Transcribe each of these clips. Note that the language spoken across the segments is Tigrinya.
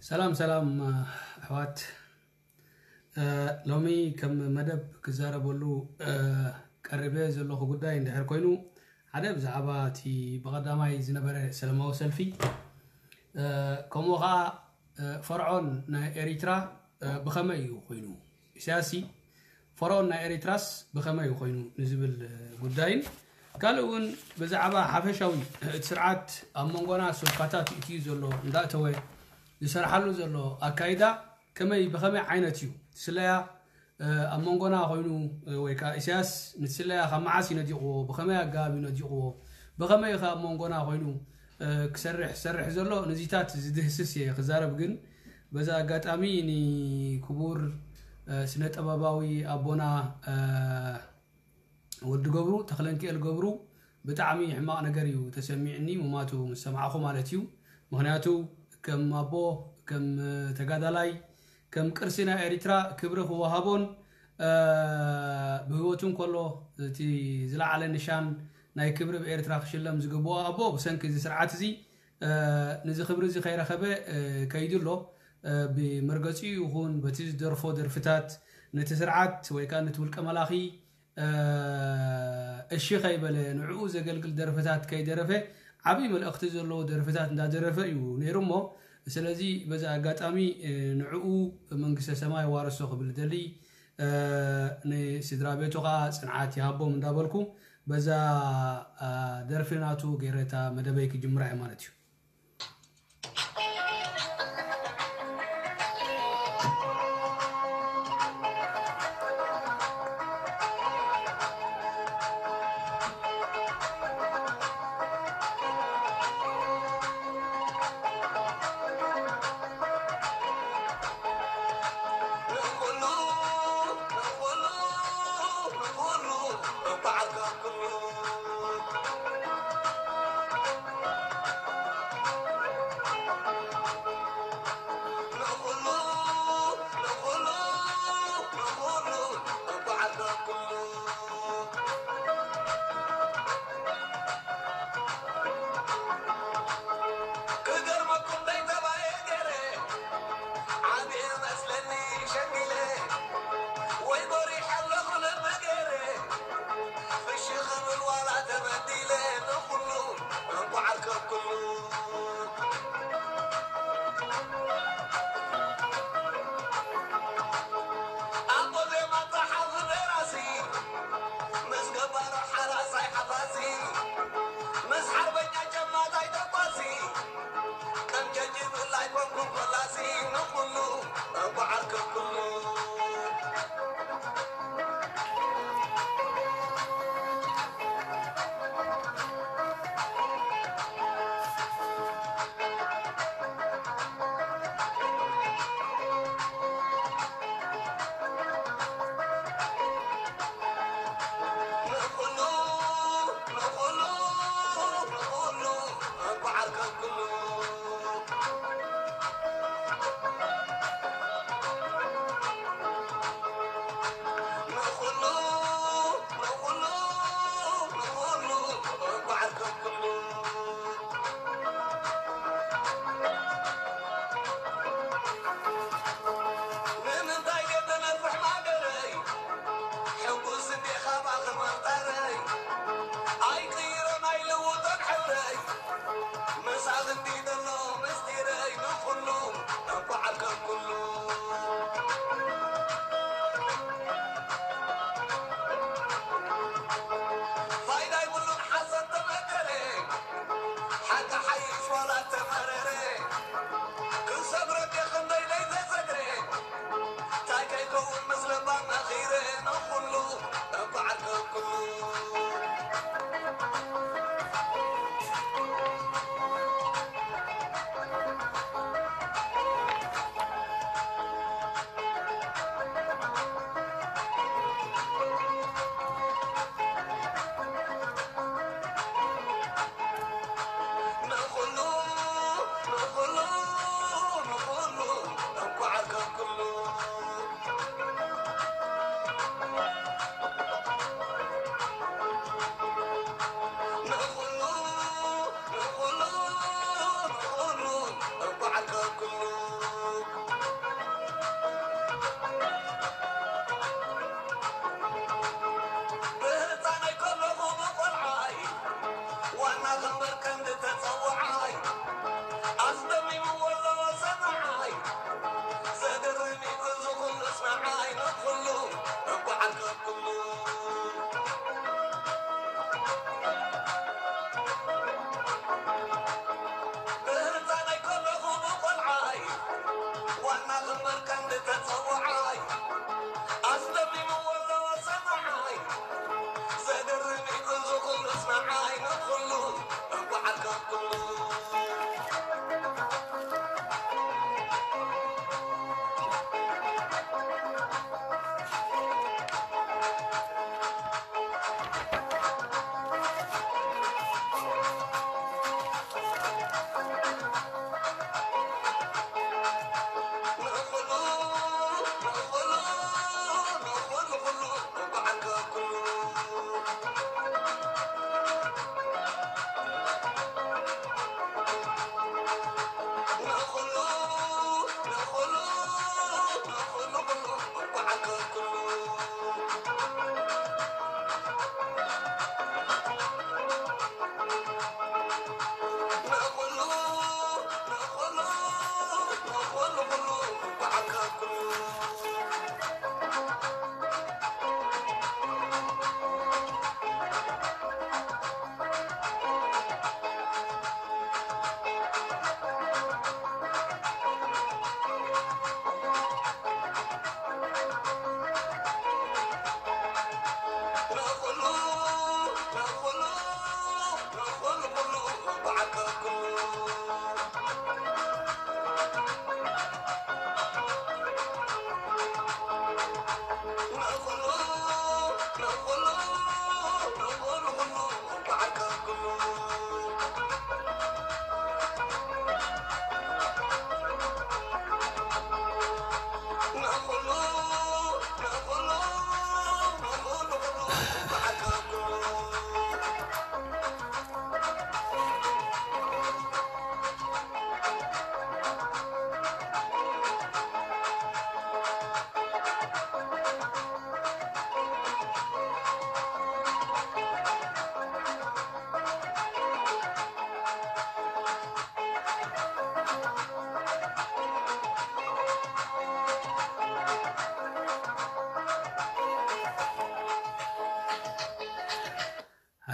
ሰላም ሰላም ኣሕዋት፣ ሎሚ ከም መደብ ክዛረበሉ ቀሪበ ዘለኹ ጉዳይ እንድሕር ኮይኑ፣ ሓደ ብዛዕባ እቲ ብቐዳማይ ዝነበረ ሰላማዊ ሰልፊ፣ ከምኡ ኸዓ ፈርዖን ናይ ኤሪትራ ብኸመይ እዩ ኮይኑ፣ ኢሳያስ ፈርዖን ናይ ኤሪትራስ ብኸመይ ኮይኑ ንዝብል ጉዳይን፣ ካልእ እውን ብዛዕባ ሓፈሻዊ እቲ ስርዓት ኣብ መንጎና ሱልካታት ይእትዩ ዘሎ እንዳእተወ ዝሰርሓሉ ዘሎ ኣካይዳ ከመይ ብኸመይ ዓይነት እዩ እቲ ስለያ ኣብ መንጎና ኮይኑ፣ ወይ ከዓ ኢሳያስ ነቲ ስለያ ካብ መዓስ እዩ ነዲቕዎ፣ ብኸመይ ኣገባብ እዩ ነዲቕዎ፣ ብኸመይ ከ ኣብ መንጎና ኮይኑ ክሰርሕ ዝሰርሕ ዘሎ፣ ነዚታት ዝድህስስ እየ ክዛረብ። ግን በዛ ኣጋጣሚ ንክቡር ስነ ጥበባዊ ኣቦና ወዲ ገብሩ፣ ተኽለንክኤል ገብሩ፣ ብጣዕሚ ሕማቕ ነገር እዩ ተሰሚዕኒ፣ ሙማቱ ምስ ሰማዕኹ ማለት እዩ። ምኽንያቱ ከም ኣቦ፣ ከም ተጋዳላይ፣ ከም ቅርሲ ናይ ኤሪትራ ክብሪ ክወሃቦን ብህይወቱ እንከሎ እቲ ዝለዓለ ንሻን ናይ ክብሪ ብኤርትራ ክሽለም ዝግብኦ ኣቦ፣ ብሰንኪ እዚ ስርዓት እዚ ነዚ ክብሪ እዚ ከይረኸበ ከይዱ ኣሎ። ብመርገጺኡ ይኹን በቲ ዝደርፎ ደርፍታት ነቲ ስርዓት ወይ ከዓ ነቲ ውልቀ መላኺ እሺ ከይበለ፣ ንዕኡ ዘገልግል ደርፍታት ከይደረፈ፣ ዓብዪ መልእኽቲ ዘለዎ ደርፍታት እንዳደረፈ እዩ ነይሩ እሞ፣ ስለዚ በዚ ኣጋጣሚ ንዕኡ መንግስተ ሰማይ ዋርሶ ክብል ደሊ፣ ንስድራ ቤቱ ከዓ ጽንዓት ይሃቦም እንዳበልኩ፣ በዛ ደርፊ ናቱ ገይረታ መደበይ ክጅምራ እየ ማለት እዩ።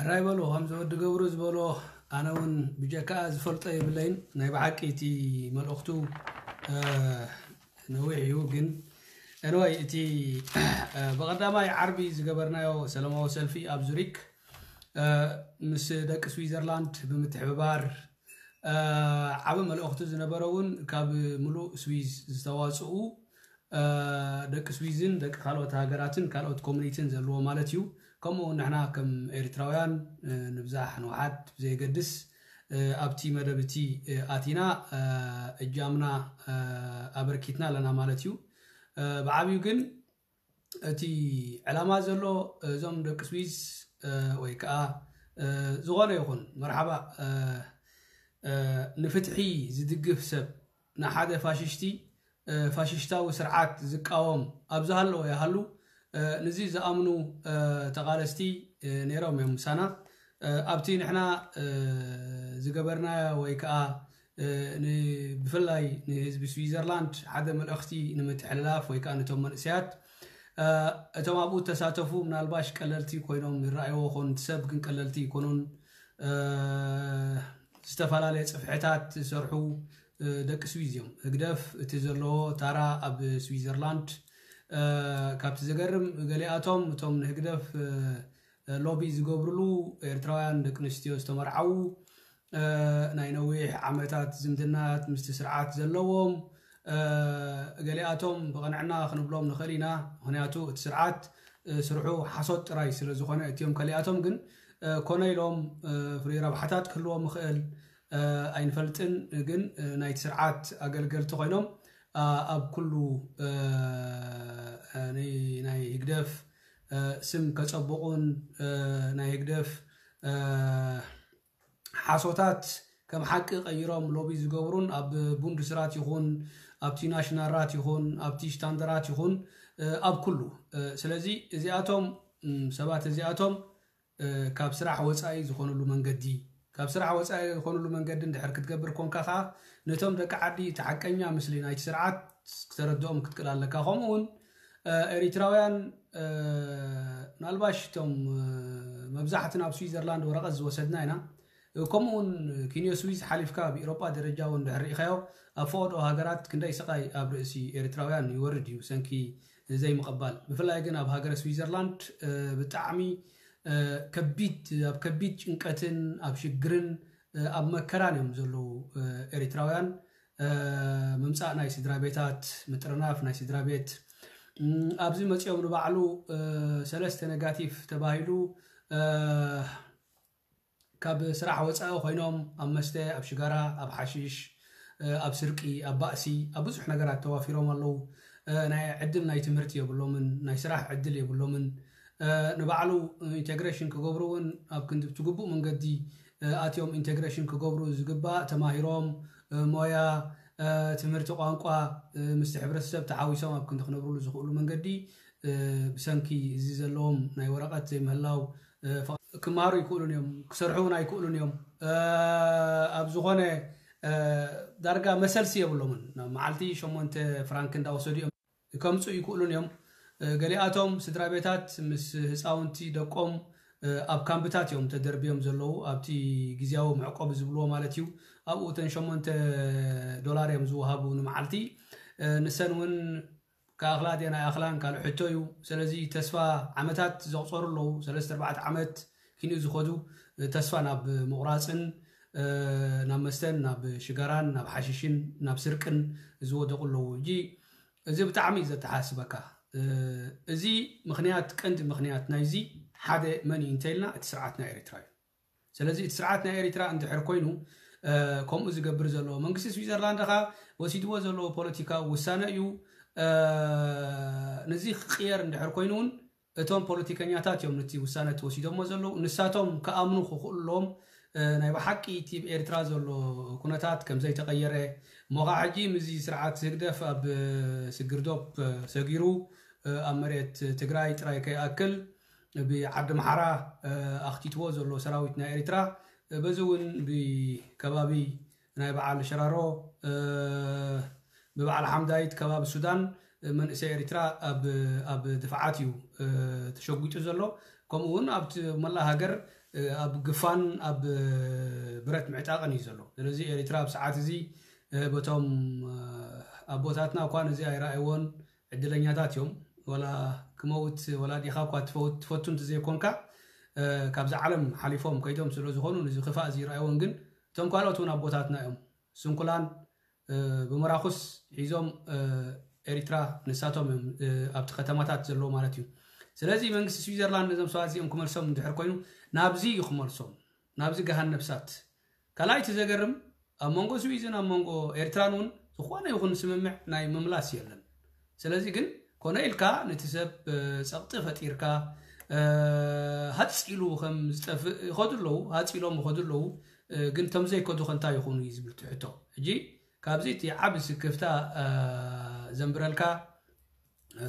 ራይ በሎ ከምዚ ወዲ ገብሩ ዝበሎ ኣነ እውን ብጀካ ዝፈልጦ የብለይን። ናይ ብሓቂ እቲ መልእኽቱ ነዊሕ እዩ። ግን ኤንወይ እቲ ብቐዳማይ ዓርቢ ዝገበርናዮ ሰላማዊ ሰልፊ ኣብ ዙሪክ ምስ ደቂ ስዊዘርላንድ ብምትሕብባር ዓቢ መልእኽቲ ዝነበረ እውን ካብ ምሉእ ስዊዝ ዝተዋፅኡ ደቂ ስዊዝን ደቂ ካልኦት ሃገራትን ካልኦት ኮሚኒቲን ዘለዎ ማለት እዩ። ከምኡ እውን ንሕና ከም ኤርትራውያን ንብዛሕ ንውሓት ብዘየገድስ ኣብቲ መደብ እቲ ኣቲና እጃምና ኣበርኪትና ኣለና ማለት እዩ። ብዓብዩ ግን እቲ ዕላማ ዘሎ እዞም ደቂ ስዊዝ ወይ ከዓ ዝኾነ ይኹን መርሓባ ንፍትሒ ዝድግፍ ሰብ ንሓደ ፋሽሽቲ ፋሽሽታዊ ስርዓት ዝቃወም ኣብ ዝሃለወ ይሃሉ ንዚ ዝኣምኑ ተቓለስቲ ነይሮም እዮም ምሳና። ኣብቲ ንሕና ዝገበርናዮ ወይ ከዓ ብፍላይ ንህዝቢ ስዊዘርላንድ ሓደ መልእኽቲ ንምትሕልላፍ ወይ ከዓ ነቶም መንእሰያት እቶም ኣብኡ ተሳተፉ ምናልባሽ ቀለልቲ ኮይኖም ይረኣይዎ ኾኑ፣ ሰብ ግን ቀለልቲ ይኮኑን። ዝተፈላለየ ጽፍሕታት ዝሰርሑ ደቂ ስዊዝ እዮም። ህግደፍ እቲ ዘለዎ ታራ ኣብ ስዊዘርላንድ ካብቲ ዘገርም ገሊኣቶም እቶም ንህግደፍ ሎቢ ዝገብርሉ ኤርትራውያን ደቂ ኣንስትዮ ዝተመርዓዉ ናይ ነዊሕ ዓመታት ዝምድናት ምስቲ ስርዓት ዘለዎም ገሊኣቶም ብቕንዕና ክንብሎም ንኽእል ኢና። ምኽንያቱ እቲ ስርዓት ስርሑ ሓሶት ጥራይ ስለ ዝኾነ እቲኦም ከሊኣቶም ግን ኮነ ኢሎም ፍሉይ ረብሓታት ክህልዎም ይኽእል ኣይንፈልጥን። ግን ናይቲ ስርዓት ኣገልገልቲ ኮይኖም ኣብ ኩሉ ናይ ህግደፍ ስም ከጸብቑን ናይ ህግደፍ ሓሶታት ከም ሓቂ ቀይሮም ሎቢ ዝገብሩን ኣብ ቡንድስራት ይኹን ኣብቲ ናሽናል ራት ይኹን ኣብቲ ሽታንደራት ይኹን ኣብ ኩሉ ስለዚ እዚኣቶም ሰባት እዚኣቶም ካብ ስራሕ ወፃኢ ዝኾኑሉ መንገዲ ካብ ስራሕ ወፃኢ ዝኾኑሉ መንገዲ እንድሕር ክትገብር ኮንካ ከዓ ነቶም ደቂ ዓዲ እቲ ሓቀኛ ምስሊ ናይቲ ስርዓት ክተረድኦም ክትክእል ኣለካ። ከምኡ እውን ኤሪትራውያን ምናልባሽ እቶም መብዛሕትና ኣብ ስዊዘርላንድ ወረቐት ዝወሰድና ኢና። ከምኡ እውን ኪንዮ ስዊዝ ሓሊፍካ ኣብ ኤሮጳ ደረጃ እውን ድሕር ርኢኻዮ ኣብ ፈቐዶ ሃገራት ክንደይ ስቓይ ኣብ ርእሲ ኤሪትራውያን ይወርድ እዩ ሰንኪ ዘይምቕባል። ብፍላይ ግን ኣብ ሃገረ ስዊዘርላንድ ብጣዕሚ ከቢድ ኣብ ከቢድ ጭንቀትን ኣብ ሽግርን ኣብ መከራን እዮም ዘለዉ ኤሪትራውያን። ምምፃእ ናይ ስድራ ቤታት ምጥርናፍ ናይ ስድራ ቤት ኣብዚ መፂኦም ንባዕሉ ሰለስተ ነጋቲቭ ተባሂሉ ካብ ስራሕ ወፃኢ ኮይኖም ኣብ መስተ ኣብ ሽጋራ ኣብ ሓሽሽ ኣብ ስርቂ ኣብ ባእሲ ኣብ ብዙሕ ነገራት ተዋፊሮም ኣለዉ። ናይ ዕድል ናይ ትምህርቲ የብሎምን ናይ ስራሕ ዕድል የብሎምን። ንባዕሉ ኢንቴግሬሽን ክገብሩ እውን ኣብ ክንዲ ትግቡእ መንገዲ ኣትዮም ኢንቴግሬሽን ክገብሩ ዝግባእ ተማሂሮም ሞያ ትምህርቲ ቋንቋ ምስቲ ሕብረተሰብ ተሓዊሶም ኣብ ክንዲ ክነብርሉ ዝኽእሉ መንገዲ ብሰንኪ እዚ ዘለዎም ናይ ወረቐት ዘይምህላው ክመሃሩ ይክእሉን እዮም ክሰርሑ እውን ኣይክእሉን እዮም። ኣብ ዝኾነ ዳርጋ መሰልሲ የብሎምን ናብ መዓልቲ ሸሞንተ ፍራንክ እንዳወሰዱ እዮም ከምፁ ይክእሉን እዮም። ገሊኣቶም ስድራ ቤታት ምስ ህፃውንቲ ደቆም ኣብ ካምብታት እዮም ተደርብዮም ዘለዉ ኣብቲ ግዜያዊ መዕቆቢ ዝብልዎ ማለት እዩ። ኣብኡ እተን ሸሞንተ ዶላር እዮም ዝወሃቡ ንመዓልቲ። ንሰን እውን ክኣኽላ ድየን ኣይኣኽላን ካልእ ሕቶ እዩ። ስለዚ ተስፋ ዓመታት ዘቑፀሩ ኣለዉ ሰለስተ ኣርባዕተ ዓመት ኪንኡ ዝኸዱ ተስፋ ናብ ምቑራፅን ናብ መስተን ናብ ሽጋራን ናብ ሓሽሽን ናብ ስርቅን ዝወደቑ ኣለዉ። እጂ እዚ ብጣዕሚ እዩ ዘተሓስበካ። እዚ ምኽንያት ቀንዲ ምኽንያት ናይዚ ሓደ መን እዩ እንተኢልና እቲ ስርዓት ናይ ኤርትራ እዩ። ስለዚ እቲ ስርዓት ናይ ኤርትራ እንድሕር ኮይኑ ከምኡ ዝገብር ዘሎ መንግስቲ ስዊዘርላንድ ኻ ወሲድዎ ዘለዎ ፖለቲካዊ ውሳነ እዩ። ነዚ ክቅየር እንድሕር ኮይኑ እውን እቶም ፖለቲከኛታት እዮም ነቲ ውሳነ ተወሲዶሞ ዘለዉ ንሳቶም ክኣምኑ ክኽእሉሎም ናይ ብሓቂ እቲ ኤርትራ ዘሎ ኩነታት ከም ዘይተቐየረ እሞ ከዓ ሕጂ ምስዚ ስርዓት ህግደፍ ኣብ ስግርዶብ ሰጊሩ ኣብ መሬት ትግራይ ጥራይ ከይኣክል ብዓዲ ምሓራ ኣኽቲትዎ ዘሎ ሰራዊት ናይ ኤርትራ በዚ እውን ብከባቢ ናይ በዓል ሸራሮ ብበዓል ሓምዳይት ከባቢ ሱዳን መንእሰይ ኤርትራ ኣብ ድፍዓት እዩ ተሸጒጡ ዘሎ። ከምኡ እውን ኣብቲ መላእ ሃገር ኣብ ግፋን ኣብ ብረት ምዕጣቕን እዩ ዘሎ። ስለዚ ኤሪትራ ኣብ ሰዓት እዚ በቶም ኣቦታትና እኳ ነዚ ኣይረኣይዎን፣ ዕድለኛታት እዮም። ወላ ክመውት ወላ ዲኻ እኳ ትፈቱ እንተዘይኮንካ፣ ካብዛ ዓለም ሓሊፎም ከይዶም ስለ ዝኾኑ ነዚ ክፋእ እዚ ይረኣይዎን። ግን እቶም ካልኦት እውን ኣቦታትና እዮም። ስንኩላን ብመራኹስ ሒዞም ኤሪትራ ንሳቶም እዮም ኣብቲ ከተማታት ዘለዎ ማለት እዩ። ስለዚ መንግስቲ ስዊዘርላንድ ነዞም ሰባት እዚኦም ክመልሶም እንድሕር ኮይኑ ናብዚ እዩ ክመልሶም፣ ናብዚ ገሃን ነብሳት። ካልኣይቲ ዘገርም ኣብ መንጎ ስዊዝን ኣብ መንጎ ኤርትራን እውን ዝኾነ ይኹን ስምምዕ ናይ ምምላስ የለን። ስለዚ ግን ኮነ ኢልካ ነቲ ሰብ ጸቕጢ ፈጢርካ ሃጽ ኢሉ ከም ዝጠፍእ ይኸዱ ኣለዉ፣ ሃጽ ኢሎም ይኸዱ ኣለዉ። ግን እቶም ዘይከዱ ከ እንታይ ይኹኑ እዩ ዝብል እቲ ሕቶ። ሕጂ ካብዚ እቲ ዓቢ ስክፍታ ዘንብረልካ፣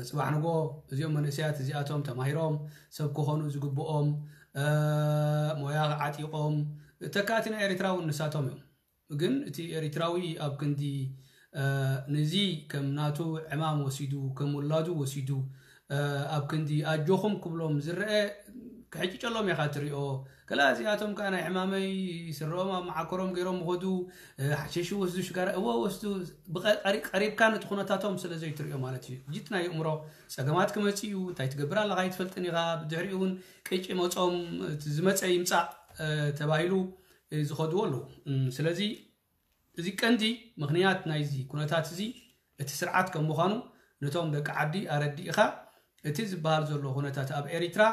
ጽባሕ ንጎ እዚኦም መንእሰያት እዚኣቶም ተማሂሮም ሰብ ክኾኑ ዝግብኦም፣ ሞያ ዓጢቖም፣ ተካእቲ ናይ ኤርትራ እውን ንሳቶም እዮም። ግን እቲ ኤሪትራዊ ኣብ ክንዲ ነዚ ከም ናቱ ዕማም ወሲዱ፣ ከም ውላዱ ወሲዱ፣ ኣብ ክንዲ ኣጆኹም ክብሎም ዝረአ ክሕጭጨሎም ኢኻ ትሪኦ። ከላ እዚኣቶም ከኣ ናይ ሕማመይ ስረኦም ኣብ መዓኮሮም ገይሮም ምኸዱ፣ ሓሸሽ ወስዱ፣ ሽጋራ እወ ወስዱ። ቀሪብካ ነቲ ኩነታቶም ስለ ዘይትሪኦ ማለት እዩ። ጅት ናይ ኣእምሮ ጸገማት ክመጽእ እዩ። እንታይ ትገብር ኣለኻ ኣይትፈልጥን ኢኻ። ብድሕሪኡ እውን ቅጭ መጾም ዝመጸ ይምጻእ ተባሂሉ ዝኸድዎ ኣለዉ። ስለዚ እዚ ቀንዲ ምኽንያት ናይዚ ኩነታት እዚ እቲ ስርዓት ከም ምዃኑ ነቶም ደቂ ዓዲ ኣረዲእኻ፣ እቲ ዝበሃል ዘሎ ኩነታት ኣብ ኤሪትራ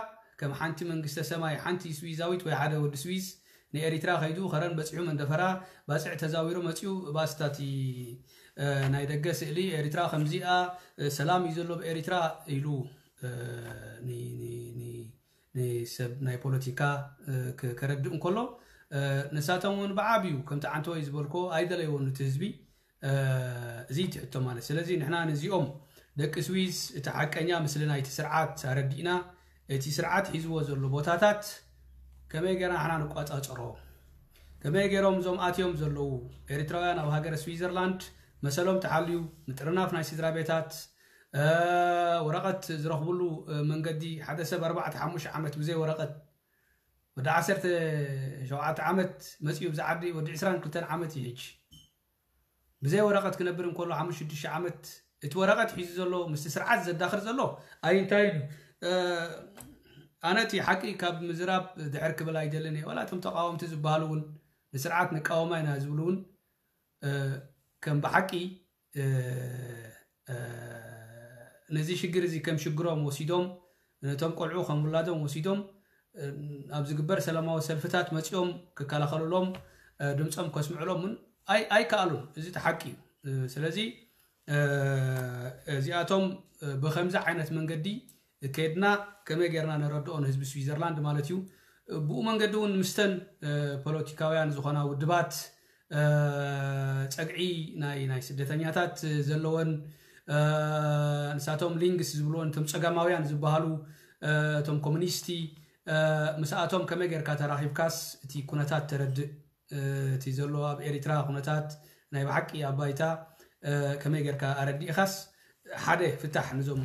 ከም ሓንቲ መንግስተ ሰማይ፣ ሓንቲ ስዊዛዊት ወይ ሓደ ወዲ ስዊዝ ንኤሪትራ ከይዱ ከረን በጺሑ መንደፈራ ባጽዕ ተዛዊሩ መጺኡ ባስታቲ ናይ ደገ ስእሊ ኤሪትራ ከምዚኣ ሰላም እዩ ዘሎ ብኤሪትራ ኢሉ ንሰብ ናይ ፖለቲካ ከረድእ እንከሎ፣ ንሳቶም እውን ብዓብዩ ከምቲ ዓንተወይ ዝበልኮ ኣይደለይዎን እቲ ህዝቢ። እዚ ትሕቶ ማለት ስለዚ ንሕና ነዚኦም ደቂ ስዊዝ እቲ ሓቀኛ ምስሊ ናይቲ ስርዓት ኣረዲእና፣ እቲ ስርዓት ሒዝዎ ዘሎ ቦታታት ከመይ ገይርና ንሕና ንቋጻጸሮ፣ ከመይ ገይሮም እዞም ኣትዮም ዘለዉ ኤርትራውያን ኣብ ሃገረ ስዊዘርላንድ መሰሎም ተሓልዩ ምጥርናፍ ናይ ስድራ ቤታት፣ ወረቐት ዝረኽብሉ መንገዲ፣ ሓደ ሰብ ኣርባዕተ ሓሙሽተ ዓመት ብዘይ ወረቐት፣ ወዲ ዓሰርተ ሸውዓተ ዓመት መጺኡ ብዛ ዓዲ ወዲ ዕስራን ክልተን ዓመት እዩ ሕጂ። ብዘይ ወረቐት ክነብር እንከሎ ሓሙሽተ ሽዱሽተ ዓመት እቲ ወረቐት ሒዙ ዘሎ ምስቲ ስርዓት ዘዳኽር ዘሎ ኣይንታይን እዩ። ኣነ እቲ ሓቂ ካብ ምዝራብ ድሕር ክብል ኣይደልን እየ። ዋላ እቶም ተቃወምቲ ዝበሃሉ እውን ንስርዓት ንቃወማ ኢና ዝብሉ እውን ከም ብሓቂ ነዚ ሽግር እዚ ከም ሽግሮም ወሲዶም፣ ነቶም ቆልዑ ከም ውላዶም ወሲዶም ኣብ ዝግበር ሰላማዊ ሰልፍታት መጺኦም ክከላኸሉሎም፣ ድምፆም ከስምዕሎም እውን ኣይከኣሉን። እዚ እቲ ሓቂ እዩ። ስለዚ እዚኣቶም ብከምዚ ዓይነት መንገዲ ከድና ከመይ ጌርና ነረድኦ ንህዝቢ ስዊዘርላንድ ማለት እዩ። ብኡ መንገዲ እውን ምስተን ፖለቲካውያን ዝኾና ውድባት ጸግዒ ናይ ናይ ስደተኛታት ዘለወን ንሳቶም ሊንግስ ዝብልዎን እቶም ጸጋማውያን ዝበሃሉ እቶም ኮሙኒስቲ ምስኣቶም ከመይ ጌርካ ተራኺብካስ እቲ ኩነታት ተረድእ እቲ ዘሎ ኣብ ኤሪትራ ኩነታት ናይ ብሓቂ ኣብ ባይታ ከመይ ጌርካ ኣረዲእኻስ ሓደ ፍታሕ ነዞም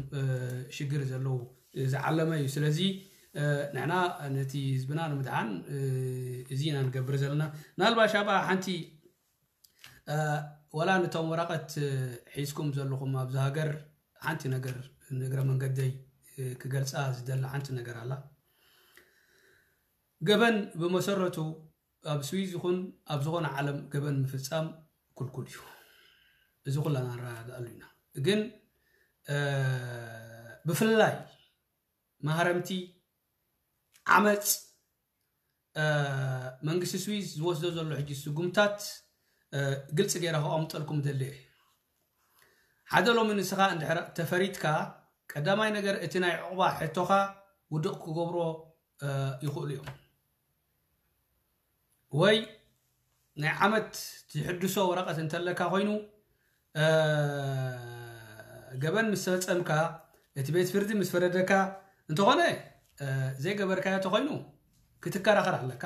ሽግር ዘለዉ ዝዓለመ እዩ። ስለዚ ንሕና ነቲ ህዝብና ንምድሓን እዚ ኢና ንገብር ዘለና። ምናልባሽ ኣብኣ ሓንቲ ወላ ነቶም ወረቐት ሒዝኩም ዘለኹም ኣብዚ ሃገር ሓንቲ ነገር ንእግረ መንገደይ ክገልጻ ዝደሊ ሓንቲ ነገር ኣላ። ገበን ብመሰረቱ ኣብ ስዊዝ ይኹን ኣብ ዝኾነ ዓለም ገበን ምፍጻም ክልኩል እዩ። እዚ ኩላና ንረዳድኣሉ ኢና። ግን ብፍላይ ማህረምቲ ዓመፅ መንግስቲ ስዊዝ ዝወስዶ ዘሎ ሕጂ ስጉምታት ግልፂ ገይረ ከቐምጠልኩም ደሊ እየ። ሓደ ሎሚ ንስኻ እንድሕር ተፈሪድካ ቀዳማይ ነገር እቲ ናይ ዕቑባ ሕቶኻ ውድቕ ክገብሮ ይኽእሉ እዮም። ወይ ናይ ዓመት ትሕድሶ ወረቐት እንተለካ ኮይኑ ገበን ምስ ፈጸምካ እቲ ቤት ፍርዲ ምስ ፈረደካ እንተኾነ ዘይገበርካዮ ተኾይኑ ክትከራኸር ኣለካ።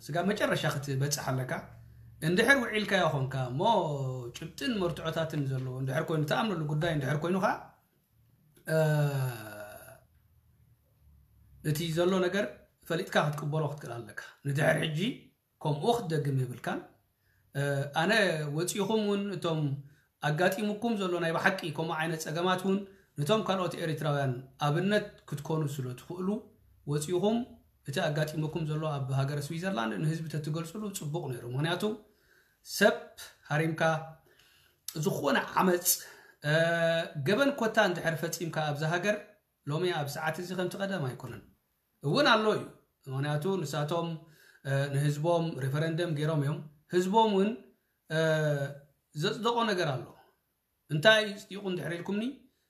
ስጋ መጨረሻ ክትበፅሕ ኣለካ። እንድሕር ውዒልካዮ ኾንካ እሞ ጭብጥን መርትዖታትን ዘለዎ እንድሕር ኮይኑ ተኣምነሉ ጉዳይ እንድሕር ኮይኑ ከዓ እቲ ዘሎ ነገር ፈሊጥካ ክትቅበሎ ክትክእል ኣለካ። ንድሕር ሕጂ ከምኡ ክትደግም የብልካን። ኣነ ወፂኹም እውን እቶም ኣጋጢሙኩም ዘሎ ናይ ብሓቂ ከምኡ ዓይነት ፀገማት እውን ነቶም ካልኦት ኤርትራውያን ኣብነት ክትኮኑ ስለ ትኽእሉ ወፂኹም እቲ ኣጋጢሙኩም ዘሎ ኣብ ሃገረ ስዊዘርላንድ ንህዝቢ ተትገልፅሉ ፅቡቕ ነይሩ። ምክንያቱ ሰብ ሃሪምካ ዝኾነ ዓመፅ ገበን ኮታ እንድሕር ፈፂምካ ኣብዚ ሃገር ሎሚ ኣብ ሰዓት እዚ ከምቲ ቀደም ኣይኮነን እውን ኣሎ እዩ። ምክንያቱ ንሳቶም ንህዝቦም ሬፈረንደም ገይሮም እዮም። ህዝቦም እውን ዘፅደቆ ነገር ኣሎ። እንታይ እዩ ፅዲቁ እንድሕር ኢልኩምኒ፣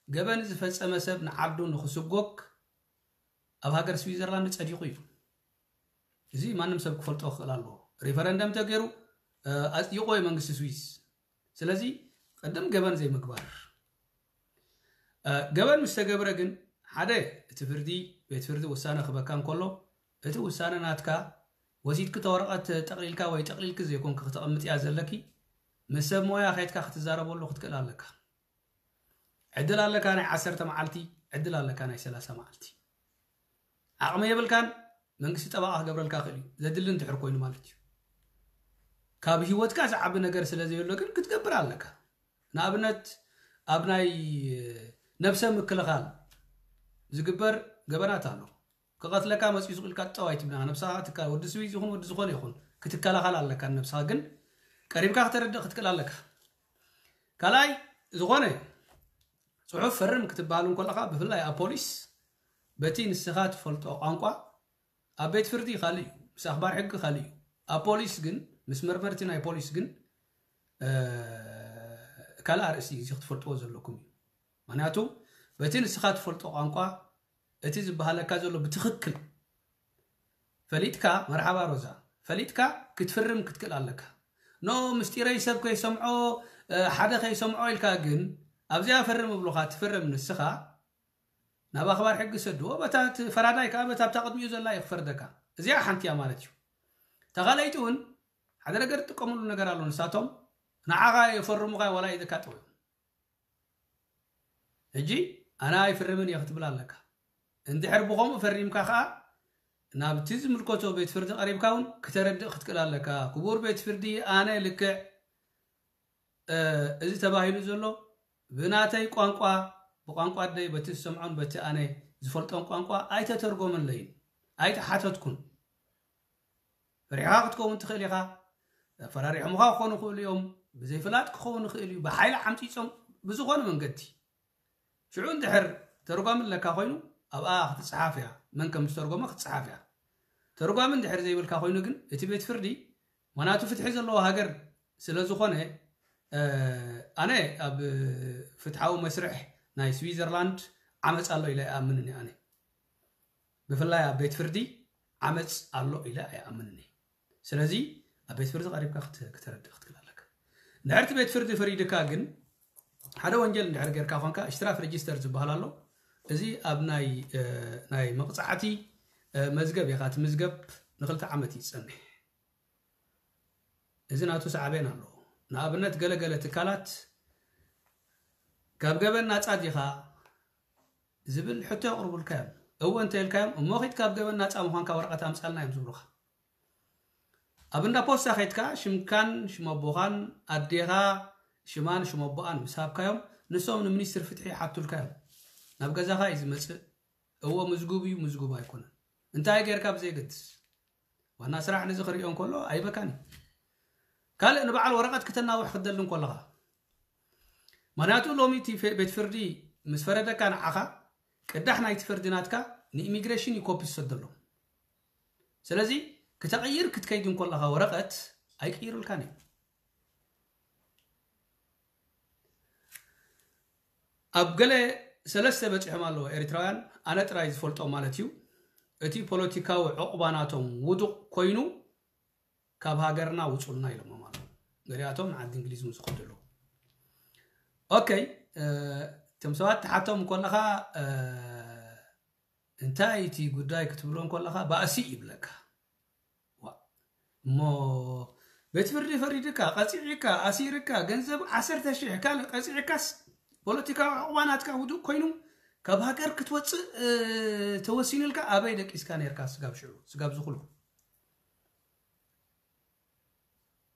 ገበን ዝፈፀመ ሰብ ንዓዱ ንክስጎግ ኣብ ሃገር ስዊዘርላንድ ፀዲቁ እዩ። እዚ ማንም ሰብ ክፈልጦ ክኽእል ኣለዎ። ሬፈረንደም ተገይሩ ኣፅዲቆ እዩ መንግስቲ ስዊዝ። ስለዚ ቅድም ገበን ዘይምግባር። ገበን ምስ ተገብረ ግን ሓደ እቲ ፍርዲ ቤት ፍርዲ ውሳነ ክበካ እንከሎ እቲ ውሳነ ናትካ ወሲድኪ ተወረቐት ጠቕሊልካ ወይ ጠቕሊልኪ ዘይኮንኪ ክተቐምጥያ ዘለኪ ምስ ሰብ ሞያ ከይድካ ክትዛረበሉ ክትክእል ኣለካ። ዕድል ኣለካ ናይ ዓሰርተ መዓልቲ፣ ዕድል ኣለካ ናይ ሰላሳ መዓልቲ። ዓቕሚ የብልካን መንግስቲ ጠበቓ ክገብረልካ ክእል እዩ ዘድሊ እንድሕር ኮይኑ ማለት እዩ። ካብ ህይወትካ ዝዓቢ ነገር ስለ ዘየሎ ግን ክትገብር ኣለካ። ንኣብነት ኣብ ናይ ነብሰ ምክልኻል ዝግበር ገበናት ኣሎ። ክቐትለካ መፅኡ ዝኽእል ኢልካ ጠው ኣይትብልና። ነብስኻ ትካ ወዲ ስዊዝ ይኹን ወዲ ዝኾነ ይኹን ክትከላኸል ኣለካ። ነብስኻ ግን ቀሪብካ ክተረድእ ክትክእል ኣለካ። ካልኣይ ዝኾነ ፅሑፍ ፈርም ክትበሃል እንከለኻ ብፍላይ ኣብ ፖሊስ በቲ ንስኻ ትፈልጦ ቋንቋ ኣብ ቤት ፍርዲ ካልእ እዩ፣ ምስ ኣኽባር ሕጊ ካልእ እዩ። ኣብ ፖሊስ ግን ምስ መርመርቲ ናይ ፖሊስ ግን ካልእ ኣርእስቲ እዚ ክትፈልጥዎ ዘለኩም እዩ። ምክንያቱ በቲ ንስኻ ትፈልጦ ቋንቋ እቲ ዝበሃለካ ዘሎ ብትኽክል ፈሊጥካ፣ መርሓባ ሮዛ፣ ፈሊጥካ ክትፍርም ክትክእል ኣለካ። ኖ ምስጢረይ ሰብ ከይሰምዖ ሓደ ከይሰምዖ ኢልካ ግን ኣብዚኣ ፈርም እብሉኻ ትፍርም ንስኻ ናብ ኣኽባር ሕጊ ሰድዎ በታ ፈራዳይ ከዓ በታ ኣብታ ቅድሚኡ ዘላ እዩ ክፈርደካ። እዚኣ ሓንቲ እያ ማለት እዩ። ተኻለይቲ እውን ሓደ ነገር ትጥቀምሉ ነገር ኣሎ። ንሳቶም ንዓኻ የፈርሙኻ ዋላ ኢድካ ጠውዮም ሕጂ ኣነ ኣይፍርምን እየ ክትብል ኣለካ። እንድሕር ብኸምኡ ፈሪምካ ከዓ ናብቲ ዝምልከቶ ቤት ፍርዲ ቀሪብካ እውን ክተረድእ ክትክእል ኣለካ። ክቡር ቤት ፍርዲ ኣነ ልክዕ እዚ ተባሂሉ ዘሎ ብናተይ ቋንቋ ብቋንቋ ኣደይ በቲ ዝሰምዖን በቲ ኣነ ዝፈልጦን ቋንቋ ኣይተተርጎመለይን ኣይተሓተትኩን። ፈሪሕኻ ክትከውን ትኽእል ኢኻ። ፈራሪሖምኻ ክኾኑ ይኽእሉ እዮም። ብዘይፍላጥ ክኸውን ይኽእል እዩ። ብሓይሊ ዓምፂፆም ብዝኾነ መንገዲ ሽዑ እንድሕር ተርጓሚ ኣለካ ኮይኑ ኣብኣ ክትፅሓፍ እያ። መን ከም ዝተርጎመ ክትፅሓፍ እያ። ተርጓሚ እንድሕር ዘይብልካ ኮይኑ ግን እቲ ቤት ፍርዲ ማናቱ ፍትሒ ዘለዎ ሃገር ስለ ዝኾነ ኣነ ኣብ ፍትሓዊ መስርሕ ናይ ስዊዘርላንድ ዓመፅ ኣሎ ኢለ ኣይኣምንን። ኣነ ብፍላይ ኣብ ቤት ፍርዲ ዓመፅ ኣሎ ኢለ ኣይኣምንን። ስለዚ ኣብ ቤት ፍርዲ ቀሪብካ ክተ- ክተረድእ ክትክእል ኣለካ። እንድሕር እቲ ቤት ፍርዲ ፈሪድካ ግን ሓደ ወንጀል እንድሕር ጌርካ ኮንካ ሽትራፍ ሬጅስተር ዝበሃል ኣሎ። እዚ ኣብ ናይ እ፣ ናይ መቕፃዕቲ እ፣ መዝገብ ኢኻ ትምዝገብ ንክልተ ዓመት እዩ ዝፀንሕ። እዚ ናቱ ሳዕቤን ኣለዎ። ንኣብነት ገለገለ ትካላት ካብ ገበን ናፃ ዲኻ ዝብል ሕቶ የቕርቡልካ እዮም። እወ እንተኢልካዮም እሞ ኺድ ካብ ገበን ናፃ ምዃንካ ወረቐት ኣምፃልና እዮም ዝብሉኻ። ኣብ እንዳ ፖስታ ኸይድካ ሽምካን ሽመቦኻን ኣዴኻ ሽማን ሽመቦኣን ምስ ሃብካዮም ንሶም ንሚኒስትሪ ፍትሒ ይሓቱልካ እዮም። ናብ ገዛኻ እዩ ዝመፅእ። እዎ ምዝጉብ እዩ ምዝጉብ ኣይኮነን እንታይ ጌርካ ብዘይገድስ ዋና ስራሕ ነዚ ክሪኦ እንከሎ ኣይበካን እዩ። ካልእ ንበዓል ወረቐት ክተናውሕ ክትደሊ እንከለኻ ምክንያቱ ሎሚ እቲ ቤት ፍርዲ ምስ ፈረደካ ንዓኻ ቅዳሕ ናይቲ ፍርዲ ናትካ ንኢሚግሬሽን እዩ ኮፒ ዝሰደሎም። ስለዚ ክተቕይር ክትከይድ እንከለኻ ወረቐት ኣይቅይሩልካን እዮም። ኣብ ገለ ሰለስተ በፂሖም ኣለዎ ኤርትራውያን ኣነ ጥራይ ዝፈልጦ ማለት እዩ። እቲ ፖለቲካዊ ዕቑባ ናቶም ውዱቕ ኮይኑ ካብ ሃገርና ውፁልና ኢሎሞም ኣለዉ። ገሊኣቶም ንዓዲ እንግሊዝ እውን ዝኸዱ ኣለዉ። ኦከይ እቶም ሰባት ትሓቶም ከለኻ እንታይ እቲ ጉዳይ ክትብሎ ከለኻ ባእሲ ይብለካ። እሞ ቤት ፍርዲ ፈሪድካ ቀፂዕካ ኣሲርካ ገንዘብ ዓሰርተ ሽሕ ካልእ ቀፂዕካስ ፖለቲካዊ ዕቑባ ናትካ ውዱእ ኮይኑ ካብ ሃገር ክትወፅእ ተወሲኑልካ ኣበይ ደቂስካ ነርካ? ስጋብ ሽዑ ስጋብ ዝኹሉ።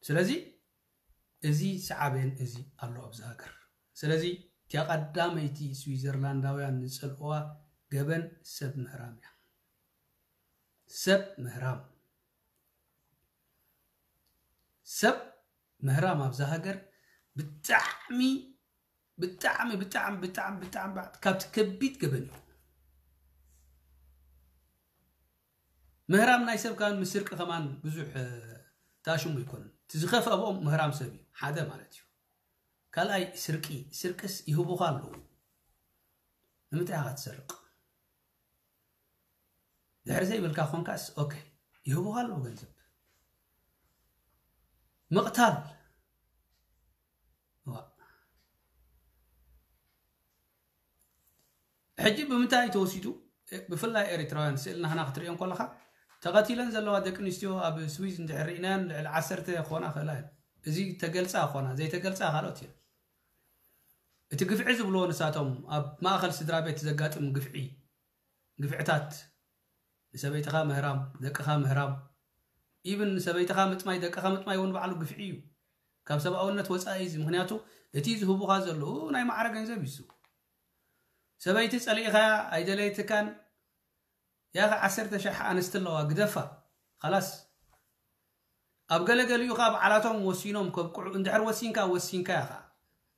ስለዚ እዚ ሰዓቤን እዚ ኣሎ ኣብዚ ሃገር። ስለዚ እቲያ ቀዳመይቲ ስዊዘርላንዳውያን ዝጸልእዋ ገበን ሰብ ምህራም እያ። ሰብ ምህራም ሰብ ምህራም ኣብዛ ሃገር ብጣዕሚ ብጣዕሚ ብጣዕሚ ብጣዕሚ ብጣዕሚ ካብቲ ከቢድ ገበን እዩ። ምህራም ናይ ሰብ ካን ምስርቂ ከማን ብዙሕ ታሽሙ ይኮንን። እቲ ዝኸፍአ ኣብኦም ምህራም ሰብ እዩ ሓደ ማለት እዩ። ካልኣይ ስርቂ፣ ስርቅስ ይህቡኻ ኣለዉ። ንምንታይ ኢኻ ትሰርቅ? ድሕሪ ዘይብልካ ኮንካስ ኦኬ፣ ይህቡኻ ኣለዉ ገንዘብ። ምቕታል ሕጂ ብምንታይ ተወሲዱ? ብፍላይ ኤሪትራውያን ስእሊ ናህና ክትሪኦ እንኮለኻ ተቐቲለን ዘለዋ ደቂ ኣንስትዮ ኣብ ስዊዝ እንድሕር ርኢናያን ልዕሊ ዓሰርተ ክኾና ክእላ እየን። እዚ ተገልጻ ክኾና ዘይተገልጻ ካልኦት እየን። እቲ ግፍዒ ዝብልዎ ንሳቶም ኣብ ማእኸል ስድራ ቤት ዘጋጥም ግፍዒ ግፍዕታት ንሰበይትኻ ምህራም፣ ደቅኻ ምህራም፣ ኢብን ንሰበይትኻ ምጥማይ ደቅኻ ምጥማይ እውን ባዕሉ ግፍዒ እዩ። ካብ ሰብኣውነት ወፃኢ እዚ ምክንያቱ እቲ ዝህቡኻ ዘለዉ ናይ ማዕረ ገንዘብ እዩ። ሰበይቲ ጸሊእኻያ ኣይደለየትካን ያኸ ዓሰርተ ሸሕ ኣንስቲ ኣለዋ ግደፋ ኸላስ። ኣብ ገለገሊኡ ኸዓ በዓላቶም ወሲኖም ከብቅዑ እንድሕር ወሲንካ ወሲንካ ኢኻ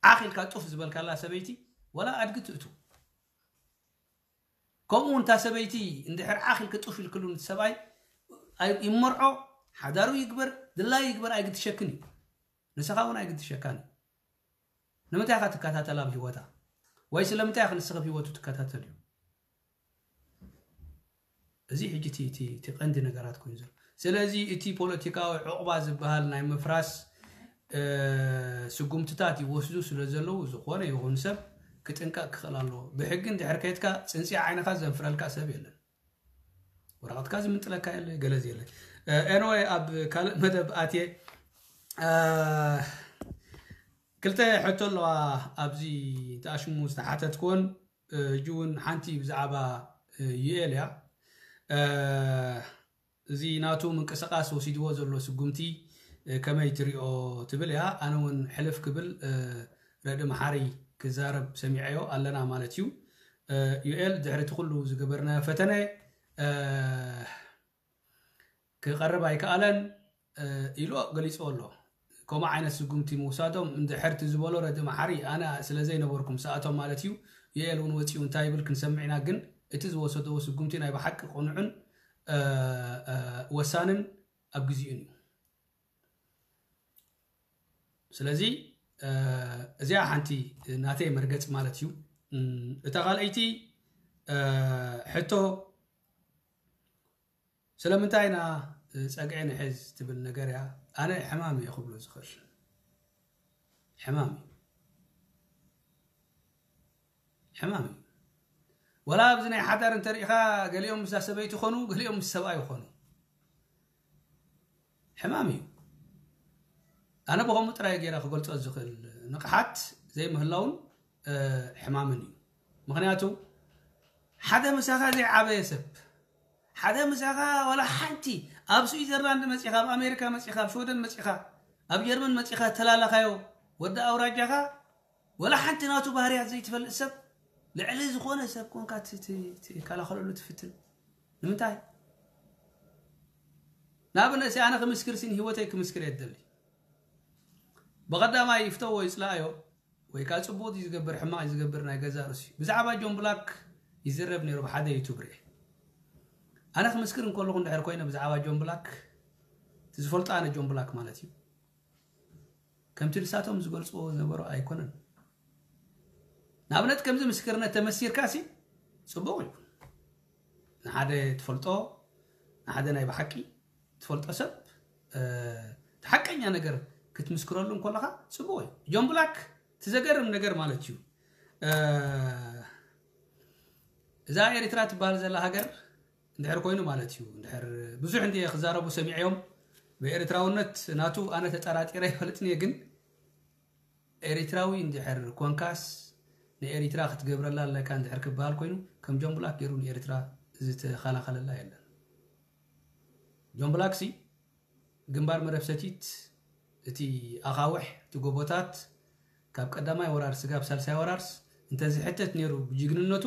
ዓኺልካ ጡፍ ዝበልካላ ሰበይቲ ወላ ኣድጊ ትእቱ። ከምኡ እውን እታ ሰበይቲ እንድሕር ዓኺልኪ ጡፍ ኢልክሉ ሰብኣይ ይመርዖ ሓዳሩ ይግበር ድላይ ይግበር ኣይግድሸክን እዩ። ንስኻ እውን ኣይግድሸካን እዩ። ንምንታይ ኢኻ ትከታተል ኣብ ህይወታ? ወይ ስለምንታይ ኢኻ ንስኺ ኣብ ህይወቱ ትከታተል እዩ? እዚ ሕጂ እቲ ቀንዲ ነገራት ኮይኑ ዘሎ። ስለዚ እቲ ፖለቲካዊ ዕቑባ ዝበሃል ናይ ምፍራስ ስጉምትታት ይወስዱ ስለ ዘለዉ ዝኾነ ይኹን ሰብ ክጥንቀቕ ክኽእል ኣለዎ። ብሕጊ እንድሕር ከይድካ ፅንፅያ ዓይንኻ ዘንፍረልካ ሰብ የለን። ወረቐትካ ዝምንጥለካ የለ ገለ የለ። ኤንወይ ኣብ ካልእ መደብ ኣትየ ክልተ ሕቶ ኣለዋ ኣብዚ ተኣሽሙ ዝተሓተትኩወን ሕጂ እውን ሓንቲ ብዛዕባ ዩኤል እያ። እዚ ናቱ ምንቅስቃስ ወሲድዎ ዘሎ ስጉምቲ ከመይ ትሪኦ ትብል እያ። ኣነ እውን ሕልፍ ክብል ረዲ መሓሪ ክዛረብ ሰሚዐዮ ኣለና ማለት እዩ። ዩኤል ድሕሪ እቲ ኩሉ ዝገበርናዮ ፈተነ ክቐርብ ኣይከኣለን ኢሉ ገሊፅዎ ኣሎ። ከምኡ ዓይነት ስጉምቲ ምውሳዶም እንድሕር እቲ ዝበሎ ረዲ መሓሪ ኣነ ስለ ዘይነበርኩ ምስኣቶም ማለት እዩ። ዩኤል እውን ወፂኡ እንታይ ይብል ክንሰምዕ ኢና። ግን እቲ ዝወሰድዎ ስጉምቲ ናይ ብሓቂ ቅኑዕን ወሳንን ኣብ ግዜኡን እዩ። ስለዚ እዚኣ ሓንቲ ናተይ መርገፂ ማለት እዩ። እታ ካልኣይቲ ሕቶ ስለምንታይ ኢና ፀግዒ ንሕዝ ትብል ነገር እያ። ኣነ ሕማም እየ ክብሎ ዝኽእል ሕማም እዩ። ሕማም እዩ። ወላ ኣብዚ ናይ ሓዳር እንተሪኢኻ ገሊኦም ምስ ሰበይቲ ይኾኑ፣ ገሊኦም ምስ ሰብኣይ ይኾኑ። ሕማም እዩ። ኣነ ብኸምኡ ጥራይ ገይረ ክገልፆ ዝኽእል ንቕሓት ዘይምህላውን ሕማምን እዩ። ምክንያቱ ሓደ ምሳኻ ዘይዓበየ ሰብ ሓደ ምሳኻ ዋላ ሓንቲ ኣብ ስዊዘርላንድ መፂኻ ኣብ ኣሜሪካ መፂኻ ኣብ ሽወደን መፂኻ ኣብ ጀርመን መፂኻ ተላለኻዮ ወዲ ኣውራጃኻ ወላ ሓንቲ ናቱ ባህርያት ዘይትፈልጥ ሰብ ልዕሊ ዝኾነ ሰብ ኮንካ ትከላኸለሉ ትፍትን። ንምንታይ? ንኣብነት ኣነ ክምስክር ሲን ህይወተይ ክምስክር የደሊ ብቐዳማይ ይፍተዎ ይፅላኣዮ ወይ ከዓ ፅቡቅ ዝገብር ሕማቅ ዝገብር ናይ ገዛ ርእሲ ብዛዕባ ጆን ብላክ ይዝረብ ነይሩ ብሓደ ዩቱብ ርኤ። ኣነ ክምስክር እንከለኹ እንድሕር ኮይነ ብዛዕባ ጆን ብላክ እቲ ዝፈልጦ ኣነ ጆን ብላክ ማለት እዩ ከምቲ ንሳቶም ዝገልፅዎ ዝነበሩ ኣይኮነን። ንኣብነት ከምዚ ምስክርነት ተመሲርካ ሲ ፅቡቅ እዩ። ንሓደ ትፈልጦ ንሓደ ናይ ብሓቂ ትፈልጦ ሰብ እቲ ሓቀኛ ነገር ክትምስክረሉ እንከለኻ ፅቡቅ እዩ። ጆን ብላክ እቲ ዘገርም ነገር ማለት እዩ እዛ ኤሪትራ ትበሃል ዘላ ሃገር እንድሕር ኮይኑ ማለት እዩ እንድሕር ብዙሕ እንዲ ክዛረቡ ሰሚዐዮም ብኤርትራውነት ናቱ ኣነ ተጠራጢረ ይፈልጥን እየ ግን ኤሪትራዊ እንድሕር ኮንካስ ንኤሪትራ ክትገብረላ ኣለካ እንድሕር ክበሃል ኮይኑ፣ ከም ጆን ብላክ ገይሩ ንኤሪትራ ዝተኸላኸለላ የለን። ጆን ብላክ ሲ ግንባር መረብ ሰቲት፣ እቲ ኣኻውሕ፣ እቲ ጎቦታት፣ ካብ ቀዳማይ ወራር ስጋብ ሳልሳይ ወራርስ እንተዝሕተት ነይሩ፣ ብጅግንነቱ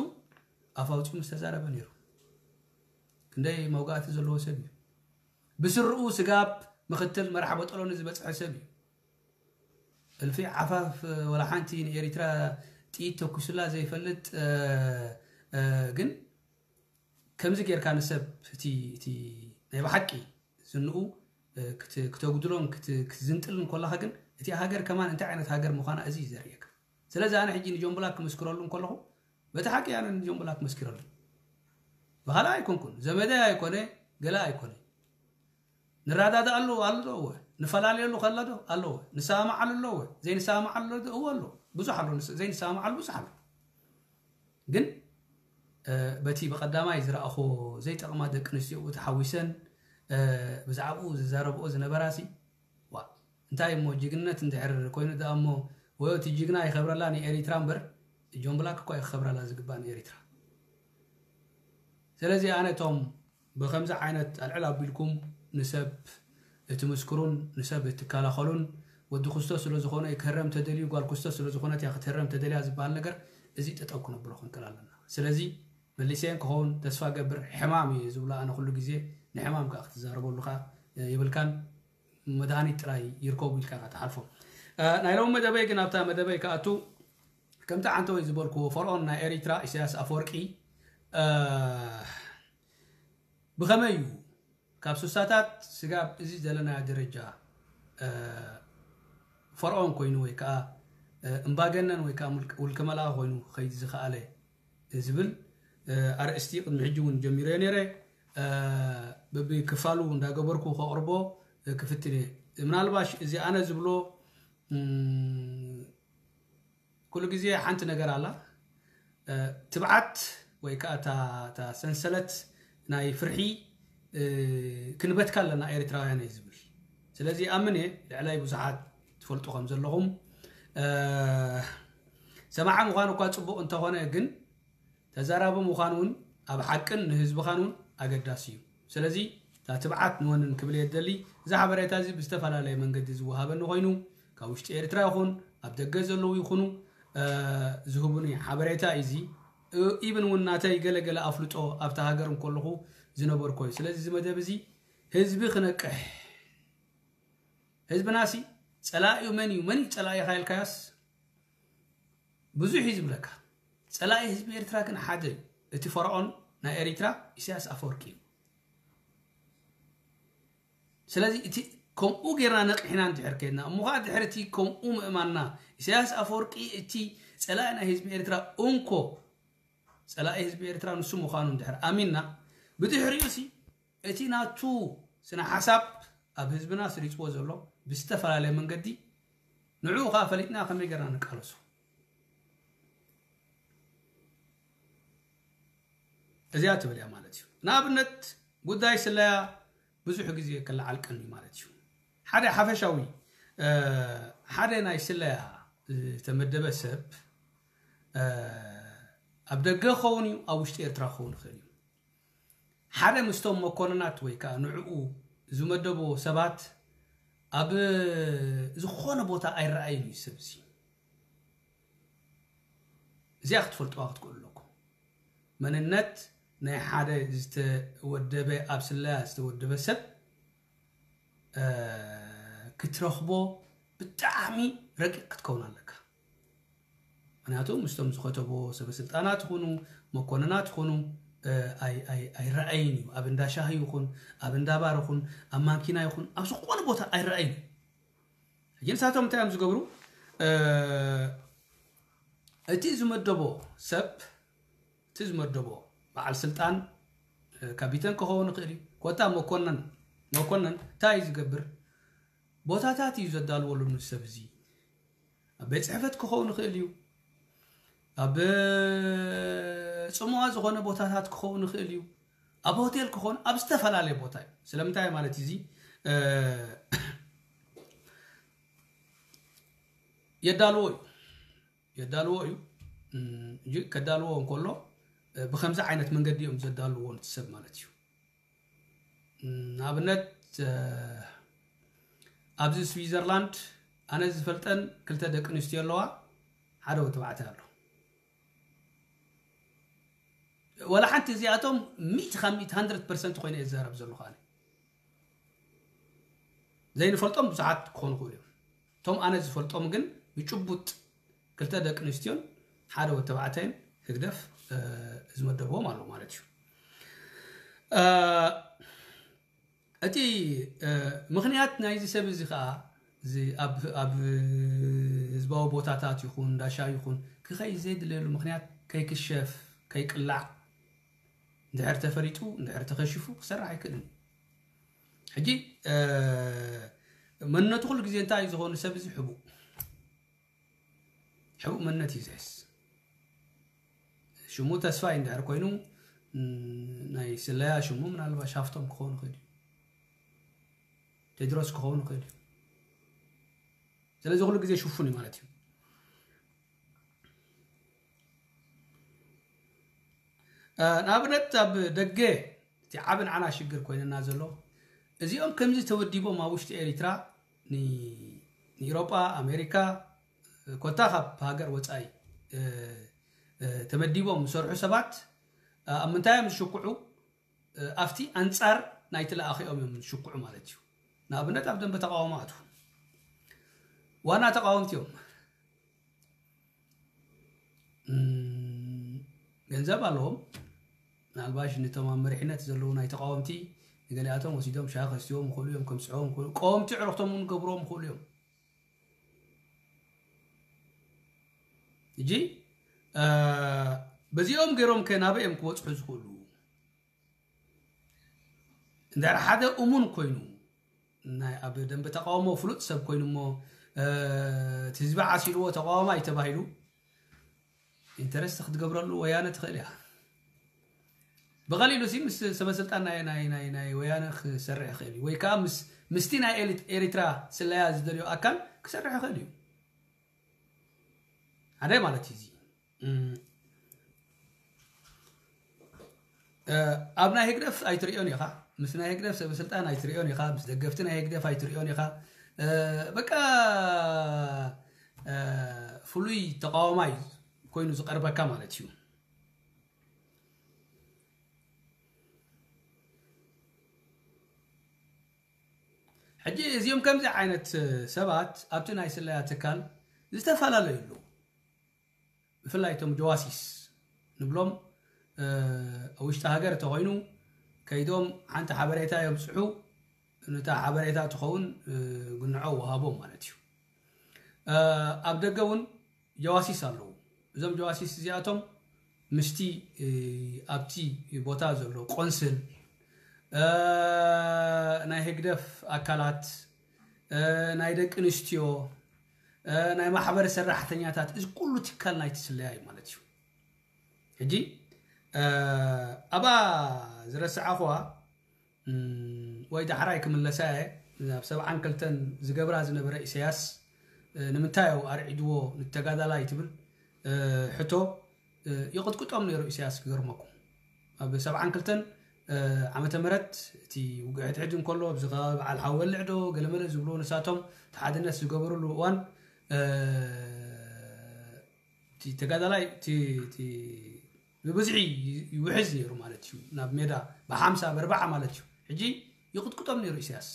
ኣፍ ኣውፂኡ ምስ ተዛረበ ነይሩ። ክንደይ መውጋእቲ ዘለዎ ሰብ እዩ። ብስርኡ ስጋብ ምክትል መራሕ በጠሎኒ ዝበፅሐ ሰብ እዩ። እልፊ ዓፋፍ ወላ ሓንቲ ንኤሪትራ ጥይት ተኩስላ ዘይፈልጥ፣ ግን ከምዚ ጌርካ ንሰብ እቲ ናይ ብሓቂ ዝንኡ ክተጉድሎን ክትዝንጥልን ኮላኻ ግን እቲ ሃገር ከማን እንታይ ዓይነት ሃገር ምዃና እዚ እዩ ዘርእየካ። ስለዚ ኣነ ሕጂ ንጆን ብላክ ክምስክረሉ እንከለኹ በቲ ሓቂ ኣነ ንጆን ብላክ መስኪረሉ። ብኻልእ ኣይኮንኩን፣ ዘመደይ ኣይኮነ፣ ገለ ኣይኮነ። ንረዳዳኣሉ ኣሎ ዶ? እወ። ንፈላለየሉ ከሎ ዶ? ኣሎ። እወ። ንሰማማዓሉ ኣሎ? እወ። ዘይንሰማማዓሉ ዶ? እወ ኣሎ። ብዙሕ ኣሎ። ዘይንሰማማዓሉ ብዙሕ ኣሎ። ግን በቲ ብቐዳማይ ዝረኣኹ ዘይጠቕማ ደቂ ኣንስትዮ ተሓዊሰን ብዛዕባኡ ዝዛረብኦ ዝነበራሲ፣ ዋ እንታይ እሞ ጅግነት እንድሕር ኮይኑ ደኣ እሞ፣ ወይ እቲ ጅግና ይኸብረላ ንኤሪትራ እምበር፣ ጆን ብላክ እኳ ይኸብረላ ዝግባእ ንኤሪትራ። ስለዚ ኣነ እቶም ብኸምዚ ዓይነት ኣልዕል ኣቢልኩም ንሰብ እትምስክሩን ንሰብ እትከላኸሉን፣ ወዲ ክስቶ ስለ ዝኾነ ክህረም ተደልዩ፣ ጓል ክስቶ ስለ ዝኾነት እያ ክትህረም ተደልያ ዝበሃል ነገር፣ እዚ ጠጠው ክነብሎ ክንክእል ኣለና። ስለዚ መሊሰ ክኸውን ተስፋ ገብር። ሕማም እዩ ዝብሎ ኣነ ኩሉ ግዜ፣ ንሕማም ከዓ ክትዛረበሉ ከዓ የብልካን። መድሃኒት ጥራይ ይርከቡ ኢልካ ክትሓልፎ። ናይ ሎም መደበይ ግን ኣብታ መደበይ ክኣቱ ከምቲ ዓንተወይ ዝበልክዎ ፈርኦን ናይ ኤሪትራ ኢሳያስ ኣፈወርቂ ብኸመይ እዩ ካብ ስሳታት ስጋብ እዚ ዘለናዮ ደረጃ ፈርኦን ኮይኑ ወይ ከዓ እምባገነን ወይ ከዓ ውልቀ መላኺ ኮይኑ ክኸይድ ዝኸኣለ ዝብል ኣርእስቲ ቅድሚ ሕጂ እውን ጀሚረዮ ነይረ። ብብክፋሉ እንዳገበርኩ ከቕርቦ ክፍትን እየ። ምናልባሽ እዚ ኣነ ዝብሎ ኩሉ ግዜ ሓንቲ ነገር ኣላ። ትብዓት ወይ ከዓ እታ ሰንሰለት ናይ ፍርሒ ክንበትካ ኣለና ኤርትራውያን እየ ዝብል። ስለዚ ኣምን እየ ልዕላይ ብዙሓት ትፈልጡ ከም ዘለኹም ሰማዓ ምዃን እኳ ፅቡቕ እንተኾነ ግን ተዛራቢ ምዃን እውን ኣብ ሓቅን ንህዝብኻን እውን ኣገዳሲ እዩ። ስለዚ እታ ትብዓት ንወንን ክብል እየ ዝደሊ። እዚ ሓበሬታ እዚ ብዝተፈላለየ መንገዲ ዝወሃበኒ ኮይኑ ካብ ውሽጢ ኤርትራ ይኹን ኣብ ደገ ዘለዉ ይኹኑ ዝህቡኒ ሓበሬታ እዩ። እዚ ኢብን እውን ናተይ ገለገለ ኣፍልጦ ኣብታ ሃገር እንከለኹ ዝነበርኮ እዩ። ስለዚ እዚ መደብ እዚ ህዝቢ ክነቅሕ ህዝብናሲ ፀላኢኡ መን እዩ መን እዩ ፀላኢኻ ኢልካያስ ብዙሕ እዩ ዝብለካ። ፀላኢ ህዝቢ ኤርትራ ግን ሓደ እዩ። እቲ ፈርዖን ናይ ኤሪትራ ኢሳያስ ኣፈወርቂ እዩ። ስለዚ እቲ ከምኡ ጌርና ነቂሕና እንድሕር ከድና እሞ ከዓ ድሕሪ እቲ ከምኡ ምእማንና ኢሳያስ ኣፈወርቂ እቲ ፀላኢ ናይ ህዝቢ ኤርትራ እንኮ ፀላኢ ህዝቢ ኤርትራ ንሱ ምዃኑ እንድሕር ኣሚንና ብድሕሪኡ ሲ እቲ ናቱ ስነ ሓሳብ ኣብ ህዝብና ስሪፅዎ ዘሎ ብዝተፈላለየ መንገዲ ንዕኡ ከዓ ፈሊጥና ከመይ ጌርና ንቃለሶ እዚኣ ትብል እያ ማለት እዩ። ንኣብነት ጉዳይ ስለያ ብዙሕ ግዜ ክለዓል ቀኒ ማለት እዩ። ሓደ ሓፈሻዊ ሓደ ናይ ስለያ ዝተመደበ ሰብ ኣብ ደገ ክኸውን እዩ ኣብ ውሽጢ ኤርትራ ክኸውን ይኽእል እዩ። ሓደ ምስቶም መኮንናት ወይ ከዓ ንዕኡ ዝመደብዎ ሰባት ኣብ ዝኾነ ቦታ ኣይረኣይን እዩ ሰብ እዚ። እዚኣ ክትፈልጥዋ ክትክእሉ ኣለኩም። መንነት ናይ ሓደ ዝተወደበ ኣብ ስለያ ዝተወደበ ሰብ ክትረኽቦ ብጣዕሚ ረቂቕ ክትከውን ኣለካ። ምክንያቱ ምስቶም ዝኸተቦ ሰበስልጣናት ይኹኑ መኮንናት ይኹኑ ኣይረኣይን እዩ። ኣብ እንዳ ሻሂ ይኹን ኣብ እንዳ ባር ይኹን ኣብ ማንኪና ይኹን ኣብ ዝኾነ ቦታ ኣይረኣይን እዩ። ሕጂ ንሳቶም እንታይ እዮም ዝገብሩ? እቲ ዝመደቦ ሰብ እቲ ዝመደቦ በዓል ስልጣን ካቢተን ክኸውን ይኽእል እዩ። ኮታ መኮነን መኮነን እንታይ እዩ ዝገብር? ቦታታት እዩ ዘዳልወሉ ንሰብ እዚ ኣብ ቤት ፅሕፈት ክኸውን ይኽእል እዩ። ኣብ ፅሙዋ ዝኾነ ቦታታት ክኸውን ይኽእል እዩ። ኣብ ሆቴል ክኾን ኣብ ዝተፈላለየ ቦታ እዩ። ስለምንታይ ማለት እዚ የዳልዎ እዩ የዳልዎ እዩ። እም፣ እጂ ከዳልዎ እንከሎ፣ እ፣ ብኸምዚ ዓይነት መንገዲ እዮም ዘዳልዎ ነቲ ሰብ ማለት እዩ። እም፣ ንኣብነት፣ እ፣ ኣብዚ ስዊዘርላንድ ኣነ ዝፈልጠን ክልተ ደቂ ኣንስትዮ ኣለዋ፣ ሓደ ወዲ ተባዕታይ ኣሎ። ወላ ሓንቲ እዚኣቶም ሚእቲ ካብ ሚእቲ፣ ሃንድረድ ፐርሰንት ኮይነ እየ ዝዛረብ ዘለኹ ኣነ። ዘይንፈልጦም ብዙሓት ክኾኑ ይኽእሉ እዮም። እቶም ኣነ ዝፈልጦም ግን ብጭቡጥ ክልተ ደቂ ኣንስትዮን ሓደ ወዲ ተባዕታይን ህግደፍ፣ እ፣ ዝመደብዎም ኣሎ ማለት እዩ። እ፣ እቲ፣ እ፣ ምኽንያት ናይዚ ሰብ እዚ ኸኣ፣ እዚ ኣብ፣ ኣብ ህዝባዊ ቦታታት ይኹን፣ እንዳ ሻሂ ይኹን፣ ክኸይድ ዘይድለየሉ ምኽንያት፣ ከይክሸፍ፣ ከይቅላዕ፣ እንድሕር ተፈሊጡ፣ እንድሕር ተኸሺፉ፣ ክሰርሕ ኣይክእልን እዩ። ሕጂ፣ እ፣ መንነቱ ኩሉ ግዜ እንታይ እዩ ዝኾኑ ሰብ እዚ? ሕቡእ። ሕቡእ መንነት እዩ ዝሕዝ። ሽሙ ተስፋይ እንድሕር ኮይኑ፣ ም፣ ናይ ስለያ ሽሙ ምናልባሽ ሃፍቶም ክኸውን ይኽእል እዩ። ቴድሮስ ክኸውን ይኽእል እዩ። ስለዚ ኩሉ ግዜ ሽፉን እዩ ማለት እዩ። እ፣ ንኣብነት ኣብ ደገ እቲ ዓቢ ንዓና ሽግር ኮይንና ዘሎ፣ እዚኦም ከምዚ ተወዲቦም ኣብ ውሽጢ ኤሪትራ ን-፣ ንኢሮጳ፣ ኣሜሪካ፣ ኮታ ካብ ሃገር ወጻኢ፣ እ፣ እ፣ ተመዲቦም ዝሰርሑ ሰባት፣ እ፣ ኣብ ምንታይ እዮም ዝሽኩዑ? እ፣ ኣብቲ ኣንጻር ናይቲ ለኣኺኦም እዮም ዝሽኩዑ ማለት እዩ። ንኣብነት ኣብ ደንበ ተቃውሞ ኣትዉ። ዋና ተቃወምቲ እዮም። እም፣ ገንዘብ ኣለዎም። ምናልባሽ ነቶም ኣብ መሪሕነት ዘለዉ ናይ ተቃወምቲ ንገሊኣቶም ወሲዶም ሻሂ ከስትዎም ይኽእሉ እዮም፣ ከምስዕዎም ይኽእሉ፣ ቀወምቲ ዕረኽቶም እውን ገብርዎም ይኽእሉ እዮም። እጂ፣ እ፣ በዚኦም ገይሮም ከ ናበይ እዮም ክበጽሑ ዝኽእሉ? እንድሕር ሓደ እሙን ኮይኑ፣ ናይ ኣብ ደንበ ተቃውሞ ፍሉጥ ሰብ ኮይኑ እሞ፣ እ፣ እቲ ህዝቢ ዓሲልዎ ተቃዋማይ ተባሂሉ፣ ኢንተረስት ክትገብረሉ ወያነ ትኽእል እያ። ብቐሊሉ ሲ ምስ ሰበ ስልጣን ናይ፣ ናይ፣ ናይ፣ ናይ ወያነ ክሰርሕ ይኽእል እዩ። ወይ ከዓ ምስ፣ ምስቲ ናይ ኤሊት-፣ ኤሪትራ ስለያ ዝደልዮ ኣካል ክሰርሕ ይኽእል እዩ። ሓደ ማለት እዩ እዚ። እም፣ እ፣ ኣብ ናይ ህግደፍ ኣይትርእዮን ኢኻ። ምስ ናይ ህግደፍ ሰበ ስልጣን ኣይትርእዮን ኢኻ። ምስ ደገፍቲ ናይ ህግደፍ ኣይትርእዮን ኢኻ። እ፣ በቃ፣ እ፣ ፍሉይ ተቃዋማይ ኮይኑ ዝቐርበካ ማለት እዩ። ሕጂ እዚኦም ከምዚ ዓይነት ሰባት ኣብቲ ናይ ስለያ ትካል ዝተፈላለዩ ኣለዉ። ብፍላይ እቶም ጀዋሲስ ንብሎም፣ እ፣ ኣብ ውሽጢ ሃገር እንተኾይኑ ከይዶም ሓንቲ ሓበሬታ የብጽሑ፣ ነታ ሓበሬታ ትኸውን፣ እ፣ ግንዖ ወሃቦም ማለት እዩ። እ፣ ኣብ ደገ እውን ጀዋሲስ ኣለዉ። እዞም ጀዋሲስ እዚኣቶም ምስቲ፣ እ፣ ኣብቲ ቦታ ዘሎ ቆንስል፣ እ፣ ናይ ህግደፍ ኣካላት፣ እ፣ ናይ ደቂ ኣንስትዮ፣ እ፣ ናይ ማሕበር ሰራሕተኛታት፣ እዚ ኩሉ ትካል ናይቲ ስለያ እዩ ማለት እዩ። ሕጂ፣ እ፣ ኣብኣ ዝረስዓኹዋ፣ እም፣ ወይ ዳሕራይ ክምለሳ እየ፣ ናብ ሰብዓን ክልተን ዝገብራ ዝነበረ ኢሳያስ፣ እ፣ ንምንታይ እዩ ኣርዒድዎ ንተጋዳላይ ትብል፣ እ፣ ሕቶ፣ እ፣ ይቕጥቅጦም ነይሩ ኢሳያስ፣ ክገርመኩም። ኣብ ሰብዓን ክልተን፣ እ፣ ዓመተ ምህረት እቲ ውግእ ሕድሕድ እንከሎ፣ ኣብዚ ከባቢ በዓል ሓወልዕ ዶ ገለመለ ዝብልዎ ንሳቶም፣ እቲ ሓድነት ዝገበሩሉ እዋን፣ እ፣ እቲ ተጋዳላይ፣ እቲ፣ እቲ ብብዝሒ ይውሕዝ ነይሩ ማለት እዩ። ናብ ሜዳ ብሓምሳ፣ ብኣርባዓ ማለት እዩ። ሕጂ ይቕጥቅጦም ነይሩ ኢሳያስ።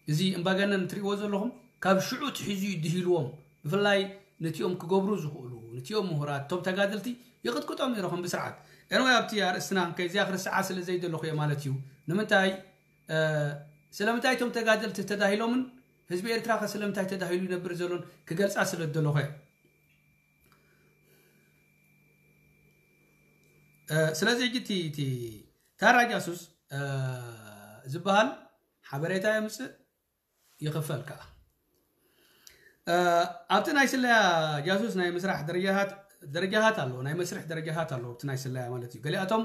እዚ እምባገነን ትርእይዎ ዘለኹም፣ ካብ ሽዑ ትሒዙ እዩ ድሂልዎም። ብፍላይ ነቲኦም ክገብሩ ዝኽእሉ፣ ነቲኦም ምሁራት፣ እቶም ተጋደልቲ ይቕጥቅጦም ነይሩ ከም ብስርዓት። ኤንወይ፣ ኣብቲ ኣርእስትና ከይዚኣ ክርስዓ ስለ ዘይደለኹ እየ ማለት እዩ። ንምንታይ፣ እ፣ ስለምንታይ እቶም ተጋደልቲ ተዳሂሎምን ህዝቢ ኤርትራ ከ ስለምንታይ ተዳሂሉ ይነብር ዘሎን ክገልጻ ስለ ዝደለኹ እየ። እ፣ ስለዚ ሕጂ እቲ፣ እቲ ታራ ጃሱስ፣ እ፣ ዝበሃል ሓበሬታ የምጽእ፣ ይኽፈል ከኣ። እ፣ ኣብቲ ናይ ስለያ ጃሱስ ናይ ምስራሕ ደረጃታት፣ ደረጃታት ኣሎ፣ ናይ መስርሕ ደረጃታት ኣሎ፣ ኣብቲ ናይ ስለያ ማለት እዩ። ገሊኣቶም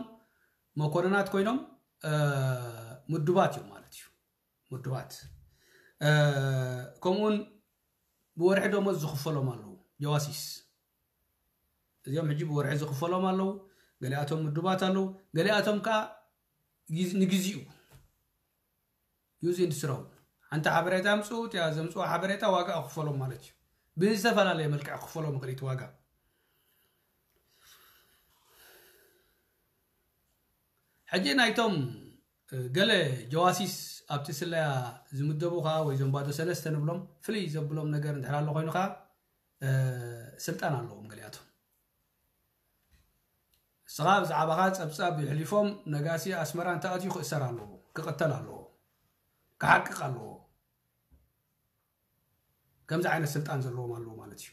መኮንናት ኮይኖም፣ እ፣ ምዱባት እዮም ማለት እዩ። ምዱባት። እ፣ ከምኡውን ብወርሒ ደሞዝ ዝኽፈሎም ኣለዉ። ጀዋሲስ። እዚኦም ሕጂ ብወርሒ ዝኽፈሎም ኣለዉ። ገሊኣቶም ምዱባት ኣለዉ። ገሊኣቶም ከዓ ንግዜኡ ዩዝ ኢንድ ስሮው ሓንቲ ሓበሬታ ኣምፅኡ። እቲኣ ዘምፅኡ ሓበሬታ ዋጋ ክፈሎም ማለት እዩ። ብዝተፈላለየ መልክዕ ክፈሎም ይኽእል እቲ ዋጋ። ሕጂ ናይቶም ገለ ጀዋሲስ ኣብቲ ስለያ ዝምደቡ ከዓ ወይ ዞም ባዶ ሰለስተ ንብሎም ፍልይ ዘብሎም ነገር እንድሕር ኣሎ ኮይኑ ከዓ ስልጣን ኣለዎም ገሊኣቶም። ንስኻ ብዛዕባኻ ጸብጻብ ይሕሊፎም ነጋሲ ኣስመራ እንተኣትዩ ክእሰር ኣለዎ፣ ክቕተል ኣለዎ፣ ክሓቅቕ ኣለዎ። ከምዚ ዓይነት ስልጣን ዘለዎም ኣለዎ ማለት እዩ።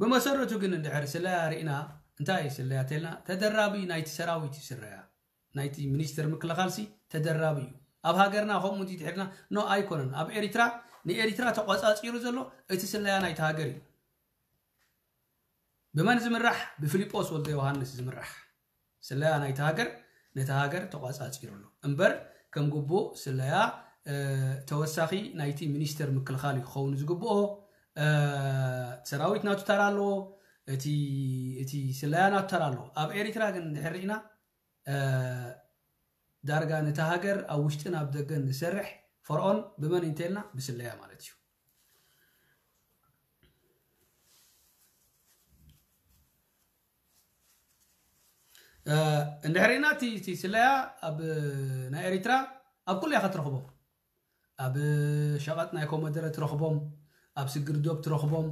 ብመሰረቱ ግን እንድሕር ስለያ ርኢና እንታይ እዩ ስለያ ተልና ተደራቢ ናይቲ ሰራዊት እዩ ስለያ። ናይቲ ሚኒስተር ምክልኻልሲ ተደራቢ እዩ። ኣብ ሃገርና ከምኡ እንዲትሕድና ኖ ኣይኮነን። ኣብ ኤሪትራ ንኤሪትራ ተቋጻጺሩ ዘሎ እቲ ስለያ ናይቲ ሃገር እዩ። ብመን ዝምራሕ? ብፊሊጶስ ወልደ ዮሃንስ ዝምራሕ ስለያ ናይቲ ሃገር ነቲ ሃገር ተቋጻጺሩ ኣሎ። እምበር ከም ግቡእ ስለያ ተወሳኺ ናይቲ ሚኒስተር ምክልኻል እዩ ክኸውን ዝግብኦ። ሰራዊት ናቱ ተራ ኣለዎ። እቲ ስለያ ናቱ ተራ ኣለዎ። ኣብ ኤሪትራ ግን እንድሕር ርኢና ዳርጋ ነቲ ሃገር ኣብ ውሽጥን ኣብ ደገን ዝሰርሕ ፈርዖን ብመን እንተልና ብስለያ ማለት እዩ። እንድሕሪና እቲ ስለያ ኣብ ናይ ኤሪትራ ኣብ ኩሉ ኢኻ ትረኽቦም። ኣብ ሸቐጥ ናይ ኮመደረ ትረኽቦም፣ ኣብ ስግር ዶብ ትረኽቦም፣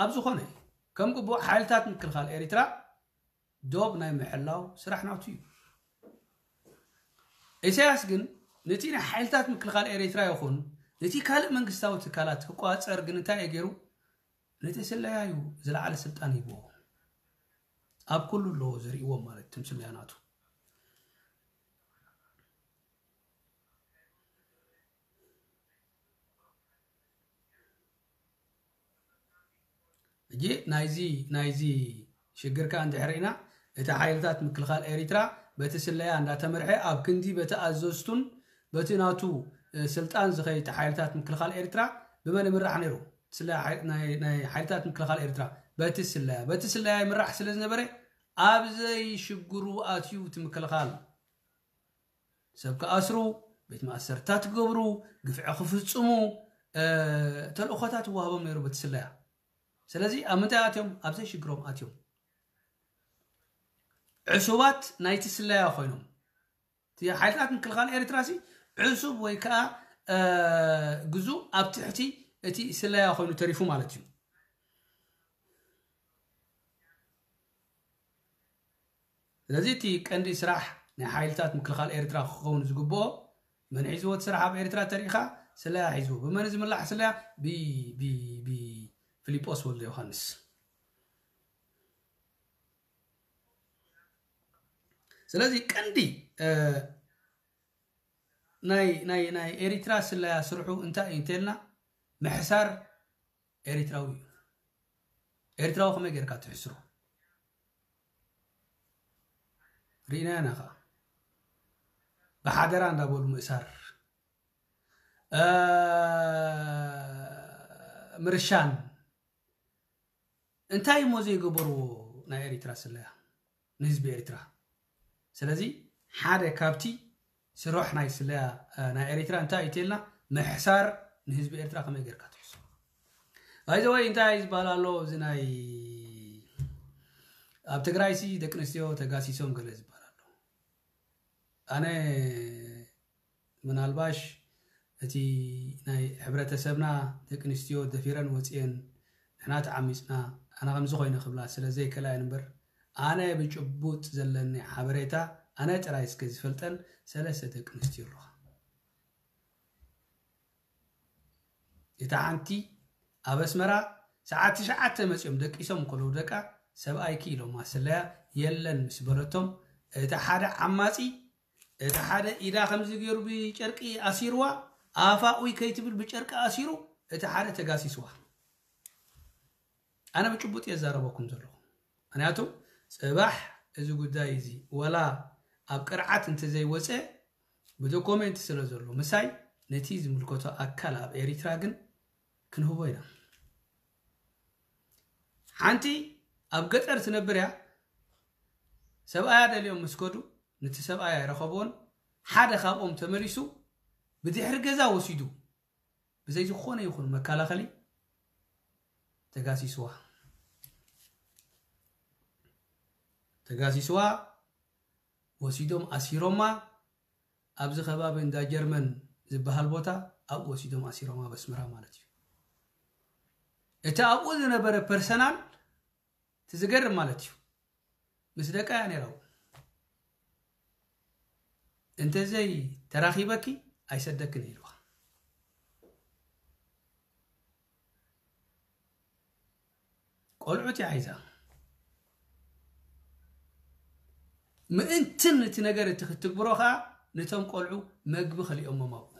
ኣብ ዝኾነ ከም ግቡእ ሓይልታት ምክልኻል ኤሪትራ ዶብ ናይ ምሕላው ስራሕ ናቱ እዩ። ኢሳያስ ግን ነቲ ናይ ሓይልታት ምክልኻል ኤሪትራ ይኹን ነቲ ካልእ መንግስታዊ ትካላት ክቋጸር ግን እንታይ እዩ ገይሩ? ነቲ ስለያ እዩ ዝለዓለ ስልጣን ሂብዎ። ኣብ ኩሉ ኣለዎ ዝርእዎም ማለት ትምስለያ ናቱ። ሕጂ ናይዚ ናይዚ ሽግር ከኣ እንድሕር ኢና እቲ ሓይልታት ምክልኻል ኤሪትራ በቲ ስለያ እንዳተመርሐ ኣብ ክንዲ በቲ ኣዘዝቱን በቲ ናቱ ስልጣን ዝኸይድ ሓይልታት ምክልኻል ኤሪትራ ብመን ይምራሕ ነይሩ? ናይ ሓይልታት ምክልኻል ኤሪትራ በቲ ስለያ በቲ ስለያ ይምራሕ ስለ ዝነበረ ኣብ ዘይሽግሩ ኣትዩ እቲ ምክልኻል ሰብ ክኣስሩ፣ ቤት ማእሰርታት ክገብሩ፣ ግፍዒ ክፍጽሙ ተልእኾታት ይወሃቦም ነይሩ በቲ ስለያ። ስለዚ ኣብ ምንታይ ኣትዮም? ኣብ ዘይሽግሮም ኣትዮም። ዕሱባት ናይቲ ስለያ ኮይኖም። እቲ ሓይልታት ምክልኻል ኤርትራ ሲ ዕሱብ ወይ ከዓ ግዙእ ኣብ ትሕቲ እቲ ስለያ ኮይኑ ተሪፉ ማለት እዩ። ስለዚ እቲ ቀንዲ ስራሕ ናይ ሓይልታት ምክልኻል ኤርትራ ክኸውን ዝግብኦ መን ሒዝዎ እቲ ስራሕ ኣብ ኤርትራ ተሪኢኻ ስለያ ሒዝዎ። ብመን ዝምላሕ ስለያ? ብፊሊጶስ ወልደ ዮሃንስ። ስለዚ ቀንዲ ናይ ኤሪትራ ስለያ ስርሑ እንታይ እዩ እንተልና ምሕሳር ኤሪትራዊ እዩ። ኤርትራዊ ከመይ ጌርካ ትሕስሮ? ርኢናዮ ኢና ከዓ ብሓደራ እንዳበሉ ምእሳር፣ ምርሻን። እንታይ እሞ ዘይገበርዎ ናይ ኤሪትራ ስለያ ንህዝቢ ኤሪትራ? ስለዚ ሓደ ካብቲ ስራሕ ናይ ስለያ ናይ ኤሪትራ እንታይ እዩ ተልና ምሕሳር ንህዝቢ ኤርትራ ከመይ ጌርካ ትሕሱ? ባይዘወይ እንታይ ዝበሃል ኣሎ እዚ ናይ ኣብ ትግራይሲ ደቂ ኣንስትዮ ተጋሲሶም ገለ ዝበሃል ኣሎ። ኣነ ምናልባሽ እቲ ናይ ሕብረተሰብና ደቂ ኣንስትዮ ደፊረን ወፅየን ንሕና ተዓሚፅና ኣነ ከምዚ ኮይነ ክብላ ስለ ዘይከላየን እምበር ኣነ ብጭቡጥ ዘለኒ ሓበሬታ ኣነ ጥራይ እስከ ዝፈልጠን ሰለስተ ደቂ ኣንስትዮ ኣለዋ። እታ ሓንቲ ኣብ ኣስመራ ሰዓት ትሽዓተ መፅኦም ደቂሶም ከለዉ ደቃ ሰብኣይኪ ኢሎማ ስለያ የለን ምስ በለቶም እቲ ሓደ ዓማፂ እቲ ሓደ ኢዳ ከምዚ ገይሩ ብጨርቂ ኣሲርዋ ኣፋ ኡይ ከይትብል ብጨርቂ ኣሲሩ እቲ ሓደ ተጋሲስዋ። ኣነ ብጭቡጥ እየ ዛረበኩም ዘለኹ። ምክንያቱ ፅባሕ እዚ ጉዳይ እዚ ወላ ኣብ ቅርዓት እንተዘይወፀ ብዶኮሜንት ስለ ዘሎ ምሳይ ነቲ ዝምልከቶ ኣካል ኣብ ኤሪትራ ግን ክንህቦ ኢና። ሓንቲ ኣብ ገጠር ትነብር እያ። ሰብኣያ ደልዮም ምስ ከዱ፣ ነቲ ሰብኣያ ኣይረኸብዎን። ሓደ ካብኦም ተመሊሱ ብድሕሪ ገዛ ወሲዱ፣ ብዘይ ዝኾነ ይኹን መከላኸሊ ተጋሲስዋ። ተጋሲስዋ፣ ወሲዶም ኣሲሮማ። ኣብዚ ከባቢ እንዳ ጀርመን ዝበሃል ቦታ ኣብኡ ወሲዶም ኣሲሮማ፣ ኣብ ኣስመራ ማለት እዩ። እቲ ኣብኡ ዝነበረ ፐርሰናል፣ እቲ ዝገርም ማለት እዩ፣ ምስ ደቃ እያ ነይራ። እንተዘይ ተራኺበኪ ኣይሰደክን ኢልዋ። ቆልዑት እያ ሒዛ። ምእንትን እቲ ነገር እቲ ክትግብሮ ከዓ፣ ነቶም ቆልዑ መግቢ ከሊኦሞም ኣብኡ።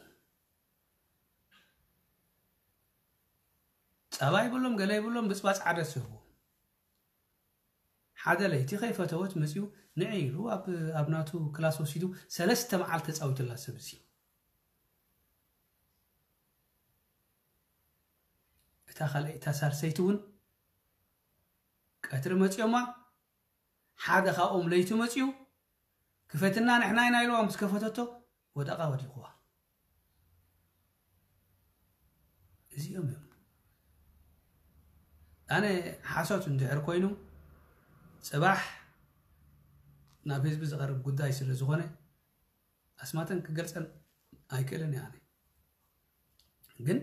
ጸባ ይብሎም፣ ገለ ይብሎም፣ ብጽባጽ ዓደስ ይህቡ። ሓደ ለይቲ ከይፈተወት መጺኡ፣ ንዒ ኢሉ ኣብ፣ ኣብ ናቱ ክላስ ወሲዱ ሰለስተ መዓልቲ ተጻዊቱላ ሰብ እዚ። እታ ካልኣይ፣ እታ ሳልሰይቲ እውን ቀትሪ መጺኦማ። ሓደ ካብኦም ለይቲ መጺኡ፣ "ክፈትና ንሕና ኢና" ኢልዋ። ምስ ከፈተቶ፣ ወደቓ፣ ወዲቑዋ። እዚኦም እዮም። ኣነ ሓሶት እንድሕር ኮይኑ፣ ጽባሕ ናብ ህዝቢ ዝቐርብ ጉዳይ ስለ ዝኾነ፣ ኣስማተን ክገልጸን ኣይክእልን እየ። ኣነ ግን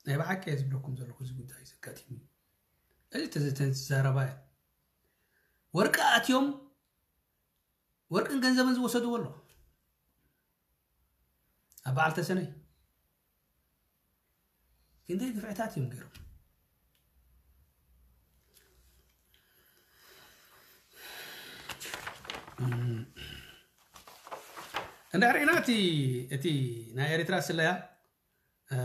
ናይ ብሓቂ እየ ዝብለኩም ዘለኹ፣ እዚ ጉዳይ ዘጋጢሙ እዩ። እዚ ተዘተን ዘረባ እያ። ወርቂ ኣትዮም፣ ወርቅን ገንዘብን ዝወሰድዎ ኣሎ። ኣብ በዓል ተሰነይ ክንደይ ግፍዕታት እዮም ገይሮም። እንድሕር ርኢና እቲ፣ እቲ ናይ ኤርትራ ስለያ፣ እ፣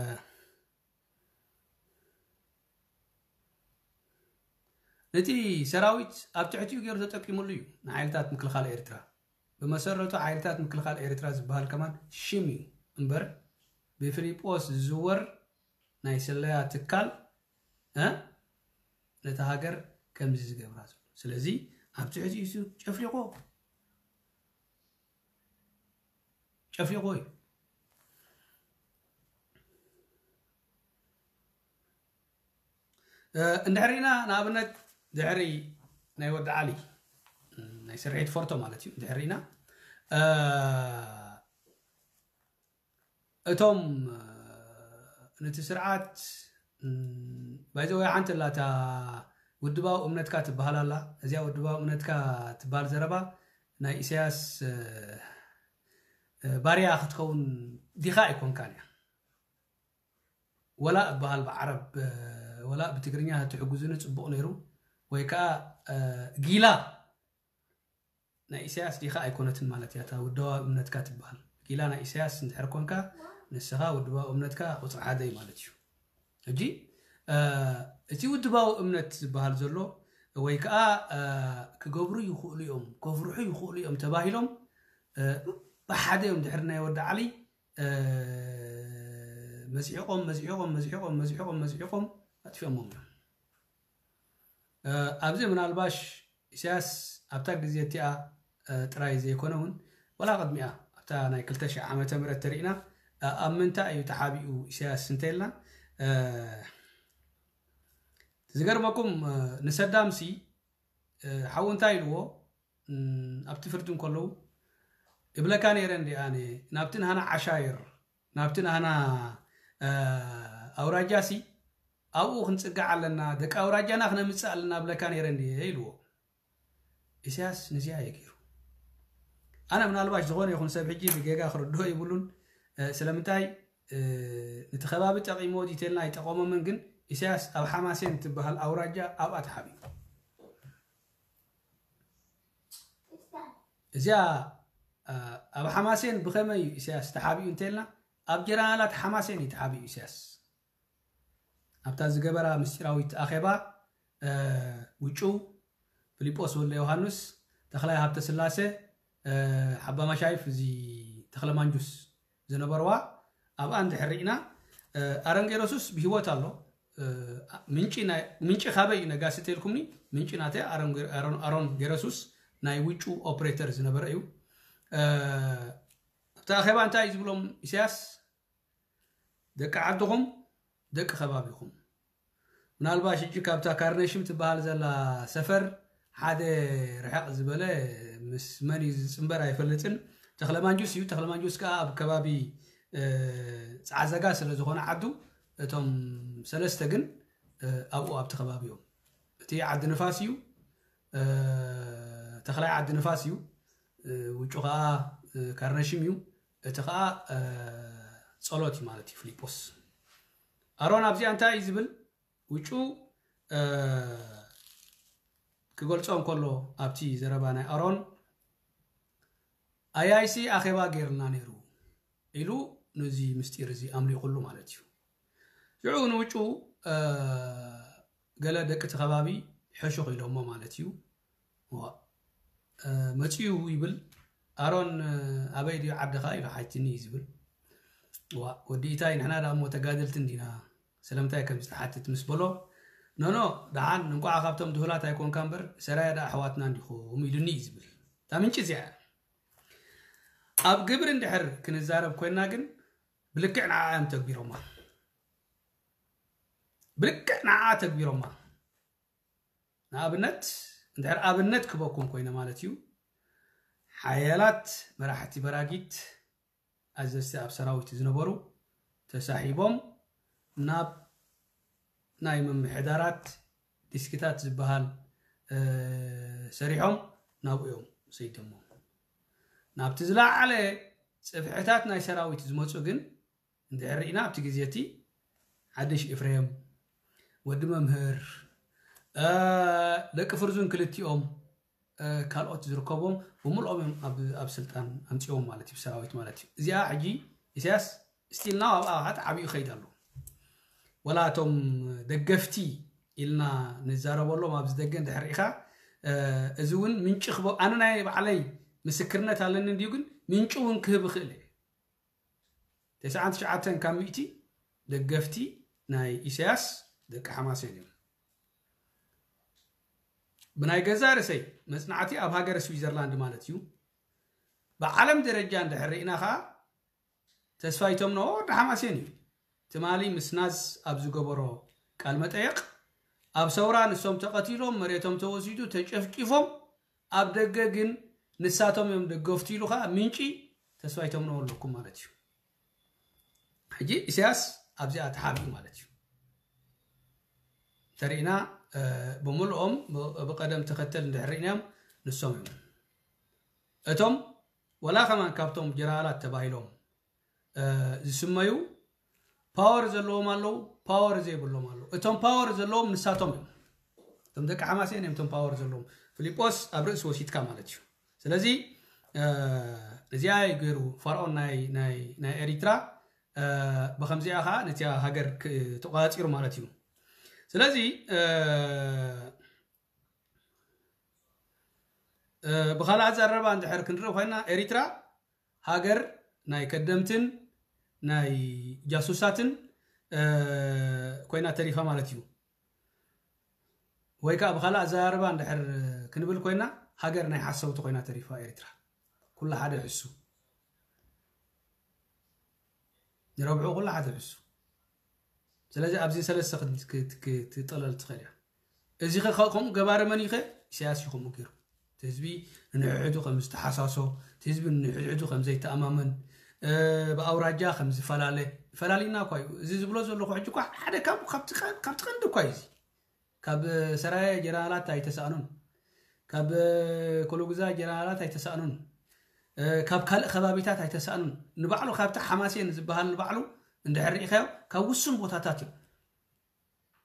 ነቲ ሰራዊት ኣብ ትሕቲኡ ገይሩ ተጠቂሙሉ እዩ፣ ንሓይልታት ምክልኻል ኤርትራ። ብመሰረቱ ሓይልታት ምክልኻል ኤርትራ ዝበሃል ከማን ሽም እዩ እምበር፣ ብፊሊጶስ ዝዝወር ናይ ስለያ ትካል፣ እ፣ ነታ ሃገር ከምዚ ዝገብራ ዘሎ። ስለዚ ኣብ ትሕቲኡ እሱ ጨፍሊቑ፣ ጨፍሊቑ እዩ። እ፣ እንድሕር ርኢና፣ ንኣብነት፣ ድሕሪ ናይ ወዲ ዓሊ፣ እ፣ ናይ ስርሒት ፎርቶ ማለት እዩ። እንድሕር ርኢና፣ እ፣ እቶም፣ እ፣ ነቲ ስርዓት፣ እ፣ ባይዘወይ ሓንቲ ኣላታ ውድባዊ እምነትካ ትበሃል ኣላ። እዚኣ ውድባዊ እምነትካ ትበሃል ዘረባ ናይ ኢሳያስ፣ እ፣ እ፣ ባርያ ክትከውን ዲኻ ኣይኮንካን እያ። ወላ እበሃል ብዓረብ፣ እ፣ ወላ ብትግርኛ ተትሕጉዙኒ ጽቡቕ ነይሩ። ወይ ከኣ፣ እ፣ ጊላ ናይ ኢሳያስ ዲኻ ኣይኮነትን ማለት እያ፣ እታ ውድባዊ እምነትካ ትበሃል። ጊላ ናይ ኢሳያስ እንድሕር ኮንካ፣ ንስኻ ውድባዊ እምነትካ ቁጽሪ ሓደ እዩ ማለት እዩ። ሕጂ፣ እ፣ እቲ ውድባዊ እምነት ዝበሃል ዘሎ፣ ወይ ከኣ፣ እ፣ ክገብሩ ይኽእሉ እዮም፣ ከፍርሑ ይኽእሉ እዮም ተባሂሎም፣ እ፣ ብሓደ እዮም ድሕሪ ናይ ወዲ ዓሊ፣ እ፣ መዝሒቖም፣ መዝሒቖም፣ መዝሒቖም፣ መዝሒቖም፣ መዝሒቖም ኣጥፊኦሞም እዮም። እ፣ ኣብዚ ምናልባሽ ኢሳያስ ኣብታ ግዜ እቲኣ፣ እ፣ ጥራይ ዘይኮነ እውን፣ ወላ ቅድሚኣ ኣብታ ናይ ክልተ ሽሕ ዓመተ ምህረት ተሪእና፣ እ፣ ኣብ ምንታይ እዩ ተሓቢኡ ኢሳያስ እንተኢልና፣ እ፣ ዝገርመኩም፣ እ፣ ንሰዳምሲ፣ እ፣ ሓው እንታይ ኢልዎ፣ እም፣ ኣብቲ ፍርዲ እንከለዉ፣ "እብለካ ነይረ እንዲ ኣነ፣ ናብቲ ናህና ዓሻይር፣ ናብቲ ናህና፣ እ፣ ኣውራጃሲ፣ ኣብኡ ክንጽጋዕ ኣለና፣ ደቂ ኣውራጃና ክነምጽእ ኣለና እብለካ ነይረ እንዲ" ኢልዎ። ኢሳያስ ንዚኣ እየ ገይሩ። ኣነ ምናልባሽ ዝኾነ ይኹን ሰብ ሕጂ ብጌጋ ክርድኦ ይብሉን፣ እ፣ ስለምንታይ፣ እ፣ ነቲ ከባቢ ጠቒምዎ ዲተልና ኣይጠቐሞምን፣ ግን ኢሳያስ ኣብ ሓማሴን ትበሃል ኣውራጃ ኣብኣ ተሓቢኡ። እዚኣ፣ እ፣ ኣብ ሓማሴን ብኸመይ እዩ ኢሳያስ ተሓቢኡ እንተልና፣ ኣብ ጀነራላት ሓማሴን እዩ ተሓቢኡ ኢሳያስ። ኣብታ ዝገበራ ምስጢራዊት ኣኼባ፣ እ፣ ውጩ፣ ፊሊጶስ ወልደ ዮሃንስ፣ ተኽላይ ሃብተስላሴ፣ እ፣ ሓባ ማሻይፍ፣ እዚ ተኽለ ማንጁስ ዝነበርዋ፣ ኣብኣ እንድሕር ርኢና ኣሮን ጌረሱስ ብህይወት ኣሎ። ምንጪ ካበይ እዩ ነጋሲ ተልኩምኒ? ምንጪ ናተ ኣሮን ገረሱስ ናይ ውጩ ኦፕሬተር ዝነበረ እዩ። ኣብቲ ኣኼባ እንታይ እዩ ዝብሎም ኢሳያስ? ደቂ ዓድኹም፣ ደቂ ከባቢኹም። ምናልባሽ ሕጂ ካብታ ካርነሽም ትበሃል ዘላ ሰፈር ሓደ ርሕቕ ዝበለ ምስ መን እዩ ዝፅንበር ኣይፈልጥን። ተኽለማንጁስ እዩ። ተኽለማንጁስ ከዓ ኣብ ከባቢ ፃዕዘጋ ስለ ዝኾነ ዓዱ፣ እቶም ሰለስተ ግን ኣብኡ ኣብቲ ከባቢ እዮም። እቲ ዓዲ ንፋስ እዩ፣ ተኽላይ ዓዲ ንፋስ እዩ፣ ውጩ ከዓ ካርነሽም እዩ። እቲ ከዓ ጸሎት እዩ ማለት እዩ። ፊልጶስ ኣሮን ኣብዚኣ እንታይ እዩ ዝብል? ውጩ ክገልጾ እንከሎ ኣብቲ ዘረባ ናይ ኣሮን ኣያይሲ ኣኼባ ገይርልና ነይሩ ኢሉ ነዚ ምስጢር እዚ ኣምሊቑሉ ማለት እዩ። ሽዑ ንውጩ ገለ ደቂ እቲ ከባቢ ሕሹኽ ኢሎሞ ማለት እዩ። መፅኡ ይብል። ኣሮን ኣበይ ድዩ ዓድኻ ኢሉ ሓትኒ እዩ ዝብል። ዋ ወዲ ኢታይ ንሕና ዳ እሞ ተጋደልቲ እንዲና ስለምንታይ ከምዚ ትሓትት ምስ በሎ፣ ኖኖ ደሓን እንቋዕ ካብቶም ድሁላት ኣይኮንካ እምበር ሰራየ ዳ ኣሕዋትና እንዲኹም ኢሉኒ እዩ ዝብል። እታ ምንጪ እዚኣ እያ። ኣብ ግብሪ እንድሕር ክንዛረብ ኮይንና ግን ብልክዕ ንዓ እዮም ተግቢሮማ። ብልክዕ ንዓ ተግቢሮማ። ንኣብነት እንድሕር ኣብነት ክበኩም ኮይነ ማለት እዩ። ሓያላት መራሕቲ በራጊት ኣዘዝቲ ኣብ ሰራዊት ዝነበሩ ተሳሒቦም ናብ ናይ ምምሕዳራት ዲስክታት ዝበሃል ሰሪሖም ናብኡ እዮም ሰይዶሞም። ናብቲ ዝለዓለ ፅፍሕታት ናይ ሰራዊት ዝመፁ ግን እንድሕር ርኢና ኣብቲ ግዜ እቲ ሓድሽ ኤፍሬም፣ ወዲ መምህር፣ ደቂ ፍርዙን ክልቲኦም ካልኦት ዝርከቦም ብምልኦም እዮም ኣብ ስልጣን ኣምፅዎም ማለት እዩ፣ ሰራዊት ማለት እዩ። እዚኣ ሕጂ ኢሳያስ ስቲልና ኣብኣ ከዓ ተዓብዩ ይኸይድ ኣሎ። ወላ እቶም ደገፍቲ ኢልና ንዛረበሎም ኣብዚ ደገ እንድሕር ርኢኻ እዚ እውን ምንጪ ክበ ኣነ ናይ ባዕለይ ምስክርነት ኣለኒ እንድዩ፣ ግን ምንጪ እውን ክህብ ይኽእል እየ። ተስዓን ትሽዓተን ካብ ሚእቲ ደገፍቲ ናይ ኢሳያስ ደቂ ሓማሴን እዮም። ብናይ ገዛ ርእሰይ መጽናዕቲ ኣብ ሃገረ ስዊዘርላንድ ማለት እዩ። ብዓለም ደረጃ እንድሕር ርኢና ኸዓ ተስፋይ ተምኖ ወዲ ሓማሴን እዩ። ትማሊ ምስ ናዝ ኣብ ዝገበሮ ቃል መጠየቕ ኣብ ሰውራ ንሶም ተቐቲሎም፣ መሬቶም ተወሲዱ፣ ተጨፍጭፎም ኣብ ደገ ግን ንሳቶም እዮም ደገፍቱ ኢሉ ከዓ ምንጪ ተስፋይ ተምነዎ ኣለኩም ማለት እዩ። ሕጂ ኢሳያስ ኣብዚኣ ተሓቢኡ ማለት እዩ። እንተሪእና ብምልኦም ብቀደም ተኸተል እንድሕር ርኢናዮም ንሶም እዮም። እቶም ወላ ከማን ካብቶም ጀነራላት ተባሂሎም ዝስመዩ ፓወር ዘለዎም ኣለዉ፣ ፓወር ዘይብሎም ኣለዉ። እቶም ፓወር ዘለዎም ንሳቶም እዮም። እቶም ደቂ ሓማሴን እዮም እቶም ፓወር ዘለዎም። ፊልጶስ ኣብ ርእሲ ወሲድካ ማለት እዩ። ስለዚ እዚኣ ገይሩ ፋርኦን ናይ ኤሪትራ ብከምዚኣ ከዓ ነቲያ ሃገር ተቋፂሩ ማለት እዩ። ስለዚ ብካልእ ኣዘራርባ እንድሕር ክንርኢ ኮይና ኤሪትራ ሃገር ናይ ከደምትን ናይ ጃሱሳትን ኮይና ተሪፋ ማለት እዩ። ወይ ከዓ ብካልእ ኣዘራርባ እንድሕር ክንብል ኮይና ሃገር ናይ ሓሰውቲ ኮይና ተሪፋ ኤሪትራ። ኩሉ ሓደ ሕሱ ንረብሑ ኩሉ ሓደ ሕሱ። ስለዚ ኣብዚ ሰለስተ ክትጠለል ትኽእል እያ። እዚ ከምኡ ገባሪ መን እዩ? ኢሳያስ እዩ ከምኡ ገይሩ። እቲ ህዝቢ ንንሕድሕዱ ከም ዝተሓሳሶ፣ እቲ ህዝቢ ንንሕድሕዱ ከም ዘይተኣማመን፣ ብኣውራጃ ከም ዝፈላለ ፈላሊና እኳ እዩ። እዚ ዝብሎ ዘለኹ ሕጂ እኳ ሓደ ካብቲ ቀንዲ እኳ እዩ። እዚ ካብ ሰራየ ጀነራላት ኣይተሳእኑን፣ ካብ ኮሎጉዛ ጀነራላት ኣይተሳእኑን፣ ካብ ካልእ ከባቢታት ኣይተሳእኑን። ንባዕሉ ካብቲ ሓማሴን ዝበሃል ንባዕሉ እንድሕር ርኢኻዮ ካብ ውሱን ቦታታት እዮም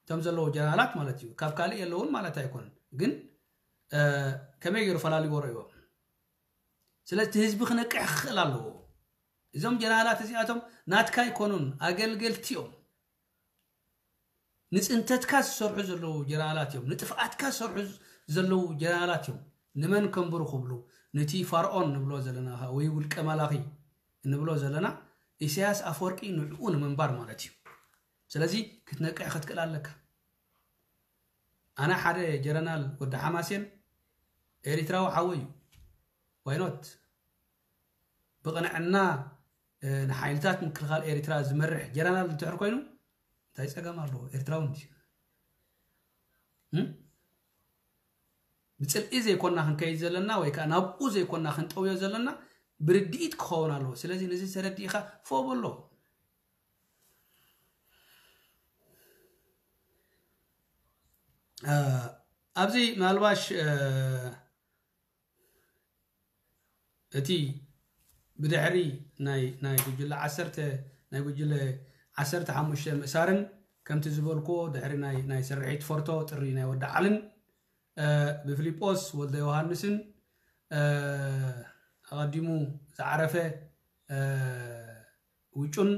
እቶም ዘለዉ ጀነራላት ማለት እዩ። ካብ ካልእ የለውን ማለት ኣይኮነን፣ ግን ከመይ ገይሩ ፈላሊዎ ረእይዎ። ስለዚ እቲ ህዝቢ ክነቅሕ ክኽእል ኣለዎ። እዞም ጀነራላት እዚኣቶም ናትካ ኣይኮኑን፣ ኣገልገልቲ እዮም። ንፅንተትካ ዝሰርሑ ዘለዉ ጀነራላት እዮም፣ ንጥፍኣትካ ዝሰርሑ ዘለዉ ጀነራላት እዮም። ንመን ከንብሩ ክብሉ፣ ነቲ ፋርኦን ንብሎ ዘለና ወይ ውልቀ መላኺ እንብሎ ዘለና ኢሳያስ ኣፈወርቂ ንዕኡ ንምንባር ማለት እዩ። ስለዚ ክትነቅሕ ክትክእል ኣለካ። ኣነ ሓደ ጀረናል ወዲ ሓማሴን ኤሪትራዊ ሓወይ እዩ። ዋይኖት ብቕንዕና ንሓይልታት ምክልኻል ኤሪትራ ዝመርሕ ጀረናል እንትሕር ኮይኑ እንታይ ጸገም ኣለዎ? ኤርትራዊ እንዲ ብጽልኢ ዘይኮና ክንከይድ ዘለና ወይ ከዓ ናብኡ ዘይኮና ክንጠውዮ ዘለና ብርድኢት ክኸውን ኣለዎ። ስለዚ ነዚ ተረዲእኻ ፎ በሎ። ኣብዚ ምናልባሽ እቲ ብድሕሪ ናይ ናይ ጉጅለ ዓሰርተ ናይ ጉጅለ ዓሰርተ ሓሙሽተ ምእሳርን ከምቲ ዝበልክዎ ድሕሪ ናይ ናይ ስርሒት ፎርቶ ጥሪ ናይ ወዲ ዓልን ብፊሊጶስ ወልደ ዮሃንስን ኣቐዲሙ ዝዓረፈ ውጩን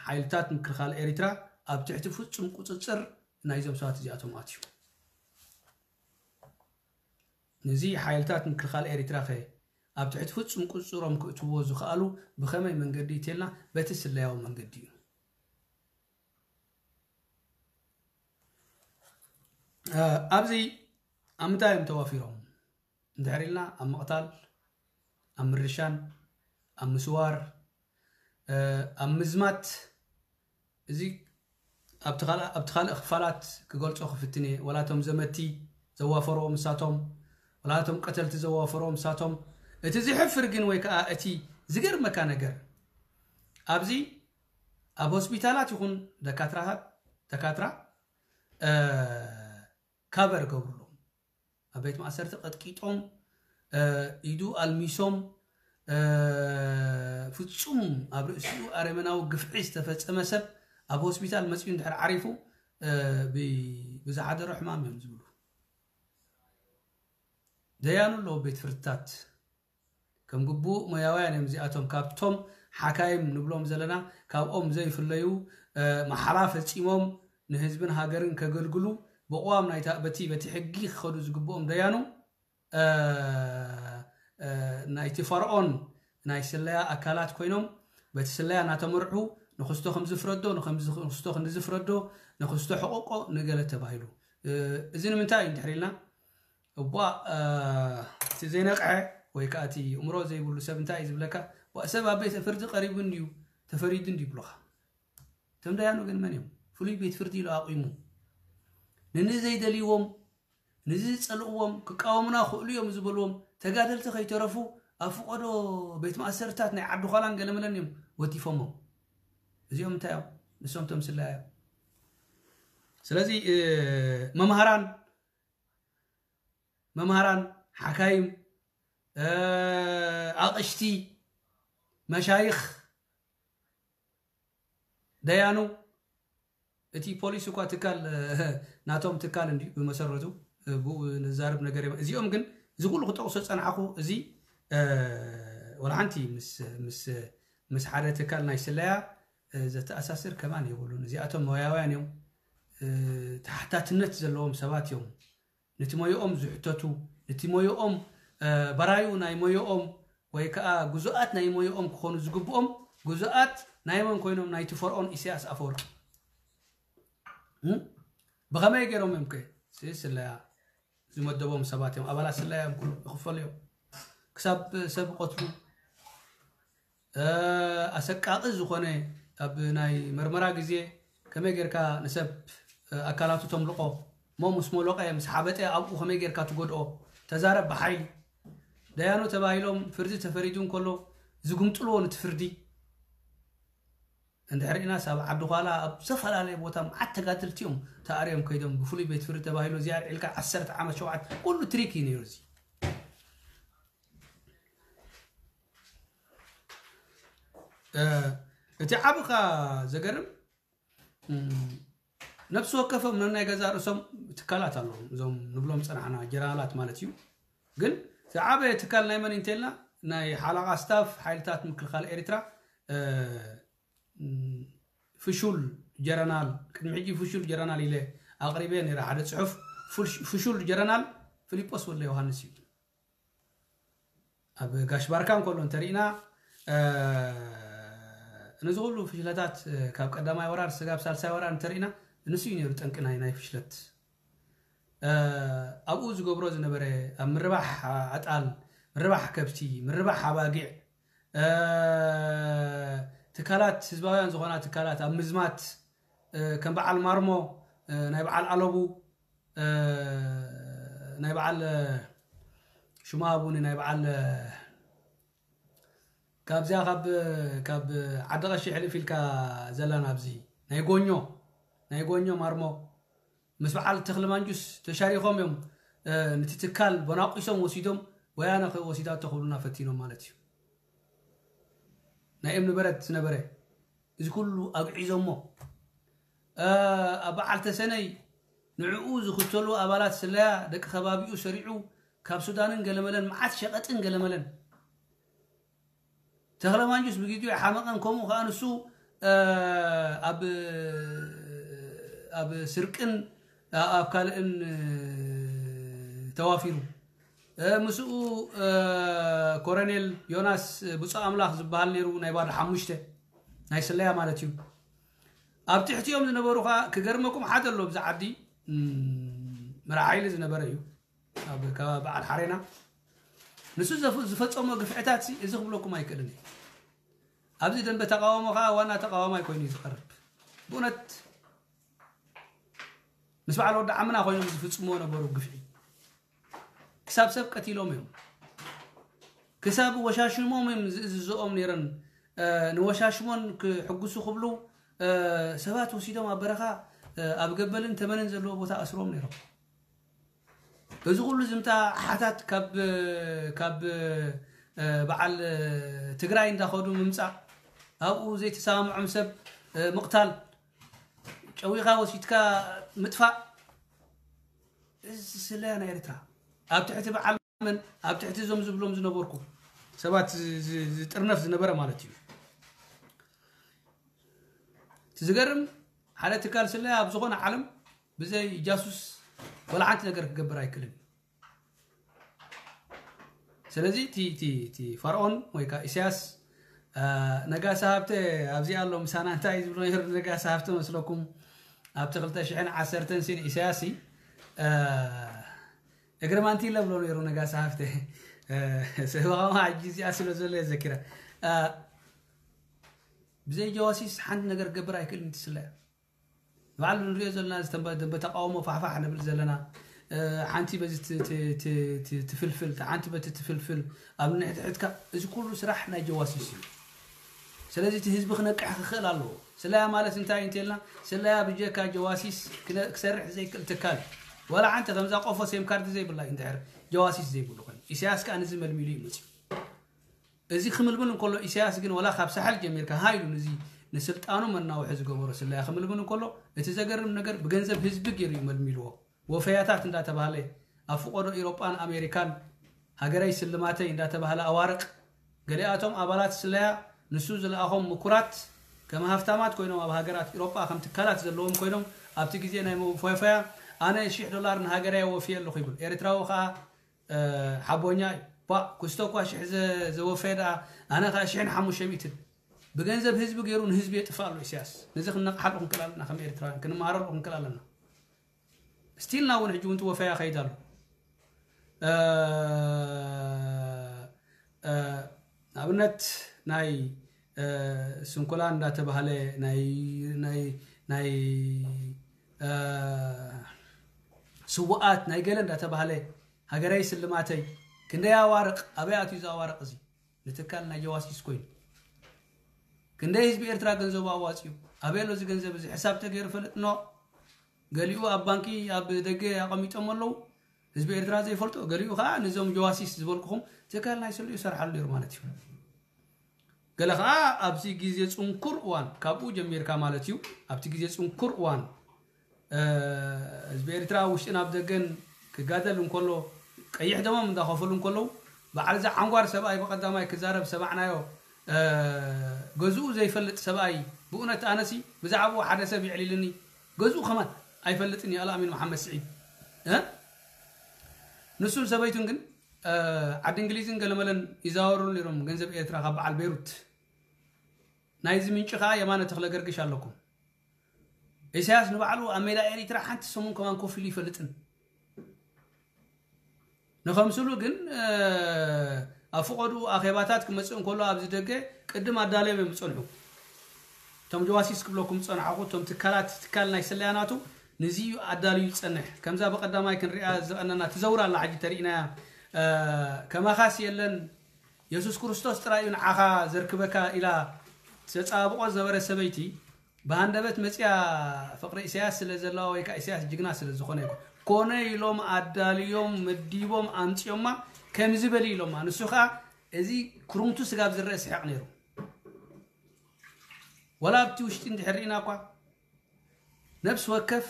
ሓይልታት ምክልኻል ኤሪትራ ኣብ ትሕቲ ፍጹም ቁጽጽር ናይዞም ሰባት እዚኣቶም ኣትዩ። ነዚ ሓይልታት ምክልኻል ኤሪትራ ከ ኣብ ትሕቲ ፍጹም ቁጽጽሮም ክእትዎ ዝኽኣሉ ብኸመይ መንገዲ ይቴልና በቲ ስለያዊ መንገዲ እዩ። ኣብዚ ኣብ ምንታይ እዮም ተዋፊሮም? እንድሕር ኢልና ኣብ ምቕታል፣ ኣብ ምርሻን፣ ኣብ ምስዋር፣ ኣብ ምዝማት፣ እዚ ኣብቲ ካልእ ክፋላት ክገልጾ ክፍትን እየ። ወላቶም ዘመቲ ዘዋፈርዎም እሳቶም፣ ወላቶም ቀተልቲ ዘዋፈርዎም እሳቶም። እቲ ዝሕፍር ግን ወይ ከዓ እቲ ዝገርመካ ነገር ኣብዚ ኣብ ሆስፒታላት ይኹን ደካትራታት ደካትራ ካቨር ገብርሎም ኣብ ቤት ማእሰርቲ ቀጥቂጦም ኢዱ ኣልሚሶም ፍጹም ኣብ ርእሲኡ ኣረመናዊ ግፍዒ ዝተፈጸመ ሰብ ኣብ ሆስፒታል መጺኡ እንድሕር ዓሪፉ ብዝሓደሮ ሕማም እዮም ዝብሉ። ደያኑ ኣለዉ ቤት ፍርድታት ከም ግቡእ ሞያውያን እዮም እዚኣቶም። ካብቶም ሓካይም ንብሎም ዘለና ካብኦም ዘይፍለዩ መሓላ ፈጺሞም ንህዝብን ሃገርን ከገልግሉ ብቕዋም ናይታ በቲ በቲ ሕጊ ክኸዱ ዝግብኦም ደያኑ ናይቲ ፈርዖን ናይ ስለያ ኣካላት ኮይኖም በቲ ስለያ እናተመርሑ ንክስቶ ከምዚ ፍረዶ ንክስቶ ክንድዚ ፍረዶ ንክስቶ ሕቆቆ ንገለ ተባሂሉ። እዚ ንምንታይ እዩ እንድሕር ኢልና እቧ እቲ ዘይነቕሐ ወይ ከዓ እቲ እምሮ ዘይብሉ ሰብ እንታይ እዩ ዝብለካ? ቧ ሰብ ኣብ ቤት ፍርዲ ቀሪቡ እንድዩ ተፈሪዱ እንድዩ ይብሉኻ። እቶም ደያኑ ግን መን እዮም? ፍሉይ ቤት ፍርዲ ኢሉ ኣቑሙ ንንዘይደልይዎም ንዝጸልእዎም ክቃወሙና ክእሉ እዮም ዝበልዎም ተጋደልቲ ከይተረፉ ኣብ ፍቐዶ ቤት ማእሰርታት ናይ ዓዲ ዃላን ገለመለን እዮም ወቲፎሞም። እዚኦም እንታይ እዮም? ንሶም ተምስላ እዮም። ስለዚ መምሃራን መምሃራን ሓካይም ኣቕሽቲ መሻይኽ ደያኑ እቲ ፖሊስ እኳ ትካል ናቶም ትካል እንዲ ብመሰረቱ ብኡ ንዛረብ ነገር እዚኦም ግን እዚ ኩሉ ክጠቕሶ ጸናዕኩ እዚ ወላ ሓንቲ ምስ ሓደ ትካል ናይ ስለያ ዘተኣሳስር ከማን የብሉን። እዚኣቶም ሞያውያን እዮም፣ ተሓታትነት ዘለዎም ሰባት እዮም። ነቲ ሞያኦም ዝሕተቱ ነቲ ሞያኦም በራዩ ናይ ሞያኦም ወይ ከዓ ጉዙኣት ናይ ሞያኦም ክኾኑ ዝግብኦም ጉዙኣት ናይ መን ኮይኖም ናይቲ ፈርዖን ኢሳያስ ኣፈወርቂ ብኸመይ ገይሮም እዮም ከ ስለያ ዝመደቦም ሰባት እዮም ኣባላት ስለያ እዮም ኩሉ ይኽፈሉ እዮም ክሳብ ሰብ ይቐትሉ ኣሰቃቒ ዝኾነ ኣብ ናይ መርመራ ግዜ ከመይ ጌርካ ንሰብ ኣካላቱ ተምልቆ እሞ ምስ መለቐ ምስ ሓበጠ ኣብኡ ከመይ ጌርካ ትጎድኦ ተዛረብ ብሓይሊ ደያኑ ተባሂሎም ፍርዲ ተፈሪዱ እንከሎ ዝጉምጥልዎ ንቲ ፍርዲ እንድሕር ኢናስ ኣብ ዓዲ ኳላ ኣብ ዝተፈላለየ ቦታ መዓት ተጋደልቲ እዮም ተኣርዮም ከይዶም ብፍሉይ ቤት ፍርዲ ተባሂሉ እዚኣ ኣልዒልካ ዓሰርተ ዓመት ሸውዓተ ኩሉ ትሪክ እዩ ነይሩ እዚ እቲ ዓብኻ ዘገርም ነብሲ ወከፎም ነናይ ገዛ ርእሶም ትካላት ኣለዎም እዞም ንብሎም ፀናሕና ጀነራላት ማለት እዩ ግን ዝዓበየ ትካል ናይ መን እንተልና ናይ ሓላቓ ስታፍ ሓይልታት ምክልኻል ኤርትራ ፍሹል ጀረናል ቅድሚ ሕጂ ፍሹል ጀረናል ኢለ ኣቕሪበ ነረ ሓደ ፅሑፍ ፍሹል ጀረናል ፊሊጶስ ወለ ዮሃንስ እዩ ኣብ ጋሽ ባርካ እንከሎ እንተሪእና ነዚ ኩሉ ፍሽለታት ካብ ቀዳማይ ወራር ስጋብ ሳልሳይ ወራር እንተርኢና፣ ንሱ እዩ ነይሩ ጠንቂ ናይ ናይ ፍሽለት። ኣብኡ ዝገብሮ ዝነበረ፣ ኣብ ምርባሕ ኣጣል፣ ምርባሕ ከብቲ፣ ምርባሕ ኣባጊዕ፣ ትካላት ህዝባውያን ዝኾና ትካላት ኣብ ምዝማት፣ ከም በዓል ማርሞ፣ ናይ በዓል ኣለቡ፣ ናይ በዓል ሽማ ኣቡኒ፣ ናይ በዓል ካብዚኣ ካብ ካብ ዓዲ ቀሺ ሕልፍ ኢልካ ዘላን ኣብዚ ናይ ጎኞ፣ ናይ ጎኞ ማርሞ ምስ በዓል ተኽሊ ማንጁስ ተሻሪኾም እዮም። ነቲ ትካል ቦናቂሶም ወሲዶም፣ ወያነ ወሲዳቶ ክብሉና ፈቲኖም ማለት እዩ። ናይ እምኒ በረት ዝነበረ እዚ ኩሉ ኣግዒዞሞ። ኣብ በዓል ተሰነይ ንዕኡ ዝኽተሉ ኣባላት ስለያ ደቂ ከባቢኡ ሰሪዑ ካብ ሱዳንን ገለመለን መዓት ሸቐጥን ገለመለን። ተኽለ ማንጁስ ብግዜኡ ሓመቐን፣ ከምኡ ከኣ ንሱ ኣብ ኣብ ስርቅን ኣብ ካልእን ተዋፊሩ። ምስኡ ኮረኔል ዮናስ ብፁዕ ኣምላኽ ዝበሃል ነይሩ፣ ናይ ባዶ ሓሙሽተ ናይ ስለያ ማለት እዩ። ኣብ ትሕቲኦም ዝነበሩ ከኣ ክገርመኩም ሓደ ኣሎ፣ ብዛ ዓዲ መራሕ ሓይሊ ዝነበረ እዩ። ኣብ ከባቢ በዓል ሓሬና ንሱ ዝፈጸሞ ግፍዕታት እዚ ክብለኩም ኣይክእልን እዩ። ኣብዚ ደንበ ተቃወሞ ከዓ ዋና ተቃዋማይ ኮይኑ እዩ ዝቀርብ። ብእውነት ምስ በዓል ወዲ ዓምና ኮይኖም ዝፍጽምዎ ነበሩ ግፍዒ። ክሳብ ሰብ ቀቲሎም እዮም። ክሳብ ወሻሽሞም እዮም ዝእዝዝኦም ነይረን። ንወሻሽሞን ክሕጉሱ ክብሉ ሰባት ወሲዶም ኣብ በረኻ ኣብ ገበልን ተመንን ዘለዎ ቦታ ኣስሮም ነይሮም። እዚ ኩሉ ዝምታ ሓታት ካብ ካብ በዓል ትግራይ እንዳኸዱ ምምፃእ፣ ኣብኡ ዘይተሰማምዖም ሰብ ምቕታል፣ ጨዊኻ ወሲድካ ምጥፋእ፣ እዚ ስለያ ናይ ኤርትራ ኣብ ትሕቲ በዓል መን፣ ኣብ ትሕቲ እዞም ዝብሎም ዝነበርኩ ሰባት ዝጥርነፍ ዝነበረ ማለት እዩ። እቲ ዝገርም ሓደ ትካል ስለያ ኣብ ዝኾነ ዓለም ብዘይ ጃሱስ ወላ ሓንቲ ነገር ክገብር ኣይክእልን። ስለዚ እቲ እቲ እቲ ፈርዖን ወይ ከዓ ኢሳያስ ነጋሳ ሃብተ ኣብዚ ኣሎ ምሳና እንታይ ዝብሎ ነይሩ? ነጋሳ ሃብተ መስለኩም ኣብቲ ክልተ ሽሕን ዓሰርተን ሲን ኢሳያስ እግሪ ማንቲለ ብሎ ነይሩ ነጋሳ ሃብተ። ሰበኻማ ሕጂ እዚኣ ስለ ዘሎ የዘኪራ። ብዘይ ጀዋሲስ ሓንቲ ነገር ክገብር ኣይክእልን ትስለ። ባዕሉ ንሪኦ ዘለና ዝተንበ ደንበ ተቃውሞ ፋሕፋሕ ንብል ዘለና ሓንቲ በዚ ትፍልፍል ሓንቲ በቲ ትፍልፍል ኣብ ንሕድሕድካ እዚ ኩሉ ስራሕ ናይ ጀዋሲስ እዩ። ስለዚ እቲ ህዝቢ ክነቅሕ ክኽእል ኣለዎ። ስለያ ማለት እንታይ እንተልና ስለያ ብጀካ ጀዋሲስ ክሰርሕ ዘይክእል ትካል ዋላ ሓንቲ ከምዛ ቆፎ ሴም ካርድ ዘይብላ እዩ። እንድሕር ጀዋሲስ ዘይብሉ ኮይኑ ኢሳያስ ከዓ ንዚ መልሚሉ እዩ መፅዩ። እዚ ክምልምል እንከሎ ኢሳያስ ግን ወላ ካብ ሳሕል ጀሚርካ ሃይሉ ንዚ ንስልጣኑ መናውሒ ዝገበሮ ስለያ ክምልምል እንከሎ እቲ ዘገርም ነገር ብገንዘብ ህዝቢ ገይሩ እዩ መልሚልዎ። ወፈያታት እንዳተባህለ ኣብ ፍቆዶ ኢሮጳን ኣሜሪካን ሃገረይ ስልማተይ እንዳተባህለ ኣዋርቕ ገሊኣቶም ኣባላት ስለያ ንሱ ዝለኣኾም ምኩራት ከም ሃፍታማት ኮይኖም ኣብ ሃገራት ኢሮጳ ከም ትካላት ዘለዎም ኮይኖም ኣብቲ ግዜ ናይ መወፈያ ኣነ ሽሕ ዶላር ንሃገረይ ወፍየ ኣለኹ ይብል። ኤርትራዊ ከዓ ሓቦኛ እዩ። ባ ኩስቶ እኳ ሽሕ ዘወፈየ ደኣ ኣነ ከዓ ሽሕን ሓሙሽተ ሚእትን ብገንዘብ ህዝቢ ገይሩ ንህዝቢ የጥፍእ ኣሎ ኢሳያስ። ነዚ ክንነቕሓሉ ክንክእል ኣለና፣ ከም ኤርትራውያን ክንመሃረሉ ክንክእል ኣለና። ስቲልና እውን ሕጂ እውን ትወፈያ ከይድ ኣሎ። ንኣብነት ናይ ስንኩላን እንዳተባህለ ናይ ናይ ናይ ስውኣት ናይ ገለ እንዳተባህለ ሃገረይ ስልማተይ ክንደይ ኣዋርቕ ኣበይ ኣትዩ እዚ ኣዋርቕ እዚ ንትካል ናይ ጀዋሲስ ኮይኑ ክንደይ ህዝቢ ኤርትራ ገንዘቡ ኣዋፂኡ ኣበይ ኣሎ እዚ ገንዘብ እዚ ሕሳብ ተገይሩ ፈልጥ ኖ ገሊኡ ኣብ ባንኪ ኣብ ደገ ኣቐሚጦም ኣለዉ ህዝቢ ኤርትራ ዘይፈልጦ ገሊኡ ከዓ ነዞም ጀዋሲስ ዝበልኩኹም ትካል ናይ ስልኡ ይሰርሓሉ ነይሩ ማለት እዩ። ገለ ከዓ ኣብዚ ግዜ ፅንኩር እዋን ካብኡ ጀሚርካ ማለት እዩ ኣብቲ ግዜ ፅንኩር እዋን ህዝቢ ኤርትራ ውሽጥን ኣብ ደገን ክጋደል እንከሎ ቀይሕ ደሞም እንዳኸፈሉ እንከለዉ በዓል እዚ ዓንጓር ሰብኣይ ብቐዳማይ ክዛረብ ሰማዕናዮ። ገዝኡ ዘይፈልጥ ሰብኣይ ብእውነት ኣነሲ ብዛዕባኡ ሓደ ሰብ የዕሊልኒ ገዝኡ ከማን ኣይፈልጥን እዩ ኣልኣሚን መሓመድ ስዒድ ንሱን ሰበይቱን ግን ዓዲ እንግሊዝን ገለመለን ይዛወሩ ነይሮም ገንዘብ ኤርትራ ካብ በዓል ቤሩት ናይዚ ምንጪ ከዓ የማነ ተኽለ ገርግሽ ኣለኩም። ኢሳያስ ንባዕሉ ኣብ ሜዳ ኤሪትራ ሓንቲ ሰሙን ከማን ኮፍ ኢሉ ይፈልጥን። ንኸምስሉ ግን ኣብ ፍቐዱ ኣኼባታት ክመፅእ እንከሎ ኣብዚ ደገ ቅድም ኣዳለዮም እዮም ዝፀንሑ። እቶም ጀዋሲስ ክብለኩም ዝፀናሕኹ እቶም ትካላት ትካል ናይ ስለያ ናቱ ንዚ እዩ ኣዳልዩ ዝፀንሕ። ከምዛ ብቐዳማይ ክንሪኣ ዝቐነና ትዘውር ኣላ ሕጂ ተሪእናያ። ከማኻስ የለን፣ የሱስ ክርስቶስ ጥራይ እዩ ንዓኻ ዘርክበካ ኢላ ዘፀባብቆ ዝነበረ ሰበይቲ ብሃንደበት መፅያ ፍቕሪ ኢሳያስ ስለ ዘለዋ ወይ ከዓ ኢሳያስ ጅግና ስለ ዝኾነ ይኮን ኮነ ኢሎም ኣዳልዮም መዲቦም ኣምፅዮማ። ከምዚ በሊ ኢሎማ። ንሱ ከዓ እዚ ክሩምቱ ስጋብ ዝረአ ስሕቕ ነይሩ። ወላ ኣብቲ ውሽጢ እንድሕር ርኢና እኳ ነብሲ ወከፍ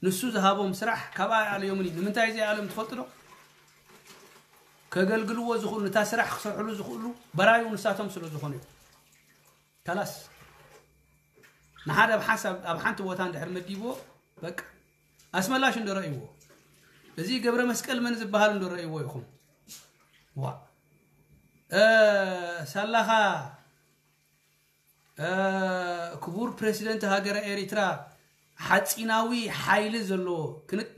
ንሱ ዝሃቦም ስራሕ ካብኣ ኣይኣለዮምን እዩ። ንምንታይ ዘይኣለዮም ትፈልጡ ዶ? ከገልግልዎ ዝኽእሉ፣ ነታ ስራሕ ክሰርሕሉ ዝኽእሉ በራዩ ንሳቶም ስለ ዝኾኑ እዩ። ካላስ ንሓደ ኣብ ሓንሳብ ኣብ ሓንቲ ቦታ እንድሕር መዲብዎ በቃ ኣስመላሽ እንዶ ረእይዎ፣ እዚ ገብረ መስቀል መን ዝበሃል እንዶ ረእይዎ ይኹም። ዋ ሳላኻ ክቡር ፕሬሲደንት ሃገረ ኤሪትራ ሓፂናዊ ሓይሊ ዘለዎ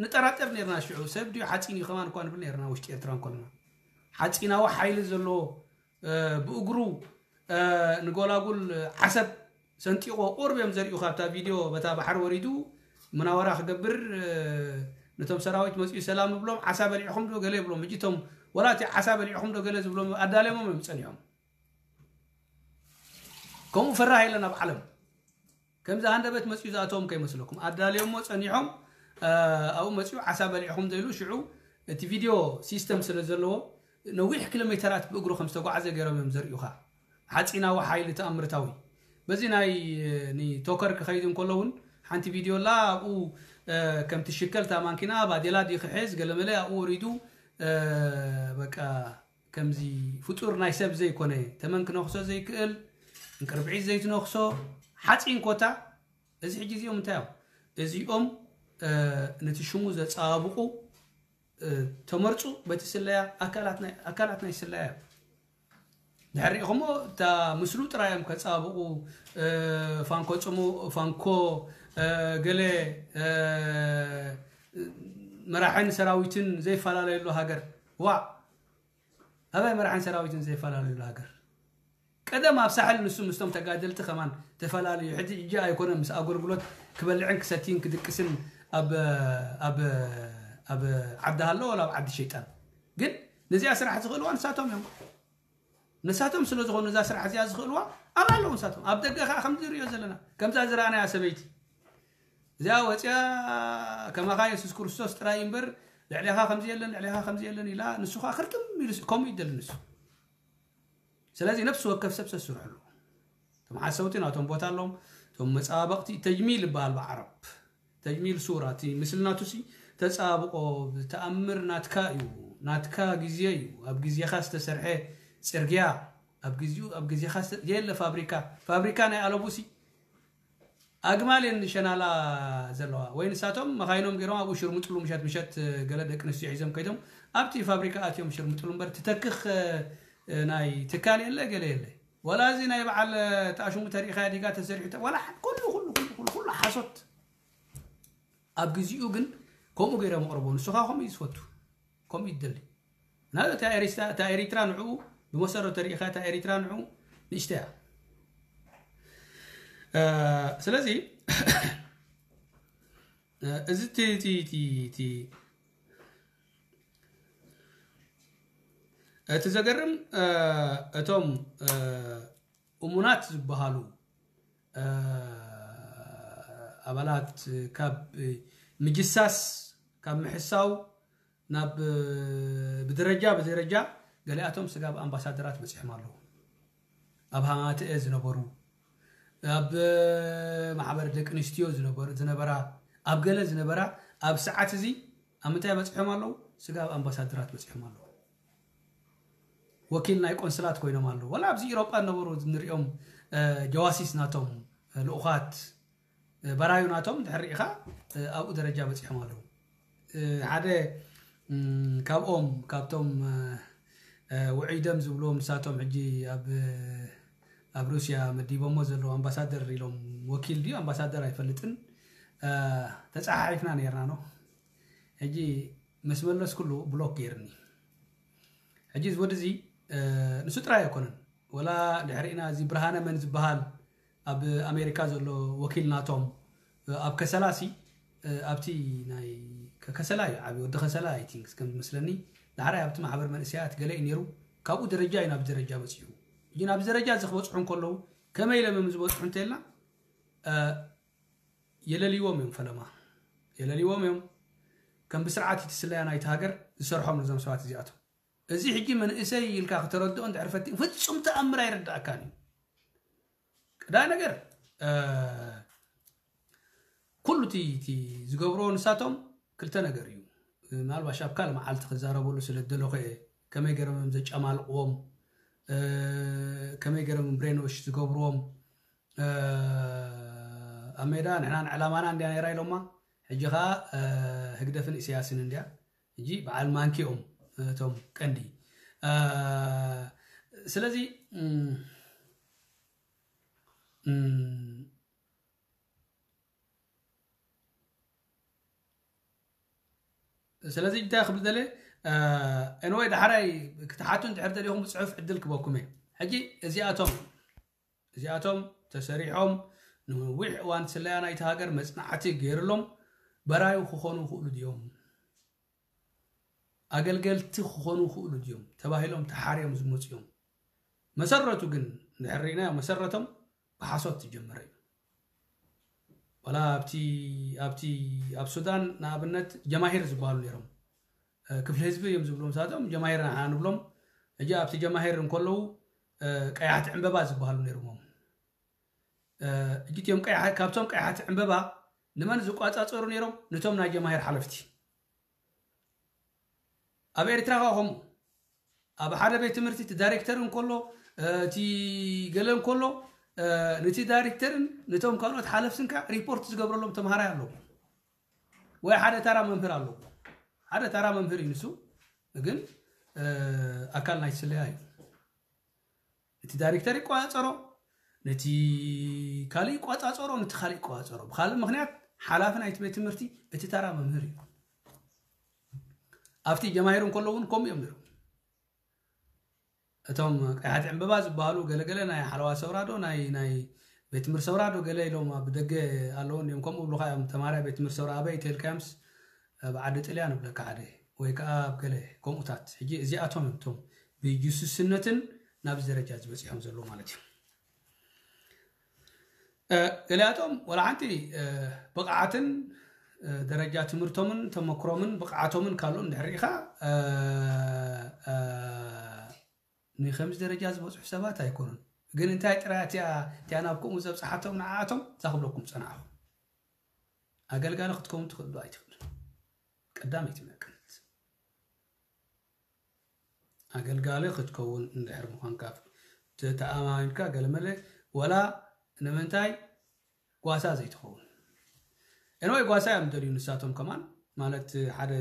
ንጠራጠር ነርና። ሽዑ ሰብ ድዩ ሓፂን እዩ ከማን እኳ ንብል ነርና ውሽጢ ኤርትራ እንኮልና ሓፂናዊ ሓይሊ ዘለዎ ብእግሩ ንጎላጉል ዓሰብ ሰንጢቆ ቁርብ እዮም ዘርእዩ ካብታ ቪድዮ በታ ባሕሪ ወሪዱ ምናወራ ክገብር ነቶም ሰራዊት መፅኡ ሰላም ብሎም ዓሳ በሊዕኹም ዶ ገለ ይብሎም እጅቶም ወላ እቲ ዓሳ በሊዕኹም ዶ ገለ ዝብሎም ኣዳልዮሞም እዮም ፀኒሖም። ከምኡ ፈራህ የለን ኣብ ዓለም። ከምዚ ሃንደበት መፅኡ ዝኣተዎም ከይመስለኩም ኣዳልዮሞ ፀኒሖም ኣብኡ መፅኡ ዓሳ በሊዕኹም ዘይሉ ሽዑ እቲ ቪድዮ ሲስተም ስለ ዘለዎ ነዊሕ ኪሎ ሜተራት ብእግሩ ከም ዝተጓዓዘ ገይሮም እዮም ዘርእዩኻ። ሓፂናዊ ሓይሊ ተኣምርታዊ በዚ ናይ ቶከር ክኸይድ እንከሎ እውን ሓንቲ ቪድዮ ላ ኣብኡ ከምቲ ሽከልታ ማንኪና ባዴላ ዲ ክሕዝ ገለመለ ኣብኡ ወሪዱ በቃ ከምዚ ፍጡር ናይ ሰብ ዘይኮነ ተመን ክነኽሶ ዘይክእል እንቅርብዒት ዘይትነኽሶ ሓፂን ኮታ። እዚ ሕጂ እዚኦም እንታይ እዮም? እዚኦም ነቲ ሽሙ ዘፀባብቑ ተመርፁ በቲ ስለያ ኣካላት ናይ ስለያ እዮም። ድሕሪኹሞ እታ ምስሉ ጥራይ እዮም ከፀባብቑ። ፋንኮ ፅሙ ፋንኮ ገለ መራሕን ሰራዊትን ዘይፈላለየሉ ሃገር ዋ ኣበይ መራሕን ሰራዊትን ዘይፈላለየሉ ሃገር? ቀደም ኣብ ሳሕል ንሱ ምስቶም ተጋደልቲ ከማን ተፈላለዩ። ሕጂ እጂ ኣይኮነ ምስ ኣገልግሎት ክበልዕን ክሰትይን ክድቅስን ኣብ ኣብ ኣብ ዓዲ ሃሎ ወላ ኣብ ዓዲ ሸይጣን ግን ነዚኣ ስራሕ ዝኽእልዋ ንሳቶም እዮም። ንሳቶም ስለ ዝኾኑ እዛ ስራሕ እዚኣ ዝኽእልዋ ኣብ ኣለዉ ንሳቶም ኣብ ደገ ከዓ ከምዚ ንሪኦ ዘለና ከምዛ ዝረኣናያ ሰበይቲ እዚኣ ወፂኣ ከማኻ የሱስ ክርስቶስ ጥራይ እምበር ልዕሌኻ ከምዚ የለን ልዕሌኻ ከምዚ የለን ኢላ ንሱ ከዓ ክርትም ኢሉ ከምኡ ይደሊ ንሱ። ስለዚ ነፍሲ ወከፍ ሰብ ሰስርሕሉ። እቶም ሓሰውቲ ናቶም ቦታ ኣለዎም። እቶም መፃባበቕቲ ተጅሚል ይበሃል ብዓረብ። ተጅሚል ሱራ እቲ ምስልናቱሲ ተፃባብቆ ብተኣምር ናትካ እዩ። ናትካ ግዜ እዩ። ኣብ ግዜኻ ዝተሰርሐ ፅርግያ ኣብ ግዜኡ ኣብ ግዜኻ የለ ፋብሪካ ፋብሪካ ናይ ኣለቡሲ ኣግማል እየን ሸናላ ዘለዋ ወይ ንሳቶም መኻይኖም ገይሮም ኣብኡ ሽርምጥሉ ምሸት ምሸት ገለ ደቂ ኣንስትዮ ሒዞም ከይዶም ኣብቲ ፋብሪካ ኣትዮም ሽርምጥሉ እምበር ትተክኽ ናይ ትካል የለ ገለ የለ ወላ እዚ ናይ በዓል ተኣሽሙ ተሪኢኻ ዲጋ ተሰሪሑ ወላ ኩሉ ኩሉ ኩሉ ኩሉ ሓሶት ኣብ ግዜኡ ግን ከምኡ ገይሮም ኣቕርቦ ንስኻ ከምኡ እዩ ዝፈቱ ከምኡ ይደሊ እና እታ ኤሪትራ ንዕኡ ብመሰረቱ ተሪኢኻ እታ ኤሪትራ ንዕኡ ንእሽተያ ስለዚ እዚ እቲ ዘገርም እቶም እሙናት ዝበሃሉ ኣባላት ካብ ምጅሳስ ካብ ምሕሳው ናብ ብደረጃ ብደረጃ ገሊኣቶም ስጋብ ኣምባሳደራት በፂሖም ኣለዉ። ኣብ ሃማተኤ ዝነበሩ ኣብ ማሕበር ደቂ ኣንስትዮ ዝነበራ ኣብ ገለ ዝነበራ ኣብ ሰዓት እዚ ኣብ ምንታይ በፂሖም ኣለዉ? ስጋብ ኣምባሳደራት በፂሖም ኣለዉ። ወኪል ናይ ቆንስላት ኮይኖም ኣለዉ። ወላ ኣብዚ ኢሮጳ ዝነበሩ ንሪኦም ጀዋሲስ ናቶም ልኡኻት በራዩ ናቶም ድሕር ርኢኻ ኣብኡ ደረጃ በፂሖም ኣለዉ። ሓደ ካብኦም ካብቶም ውዑይ ደም ዝብልዎም ንሳቶም ሕጂ ኣብ ኣብ ሩስያ መዲቦሞ ዘለዉ ኣምባሳደር ኢሎም፣ ወኪል ድዩ ኣምባሳደር ኣይፈልጥን፣ ተፃሓሒፍና ነርና ነው። ሕጂ ምስ መለስኩሉ ብሎክ ገይርኒ። ሕጂ እዚ ወዲ እዚ ንሱ ጥራይ ኣይኮነን፣ ወላ ድሕሪና እዚ ብርሃነ መን ዝበሃል ኣብ ኣሜሪካ ዘሎ ወኪል ናቶም ኣብ ከሰላሲ ኣብቲ ናይ ከሰላ እዩ ዓብዪ ወዲ ከሰላ ኣይ ቲንክ ከም ዝመስለኒ፣ ዳሕራይ ኣብቲ ማሕበር መንእሰያት ገለ እዩ ነይሩ። ካብኡ ደረጃ እዩ ናብ ደረጃ በፂሑ። ሕጂ ናብ ደረጃ እዚ ክበፅሑ እንከለዉ ከመይ ኢሎም እዮም ዝበፅሑ እንተልና፣ የለልዎም እዮም ፈለማ፣ የለልዎም እዮም። ከም ብስርዓት እቲ ስለያ ናይቲ ሃገር ዝሰርሖም ነዞም ሰባት እዚኣቶም። እዚ ሕጂ መንእሰይ ኢልካ ክተረድኦ እንድሕር ፈቲን ፍጹም ተኣምር ኣይረዳእካን እዩ። ቀዳይ ነገር ኩሉ እቲ ዝገብርዎ ንሳቶም ክልተ ነገር እዩ። ምናልባሽ ኣብ ካልእ መዓልቲ ክዛረበሉ ስለ ዝደለኹ እየ። ከመይ ገይሮም እዮም ዘጨማልቕዎም፣ ከመይ ገይሮም ብሬንወሽ ዝገብርዎም። ኣብ ሜዳ ንሕናን ዕላማና እንድያ ነይራ ኢሎማ። ሕጂ ኸዓ ህግደፍን ኢሳያስን እንድያ። ሕጂ በዓል ማንኪኦም እቶም ቀንዲ። ስለዚ ስለዚ እንታይ ክብል ደለ? ኤንወይ ዳሕራይ ክትሓቱ እንድሕር ደሊኹም ብፅሑፍ ዕድል ክበኩም እየ። ሕጂ እዚኣቶም እዚኣቶም ተሰሪሖም ንነዊሕ እዋን ስለያ ናይቲ ሃገር መፅናዕቲ ገይርሎም በራዩ ክኾኑ ይኽእሉ ድዮም? ኣገልገልቲ ክኾኑ ይኽእሉ ድዮም ተባሂሎም ተሓርዮም ዝመፁ እዮም። መሰረቱ ግን እንድሕር ርኢናዮ መሰረቶም ብሓሶት ዝጀመረ እዩ። ዋላ ኣብቲ ኣብቲ ኣብ ሱዳን ንኣብነት ጀማሂር ዝበሃሉ ነይሮም። ክፍሊ ህዝቢ እዮም ዝብሉ ንሳቶም፣ ጀማሂር ንዓና ንብሎም። ሕጂ ኣብቲ ጀማሂር እንከለዉ ቀያሕቲ ዕምበባ ዝበሃሉ ነይሮሞም። ሕጂ እቲኦም ቀያሕ- ካብቶም ቀያሕቲ ዕምበባ ንመን ዝቋፃፀሩ ነይሮም? ነቶም ናይ ጀማሂር ሓለፍቲ። ኣብ ኤርትራ ከ ከምኡ ኣብ ሓደ ቤት ትምህርቲ እቲ ዳይሬክተር እንከሎ እቲ ገለ እንከሎ ነቲ ዳይሬክተርን ነቶም ካልኦት ሓለፍትን ከ ሪፖርት ዝገብረሎም ተምሃራይ ኣለዎ ወይ ሓደ ተራ መምህር ኣለዎ። ሓደ ተራ መምህር እዩ ንሱ፣ ግን ኣካል ናይ ስለያ እዩ። ነቲ ዳይሬክተር ይቆፃፀሮ፣ ነቲ ካልእ ይቆፃፀሮ፣ ነቲ ካልእ ይቆፃፀሮ። ብካልእ ምክንያት ሓላፊ ናይቲ ቤት ትምህርቲ እቲ ተራ መምህር እዩ። ኣብቲ ጀማሂር እንከሎ እውን ከምኡ እዮም ነይሮም። እቶም ቀያሕቲ ዕምበባ ዝበሃሉ ገለገለ ናይ ሓለዋ ሰውራ ዶ ናይ ናይ ቤት ትምህርቲ ሰውራ ዶ ገለ ኢሎም ኣብ ደገ ኣለዉ እንዲኦም። ከምኡ ብሉካ እዮም ተማርያ ቤት ትምህርቲ ሰውራ ኣበይ ተልካዮምስ ኣብ ዓዲ ጥልያን እብለካ ሓደ ወይ ከዓ ኣብ ገለ ከምኡታት። ሕጂ እዚኣቶም እዮም እቶም ብጅሱስነትን ናብዚ ደረጃ ዝበፂሖም ዘለዉ ማለት እዩ። ገሊኣቶም ወላ ሓንቲ ብቕዓትን ደረጃ ትምህርቶምን ተመክሮምን ብቕዓቶምን ካልኦን ድሕር ርኢኻ ንከምዚ ደረጃ ዝበፅሑ ሰባት ኣይኮኑን። ግን እንታይ ጥራይ እቲኣ እቲኣ ናብ ከምኡ ዘብፅሓቶም ንዓኣቶም እዛ ክብለኩም ፀናዕኹ። ኣገልጋሊ ክትከውን ትኽእል ዶ ኣይትኽእልን? ቀዳመይቲ መቀነት ኣገልጋሊ ክትከውን እንድሕር ምዃንካ ተተኣማሚንካ ገለመለ ወላ ንምንታይ ጓሳ ዘይትኸውን? ኤንወይ ጓሳ እዮም ደልዩ ንሳቶም ከማን ማለት ሓደ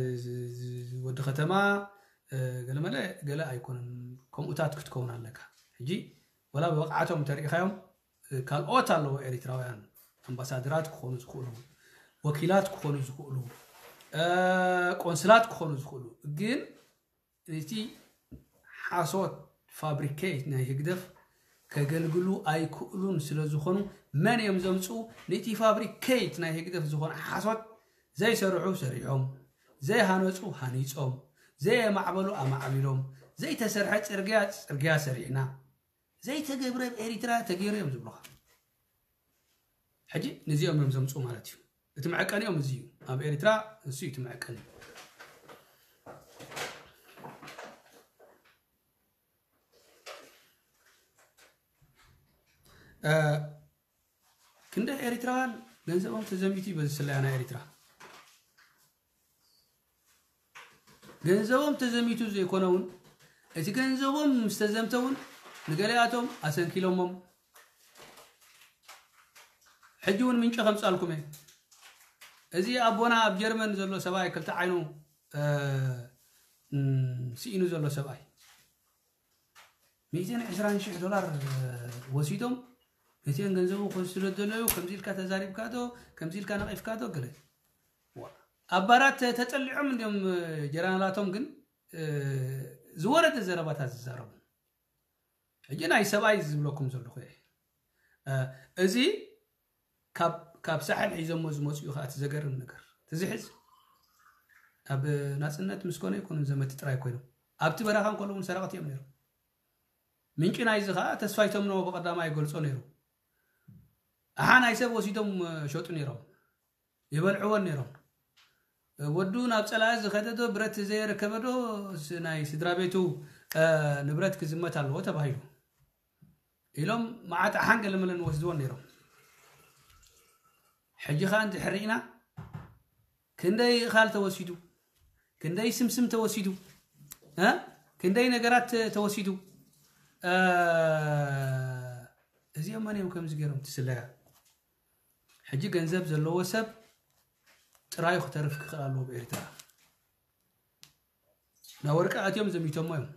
ወዲ ከተማ ገለመለ ገለ ኣይኮነን። ከምኡታት ክትከውን ኣለካ። ሕጂ ወላ ብብቕዓቶም እንተሪኢኻዮም ካልኦት ኣለዉ ኤሪትራውያን ኣምባሳደራት ክኾኑ ዝኽእሉ፣ ወኪላት ክኾኑ ዝኽእሉ፣ ቆንስላት ክኾኑ ዝኽእሉ። ግን እቲ ሓሶት ፋብሪኬት ናይ ህግደፍ ከገልግሉ ኣይክእሉን ስለ ዝኾኑ መን እዮም ዘምፅኡ? ነቲ ፋብሪኬት ናይ ህግደፍ ዝኾነ ሓሶት ዘይሰርሑ ሰሪሖም፣ ዘይሃነፁ ሃኒፆም፣ ዘየማዕበሉ ኣማዕቢሎም፣ ዘይተሰርሐ ፅርግያ ፅርግያ ሰሪሕና፣ ዘይተገብረ ኣብ ኤሪትራ ተገይሩ እዮም ዝብሉኻ። ሕጂ ነዚኦም እዮም ዘምፅኡ ማለት እዩ። እቲ መዐቀኒኦም እዚ እዩ። ኣብ ኤሪትራ እሱ እዩ እቲ መዐቀኒ። ክንደ ኤሪትራውያን ገንዘቦም ተዘሚቱ እዩ በዚ ስለያ ናይ ኤሪትራ። ገንዘቦም ተዘሚቱ ዘይኮነ እውን እቲ ገንዘቦም ምስ ተዘምተ እውን ንገሊኣቶም ኣሰንኪሎሞም። ሕጂ እውን ምንጪ ከምፃልኩም እየ። እዚ ኣቦና ኣብ ጀርመን ዘሎ ሰብኣይ ክልተ ዓይኑ ስኢኑ ዘሎ ሰብኣይ ሚእትን ዕስራን ሽሕ ዶላር ወሲዶም፣ ነቲአን ገንዘቡ ክወስዶ ዘለዩ ከምዚ ኢልካ ተዛሪብካ ዶ፣ ከምዚ ኢልካ ነቒፍካ ዶ ገለ። ኣብ ባራት ተጠሊዖም እንዲዮም ጀነራላቶም፣ ግን ዝወረደ ዘረባታት ዝዛረቡ። ሕጂ ናይ ሰብኣይ ዝብለኩም ዘለኹ እየ። እዚ ካብ ሳሕል ሒዞሞ ዝመፁ እዩ። ከኣ እቲ ዘገርም ነገር፣ እቲ ዝሕዝ፣ ኣብ ናፅነት ምስ ኮነ ኣይኮኑን ዘመቲ ጥራይ ኮይኖም፣ ኣብቲ በረኻ እንከሎ እውን ሰረቕቲ እዮም ነይሮም። ምንጪ ናይዚ ከኣ ተስፋይ ተምነዎ ብቐዳማይ ይገልጾ ነይሩ። ኣሓ ናይ ሰብ ወሲዶም ሸጡ ነይሮም፣ ይበልዕዎን ነይሮም። ወዱ ናብ ጸላኢ ዝኸደ ዶ፣ ብረት ዘየረከበ ዶ፣ ናይ ስድራ ቤቱ ንብረት ክዝመት ኣለዎ ተባሂሉ ኢሎም መዓት ኣሓን ገለመለን ወስድዎን ነይሮም። ሕጂ ኸኣ እንድሕር ርኢና ክንደይ እኻል ተወሲዱ፣ ክንደይ ስምስም ተወሲዱ፣ ክንደይ ነገራት ተወሲዱ። እዚኦም መን እዮም ከምዚ ገይሮም ትስለያ? ሕጂ ገንዘብ ዘለዎ ሰብ ጥራዩ ክተርፍ ክኽእል ኣለዎ ብኤርትራ። ናብ ወርቂ ኣትዮም ዘሚቶሞ እዮም።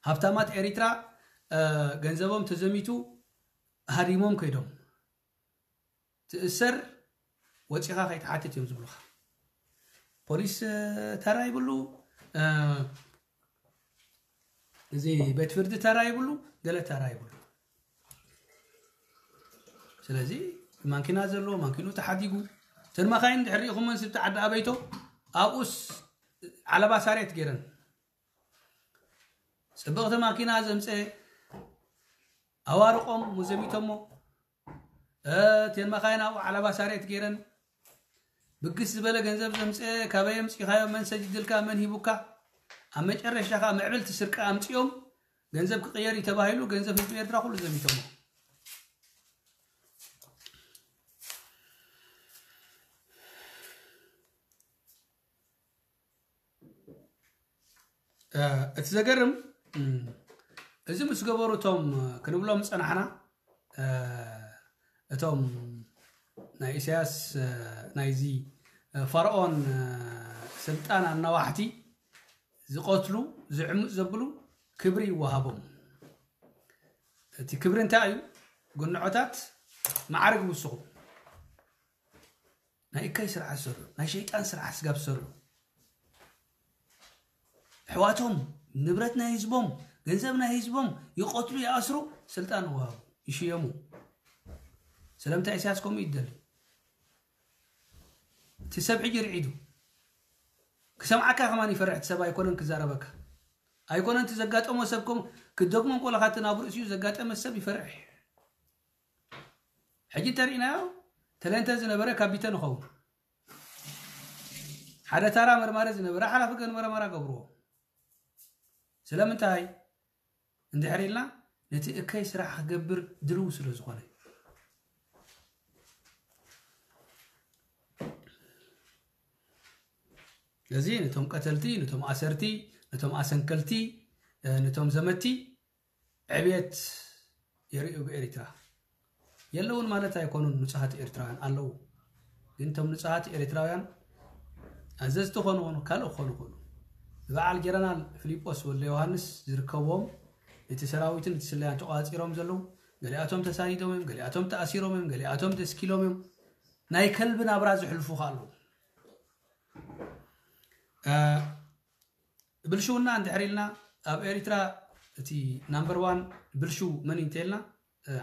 ሃብታማት ኤሪትራ ገንዘቦም ተዘሚቱ ሃዲሞም ከይዶም። ትእሰር፣ ወጺኻ ከይትሓትት እዮም ዝብሉኻ። ፖሊስ ተራ ይብሉ፣ እዚ ቤት ፍርዲ ተራ ይብሉ፣ ገለ ተራ ይብሉ። ስለዚ ማንኪና ዘሎ ማንኪኑ ተሓዲጉ፣ እተን መኻይን ድሕሪ ሪኢኹመን ስብቲ ዓዲ ኣበይቶ ኣብኡስ ዓለባ ሳሬት ገይረን። ጽብቕቲ ማኪና ዘምጸ ኣዋርቆም ሙዘሚቶሞ፣ እተን መኻይን ኣብኡ ዓለባ ሳሬት ገይረን። ብግስ ዝበለ ገንዘብ ዘምጸ ካበይ ኣምጺኻዮ፣ መን ሰጅድልካ፣ መን ሂቡካ? ኣብ መጨረሻ ከኣ ምዕብልቲ ስርቂ ኣምጺኦም ገንዘብ ክቕየር እዩ ተባሂሉ፣ ገንዘብ ህዝቢ ኤርትራ ኩሉ ዘሚቶሞ። እቲ ዘገርም፣ እዚ ምስ ገበሩ እቶም ክንብሎም ዝጸናሕና፣ እቶም ናይ ኢሳያስ፣ ናይዚ ፋርኦን ስልጣን ኣናዋሕቲ ዝቐትሉ፣ ዝዕምጽ ዘብሉ ክብሪ ይወሃቦም። እቲ ክብሪ እንታይ እዩ? ግንዖታት ማዕርግ ውስኹ። ናይ እከይ ስራሕ ዝሰርሑ፣ ናይ ሸይጣን ስራሕ ስጋብ ዝሰርሑ፣ ኣሕዋቶም፣ ንብረት ናይ ህዝቦም፣ ገንዘብ ናይ ህዝቦም ይቐትሉ፣ ይኣስሩ፣ ስልጣን ይወሃቡ፣ ይሽየሙ። ስለምንታይ ኢሳያስ ከምኡ ይደሊ? እቲ ሰብ ሕጂ ርዒዱ ክሰምዓካ ከማን ይፈርሕ። እቲ ሰብ ኣይኮነን ክዛረበካ፣ ኣይኮነን እቲ ዘጋጠሞ ሰብ ከም ክደግሞ እንቆለኻ እቲ ናብ ርእሲኡ ዘጋጠመ ሰብ ይፈርሕ። ሕጂ እንተሪእናዮ ተለንተ ዝነበረ ካቢተ ንኸውን። ሓደ ታራ መርማሪ ዝነበረ ሓላፊ ገን መርመራ ገብርዎ። ስለምንታይ እንድሕር ኢልና ነቲ እከይ ስራሕ ክገብር ድልው ስለ ዝኾነ። እዚ ነቶም ቀተልቲ፣ ነቶም ኣሰርቲ፣ ነቶም ኣሰንከልቲ፣ ነቶም ዘመቲ ዕብየት የርእዩ ብኤሪትራ። የለውን ማለት ኣይኮኑን፣ ንጹሃት ኤርትራውያን ኣለዉ። ግን እቶም ንጹሃት ኤርትራውያን ኣዘዝቲ ኮኑ ኮኑ፣ ካልእ ክኾኑ ይኽእሉ። ንበዓል ጀነራል ፊሊጶስ ወልደ ዮሃንስ ዝርከብዎም፣ እቲ ሰራዊትን እቲ ስለያን ተቖጻጺሮም ዘለዉ፣ ገሊኣቶም ተሳዲዶም እዮም፣ ገሊኣቶም ተኣሲሮም እዮም፣ ገሊኣቶም ተስኪሎም እዮም። ናይ ከልቢ ናብራ ዝሕልፉ ከኣ ኣለዉ። ብልሽውና እንድሕር ኢልና ኣብ ኤሪትራ እቲ ናምበር ዋን ብልሽው መን እዩ እንተልና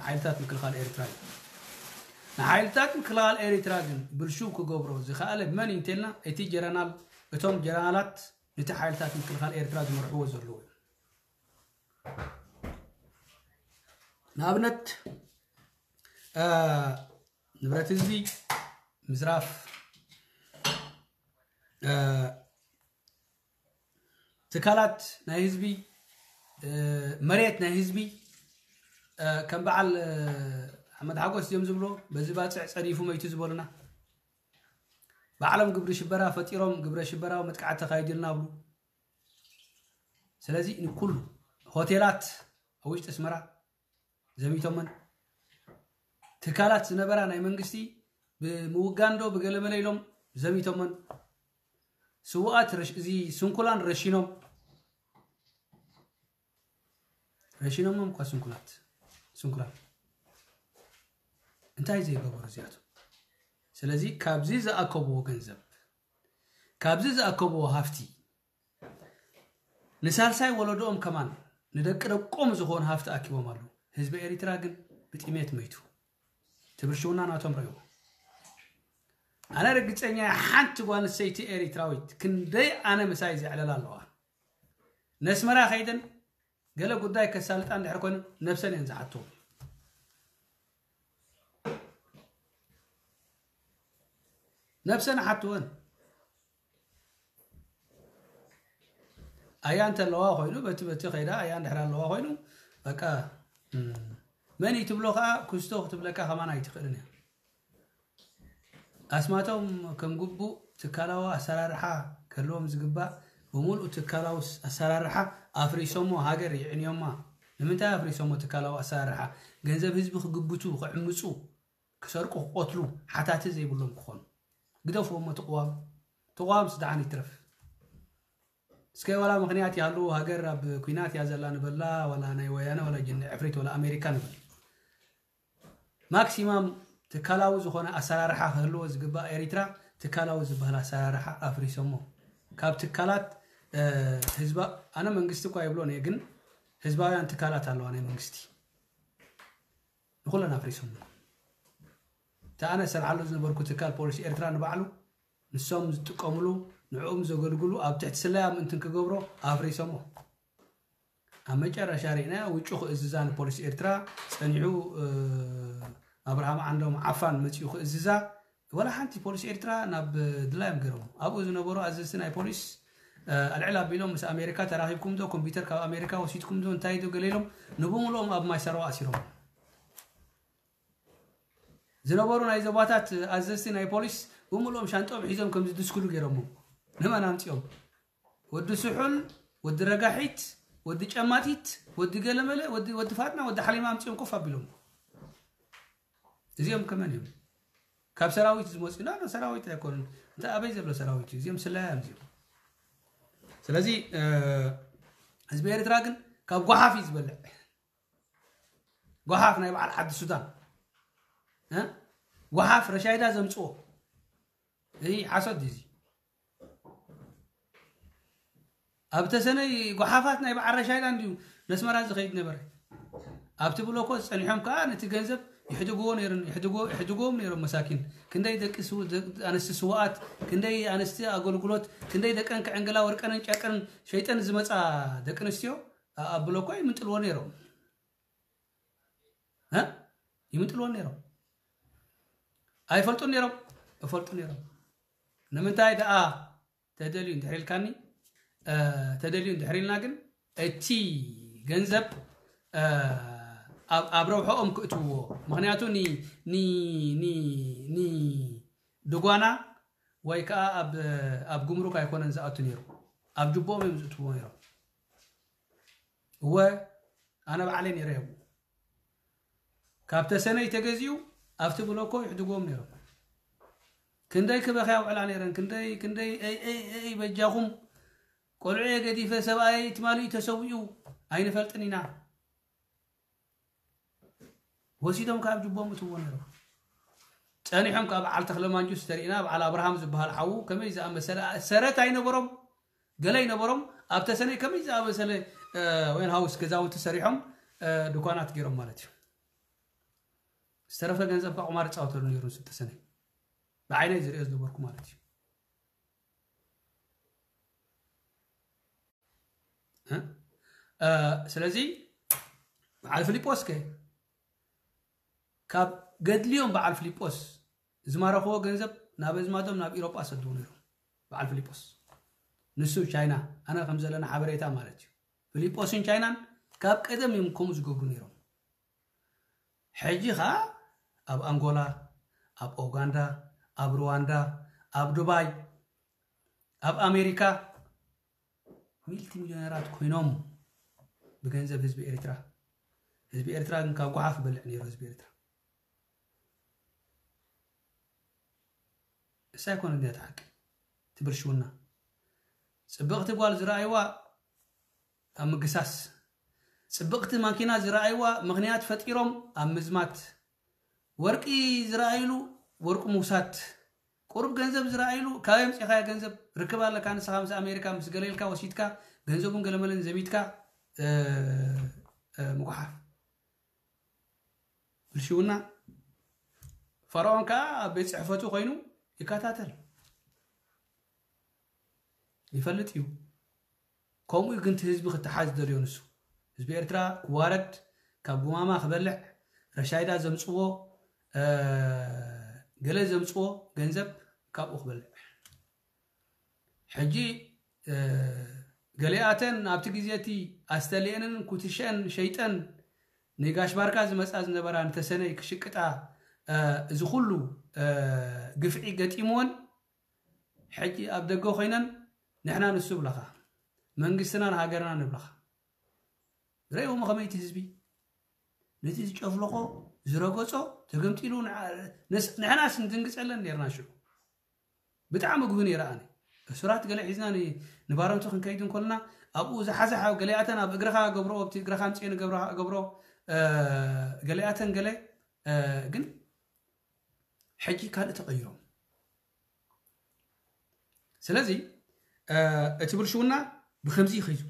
ሓይልታት ምክልኻል ኤሪትራ እዩ። ንሓይልታት ምክልኻል ኤሪትራ ግን ብልሽው ክገብሮ ዝኸኣለ መን እዩ እንተልና እቲ ጀረናል፣ እቶም ጀረናላት ነቲ ሓይልታት ምክልኻል ኤሪትራ ዝመርሕዎ ዘለዉ እዩ። ንኣብነት ንብረት ህዝቢ ምዝራፍ፣ ትካላት ናይ ህዝቢ፣ መሬት ናይ ህዝቢ፣ ከም በዓል ኣሕመድ ሓጎስ እዮም ዝብሎ፣ በዚ ባፅዕ ፀዲፉ መይቱ ዝበሉና፣ ባዕሎም ግብሪ ሽበራ ፈጢሮም ግብረ ሽበራዊ መጥቃዕቲ ተኻይዱልና ብሉ። ስለዚ ንኩሉ ሆቴላት ኣብ ውሽጢ ኣስመራ ዘሚቶመን፣ ትካላት ዝነበራ ናይ መንግስቲ ብምውጋንዶ ብገለመለ ኢሎም ዘሚቶመን፣ ስውኣት እዚ ስንኩላን ረሺኖም፣ መሽኖሞም እኳ ስንኩላት ስንኩላት እንታይ ዘይገበሩ እዚኣቶም። ስለዚ ካብዚ ዝኣከብዎ ገንዘብ፣ ካብዚ ዝኣከብዎ ሃፍቲ ንሳልሳይ ወለዶኦም ከማን ንደቂ ደቆም ዝኾኑ ሃፍቲ ኣኪቦም ኣለዉ። ህዝቢ ኤሪትራ ግን ብጥሜት መይቱ። ትብርሽውና ናቶም ረእዎ። ኣነ ርግጸኛ እየ፣ ሓንቲ ጓል ኣንስተይቲ ኤሪትራዊት ክንደይ ኣነ ምሳይ ዘዕለላ ኣለዋ። ነስመራ ከይደን ገለ ጉዳይ ከሳልጣ እንድሕር ኮይኑ ነብሰን እየን ዝሓትዎ። ነብሰን ሓትወን። ኣያ እንተለዋ ኮይኑ በቲ በቲ ከይዳ ኣያ እንድሕር ኣለዋ ኮይኑ በቃ፣ እም፣ መን እዩ ትብሎ ከዓ ክስቶ ክትብለካ ከማን ኣይትኽእልን እያ። ኣስማቶም ከም ግቡእ ትካላዊ ኣሰራርሓ ክህልዎም ዝግባእ ብምሉእ ትካላዊ ስ-፣ ኣሰራርሓ ኣፍሪሶሞ ሃገር ይዕንዮማ። ንምንታይ ኣፍሪሶሞ ትካላዊ ኣሰራርሓ? ገንዘብ ህዝቢ ክግብቱ፣ ክዕምፁ፣ ክሰርቁ፣ ክቆትሉ ሓታቲ ዘይብሎም ክኾኑ። ግደፍዎሞ እቲ ቅዋም። እቲ ቅዋም ስደሓን ይትረፍ። እስከ ዋላ ምኽንያት ይሃሉ፣ ሃገር ኣብ ኩናት እያ ዘላ ንበላ፣ ዋላ ናይ ወያነ፣ ዋላ ጅን ዕፍሪት፣ ዋላ ኣሜሪካ ንበል። ማክሲማም ትካላዊ ዝኾነ ኣሰራርሓ ክህልዎ ዝግባእ ኤሪትራ ትካላዊ ዝበሃል ኣሰራርሓ ኣፍሪሶሞ። ካብ ትካላት፣ እ፣ ህዝባ-፣ ኣነ መንግስቲ እኳ ይብሎን እየ፣ ግን ህዝባውያን ትካላት ኣለዋ ናይ መንግስቲ። ንኹለን ኣፍሪሶሞ። እቲ ኣነ ሰርሓሉ ዝነበርኩ ትካል ፖሊስ ኤርትራ ንባዕሉ ንሶም ዝጥቀምሉ፣ ንዕኦም ዘገልግሉ ኣብ ትሕቲ ስለያ ምእንትን ክገብሮ ኣፍሪሶሞ። ኣብ መጨረሻ ርኢና ውጩ ክእዝዛ ንፖሊስ ኤርትራ ጸኒሑ፣ እ፣ ኣብርሃም ዓንዶም ዓፋን መጺኡ ክእዝዛ፣ ወላ ሓንቲ ፖሊስ ኤርትራ ናብ ድላዮም ገይሮም። ኣብኡ ዝነበሩ ኣዘዝቲ ናይ ፖሊስ፣ እ፣ ኣልዕል ኣቢሎም ምስ ኣሜሪካ ተራኺብኩም ዶ፣ ኮምፒውተር ካብ ኣሜሪካ ወሲድኩም ዶ፣ እንታይ ዶ ገለ ኢሎም ንብምልኦም ኣብ ማይ ሳርዋ ኣሲሮም። ዝነበሩ ናይ ዞባታት ኣዘዝቲ ናይ ፖሊስ ብምልኦም ሻንጦም ሒዞም ከም ዝድስክሉ ገይሮሞ። ንመን ኣምጺኦም? ወዲ ስሑል፣ ወዲ ረጋሒት፣ ወዲ ጨማቲት፣ ወዲ ገለመለ፣ ወዲ፣ ወዲ ፋጥና፣ ወዲ ሓሊማ ኣምጺኦም ኮፍ ኣቢሎም። እዚኦም ከመን እዮም? ካብ ሰራዊት ዝመጹ ኢና፣ ሰራዊት ኣይኮኑን። እንተ ኣበይ ዘሎ ሰራዊት እዩ? እዚኦም ስለያ እዮም እዚኦም። ስለዚ፣ እ፣ ህዝቢ ኤርትራ ግን ካብ ጓሓፍ እዩ ዝበልዕ። ጓሓፍ ናይ በዓል ዓዲ ሱዳን፣ እ? ጓሓፍ ረሻይዳ ዘምጽኦ። እዚ ሓሶት ድዩ እዚ? ኣብ ተሰነይ ጓሓፋት ናይ በዓል ረሻይዳ እንድዩ ነስመራ ዝኸይድ ነበረ። ኣብቲ ብሎኮ ጸኒሖም ከኣ ነቲ ገንዘብ ይሕድግዎ ነይሮም፣ ይሕድግዎ፣ ይሕድግዎም ነይሮም መሳኪን። ክንደይ ደቂ ስው-፣ ደቂ ኣንስቲ ስውኣት፣ ክንደይ ኣንስቲ ኣገልግሎት፣ ክንደይ ደቀን ክዕንግላ ወርቀንን ጨርቀን ሸይጠን ዝመጻ ደቂ ኣንስትዮ ኣ-፣ ኣብ ብሎኮ ይምንጥልዎ ነይሮም። እ? ይምንጥልዎ ነይሮም። ኣይፈልጡን ነይሮም? ይፈልጡ ነይሮም። ንምንታይ ደኣ ተደልዩ እንድሕር ኢልካኒ፣ እ፣ ተደልዩ እንድሕር ኢልና ግን እቲ ገንዘብ፣ እ፣ ኣብ፣ ኣብ ረብሐኦም ክእትውዎ። ምኽንያቱ ኒ-፣ ኒ-፣ ኒ-፣ ኒ-፣ ድጓና ወይ ከዓ ኣብ፣ ኣብ ጉምሩክ ኣይኮነን ዝኣቱ ነይሩ። ኣብ ጅቦኦም እዮም ዝእትውዎ ነይሮም። እወ፣ ኣነ ባዕለይ ነይረ እየ ኣብኡ። ካብ ተሰነይ ተገዚኡ ኣብቲ ብሎኮ ይሕድግዎም ነይሮም። ክንደይ ክበኽያ ውዕላ ነይረን፣ ክንደይ፣ ክንደይ፣ "ኤይ፣ ኤይ፣ ኤይ፣ በጃኹም፣ ቆልዑ እየ ገዲፈ፣ ሰብኣየይ ትማሊ እዩ ተሰዊኡ፣ ኣይንፈልጥን ኢና።" ወሲዶም ካብ ጅቦም እትዎ ነይሮም። ጸኒሖም ካብ በዓል ተኽለ ማንጁስ ተሪእና፣ በዓል ኣብርሃም ዝበሃል ሓዉ ከመይ ዝኣመሰለ ሰረት ኣይነበሮም፣ ገለ ኣይነበሮም። ኣብ ተሰነይ ከመይ ዝኣመሰለ፣ እ፣ ዌርሃውስ ገዛውቲ ሰሪሖም፣ እ፣ ድኳናት ገይሮም ማለት እዩ። ዝተረፈ ገንዘብ ካብ ቁማር ይጻወተሉ ነይሩ ንሱ ተሰነይ። ብዓይነይ ዝሪኦ ዝነበርኩ ማለት እዩ። እ? እ፣ ስለዚ በዓል ፊሊጶስ ከ ካብ ገድልዮም በዓል ፊሊጶስ ዝማረኽዎ ገንዘብ ናብ ኣዝማዶም ናብ ኢሮጳ ሰድዎ ነይሮም። በዓል ፊሊጶስ ንሱ ቻይና፣ ኣነ ከም ዘለና ሓበሬታ ማለት እዩ። ፊሊጶስን ቻይናን ካብ ቀደም እዮም ከምኡ ዝገብሩ ነይሮም። ሕጂ ኸዓ ኣብ ኣንጎላ፣ ኣብ ኡጋንዳ፣ ኣብ ሩዋንዳ፣ ኣብ ዱባይ፣ ኣብ ኣሜሪካ ሚልቲ ሚልዮነራት ኮይኖም ብገንዘብ ህዝቢ ኤርትራ። ህዝቢ ኤርትራ ግን ካብ ጓሓፍ ይበልዕ ነይሩ ህዝቢ ኤርትራ። እሳ ኣይኮነ እንዲያ እቲ ሓቂ፣ እቲ ብልሽውና። ጽብቕቲ ጓል ዝረኣይዋ ኣብ ምግሳስ፣ ጽብቕቲ ማኪና ዝረኣይዋ ምኽንያት ፈጢሮም ኣብ ምዝማት፣ ወርቂ ዝረኣይሉ ወርቂ ምውሳድ፣ ቁሩብ ገንዘብ ዝረኣይሉ ካበይ ኣምጺእኻዮ ገንዘብ ርክብ ኣለካ ንስኻ ምስ ኣሜሪካ ምስ ገለ ኢልካ ወሲድካ ገንዘቡን ገለመለን ዘሚትካ ምጉሓፍ። ብልሽውና ፈርዖን ከዓ ኣብ ቤት ጽሕፈቱ ኮይኑ ይከታተል ይፈልጥ እዩ። ከምኡ እዩ ግን እቲ ህዝቢ ክተሓዝ ዝደልዮ ንሱ። ህዝቢ ኤርትራ ክዋረድ፣ ካብ ጉማማ ክበልዕ፣ ረሻይዳ ዘምፅዎ ገለ ዘምፅዎ ገንዘብ ካብኡ ክበልዕ። ሕጂ ገሊኣተን ኣብቲ ግዜ እቲ ኣስተልየንን ኩትሸን ሸይጠን ንጋሽ ባርካ ዝመፃ ዝነበራ ንተሰነይ ክሽቅጣ እዚ ኩሉ ግፍዒ ገጢምወን ሕጂ ኣብ ደገ ኮይነን ንሕና ንሱ ብለኻ መንግስትና ንሃገርና ንብለኻ ረእዎም ከመይቲ ህዝቢ ነቲ ዝጨፍለቆ ዝረገጾ ተገምጢሉ ንሕናስ ንድንግጸለን ነርና ሽዑ ብጣዕሚ ግሁ ነይረ ኣነ እሱራት ገለ ሒዝና ንባረንቱ ክንከይድ እንኮልና ኣብኡ ዝሓዘ ገሊኣተን ኣብ እግርኻ ገብሮ ኣብቲ እግርኻ ምፅኤ ንገብሮ ገሊኣተን ገለ ግን ሕጂ ካልእ ተቐይሮም ስለዚ እቲ ብልሽውና ብከምዚ ይኸይዙ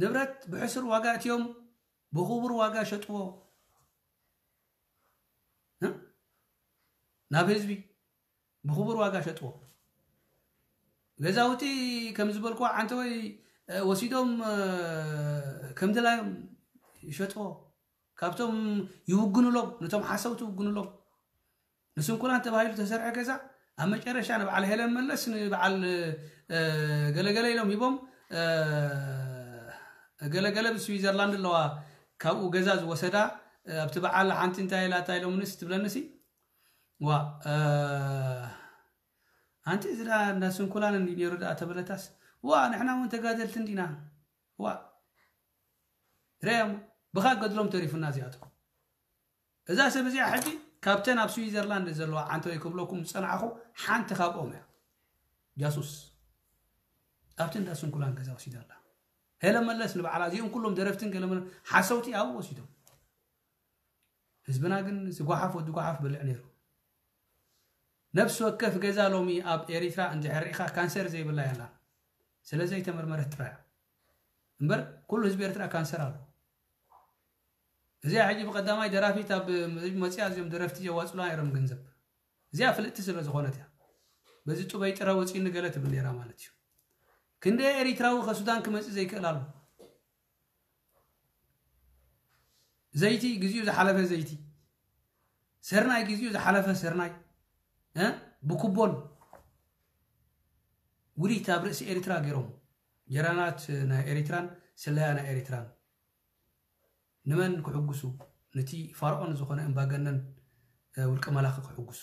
ንብረት ብሕሱር ዋጋ እትዮም ብኽቡር ዋጋ ሸጥዎ ናብ ህዝቢ ብኽቡር ዋጋ ሸጥዎ ገዛውቲ ከም ዝበልኩ ዓንተወይ ወሲዶም ከም ድላዮም ይሸጥዎ ካብቶም ይውግኑሎም ነቶም ሓሰውቲ ይውግኑሎም ንስንኩላን ተባሂሉ ተሰርሐ ገዛ ኣብ መጨረሻ ንበዓል ሄለን መለስ ንበዓል ገለገለ ኢሎም ሂቦም ገለገለ ብስዊዘርላንድ ኣለዋ ካብኡ ገዛ ዝወሰዳ ኣብቲ በዓል ሓንቲ እንታይ ኢላታ ኢሎምንስ ትብለንሲ ዋ ኣንቲ እዚ እንዳ ስንኩላን እንዲ ነይሩ ደኣ ተበለታስ ዋ ንሕና እውን ተጋደልቲ እንዲና ዋ ረያም ብኻ ገድሎም ተሪፉና እዚኣቶም እዛ ሰብ እዚኣ ሕጂ ካብተን ኣብ ስዊዘርላንድ ዘለዋ ዓንተወይ ክብለኩም ዝፀናዕኹ ሓንቲ ካብኦም እያ ጃሱስ ኣብቲ እንዳ ስንኩላን ገዛ ወሲዳ ኣላ ሄለ መለስ ንባዕላ እዚኦም ኩሎም ደረፍትን ገለመለ ሓሰውቲ ኣብኡ ወሲዶም ህዝብና ግን ዝጓሓፍ ወዲ ጓሓፍ በልዕ ነይሩ ነፍሲ ወከፍ ገዛ ሎሚ ኣብ ኤሪትራ እንድሕር ሪኢኻ ካንሰር ዘይብላ ያላ ስለ ዘይተመርመረት ጥራያ እምበር ኩሉ ህዝቢ ኤርትራ ካንሰር ኣሎ እዚኣ ሕጂ ብቀዳማይ ደራፊት ኣብ መፅያ እዚኦም ደረፍቲ የዋፅሉ ነይሮም ገንዘብ እዚኣ ፍልጥቲ ስለ ዝኾነት እያ በዚ ጡበይ ጥረ ወፂኒ ገለ ትብል ነይራ ማለት እዩ ክንደ ኤሪትራዊ ከሱዳን ክመፅእ ዘይክእል ኣሎ ዘይቲ ግዚኡ ዝሓለፈ ዘይቲ ስርናይ ግዚኡ ዝሓለፈ ስርናይ ብኩቦን ውዲት ኣብ ርእሲ ኤሪትራ ገይሮም ጀራናት ናይ ኤሪትራን ስለያ ናይ ኤሪትራን ንመን ክሕጉሱ ነቲ ፋርኦን ዝኾነ እምባገነን ውልቀ መላኺ ክሕጉሱ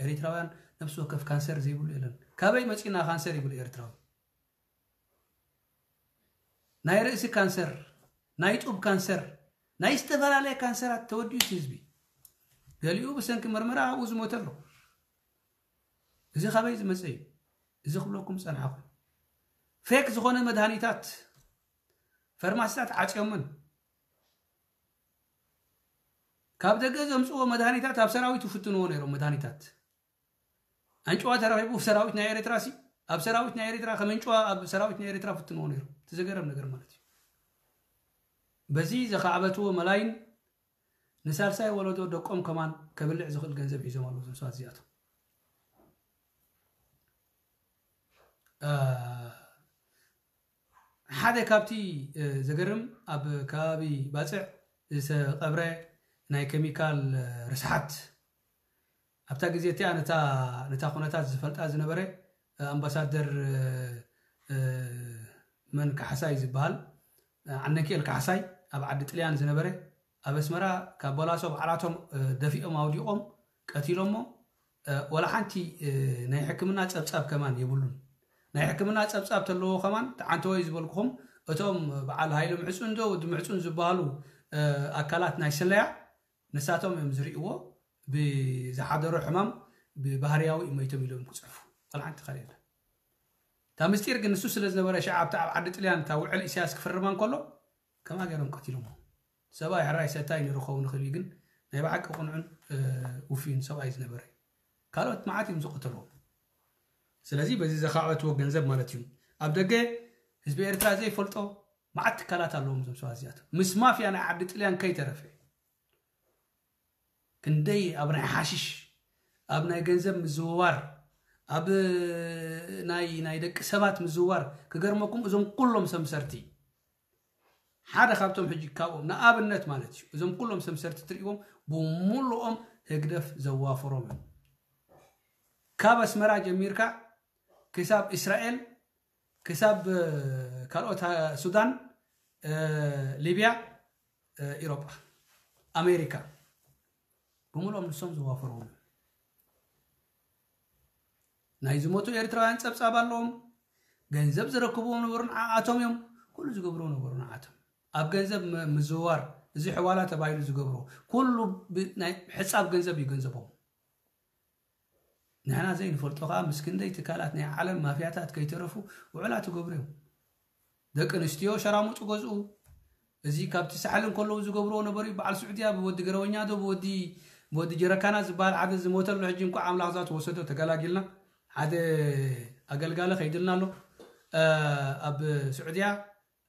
ኤሪትራውያን ነብሲ ወከፍ ካንሰር ዘይብሉ የለን ካበይ መፂና ካንሰር ይብል ኤርትራዊ ናይ ርእሲ ካንሰር ናይ ጡብ ካንሰር ናይ ዝተፈላለየ ካንሰራት ተወዲኡ ህዝቢ ገሊኡ ብሰንኪ መርመራ ኣብኡ ዝሞተ ኣሎ እዚ ካበይ ዝመፀ እዩ እዚ ክብለኩም ፀንሓኹ ፌክ ዝኾነ መድሃኒታት ፈርማሲታት ዓፅዮምን ካብ ደገ ዘምፅዎ መድሃኒታት ኣብ ሰራዊት ይፍትንዎ ነይሮም መድሃኒታት ኣንጭዋ ተረኺቡ ሰራዊት ናይ ኤርትራ ሲ ኣብ ሰራዊት ናይ ኤርትራ ከም ኣንጭዋ ኣብ ሰራዊት ናይ ኤርትራ ፍትንዎ ነይሮም እቲ ዘገረም ነገር ማለት እዩ በዚ ዘኻዕበትዎ መላይን ንሳልሳይ ወለዶ ደቆም ከማን ከብልዕ ዝኽእል ገንዘብ ሒዞም ኣለዉ እዞም ሰባት እዚኣቶም ሓደ ካብቲ ዘገርም ኣብ ከባቢ ባፅዕ ዝተቐብረ ናይ ኬሚካል ርስሓት ኣብታ ግዜ እቲኣ ነታ ኩነታት ዝፈልጣ ዝነበረ ኣምባሳደር መን ካሕሳይ ዝበሃል ዓነኪኤል ካሕሳይ ኣብ ዓዲ ጥልያን ዝነበረ ኣብ ኣስመራ ካብ በላሶ ባዕላቶም ደፊኦም ኣውዲቖም ቀቲሎሞ ወላ ሓንቲ ናይ ሕክምና ጸብጻብ ከማን የብሉን። ናይ ሕክምና ጸብጻብ ተለዎ ከማን ተዓንተወይ ዝበልኩኹም እቶም በዓል ሃይለ ምዕጹን ዶ ወዲ ምዕጹን ዝበሃሉ ኣካላት ናይ ስለያ ንሳቶም እዮም ዝርእይዎ። ብዝሓደሮ ሕማም ብባህርያዊ እዩ መይቶም ኢሎም ክጽሕፉ ወላ ሓንቲ ካልእ የለን። እታ ምስጢር ግን ንሱ ስለ ዝነበረ፣ ሸዓ ኣብታ ኣብ ዓዲ ጥልያን እታ ውዕል ኢሳያስ ክፍርማ እንከሎ፣ ከምኣ ገይሮም ቀቲሎሞ። ሰብኣይ ሕራይ ሰታይ ነይሩ ክኸውን ይኽእል እዩ፣ ግን ናይ ብሓቂ ቅኑዕን ውፍይን ሰብኣይ ዝነበረ እዩ። ካልኦት መዓት እዮም ዝቐተልዎም። ስለዚ በዚ ዘኻዕበትዎ ገንዘብ ማለት እዩ። ኣብ ደገ ህዝቢ ኤርትራ ዘይፈልጦ መዓት ትካላት ኣለዎም እዞም ሰባት እዚኣቶም፣ ምስ ማፍያ ናይ ዓዲ ጥልያን ከይተረፈ። ክንደይ ኣብ ናይ ሓሽሽ፣ ኣብ ናይ ገንዘብ ምዝውዋር፣ ኣብ ናይ ናይ ደቂ ሰባት ምዝውዋር። ክገርመኩም፣ እዞም ኩሎም ሰምሰርቲ፣ ሓደ ካብቶም ሕጂ ካብኦም ንኣብነት ማለት እዩ፣ እዞም ኩሎም ሰምሰርቲ ትርእዎም፣ ብምሉኦም ህግደፍ ዘዋፈሮም እዮም። ካብ ኣስመራ ጀሚርካ ክሳብ እስራኤል፣ ክሳብ ካልኦት ሱዳን፣ ሊብያ፣ ኢሮጳ፣ ኣሜሪካ፣ ብምሉኦም ንሶም ዘዋፈርዎም እዮም። ናይ ዝሞቱ ኤርትራውያን ጸብጻብ ኣለዎም። ገንዘብ ዝረክብዎም ነበሩ ንዓኣቶም እዮም። ኩሉ ዝገብርዎ ነበሩ ንዓኣቶም። ኣብ ገንዘብ ምዝዋር፣ እዚ ሕዋላ ተባሂሉ ዝገብሮ ኩሉ ናይ ሕጻብ ገንዘብ እዩ ገንዘቦም። ንሕና ዘይንፈልጦ ከዓ ምስ ክንደይ ትካላት ናይ ዓለም ማፍያታት ከይተረፉ ውዕላት ይገብሩ እዮም። ደቂ ኣንስትዮ ሸራሙጡ ገዝኡ። እዚ ካብቲ ሳሕል እንከለዉ ዝገብርዎ ነበሩ እዩ። በዓል ስዑድያ ብወዲ ገረወኛ ዶ ብወዲ ብወዲ ጀረካና ዝበሃል ሓደ ዝሞተሉ፣ ሕጂ እንኳ ኣምላኽ ዛት ወሰዶ ተገላጊልና። ሓደ ኣገልጋሊ ከይድልና ኣሎ። ኣብ ስዑድያ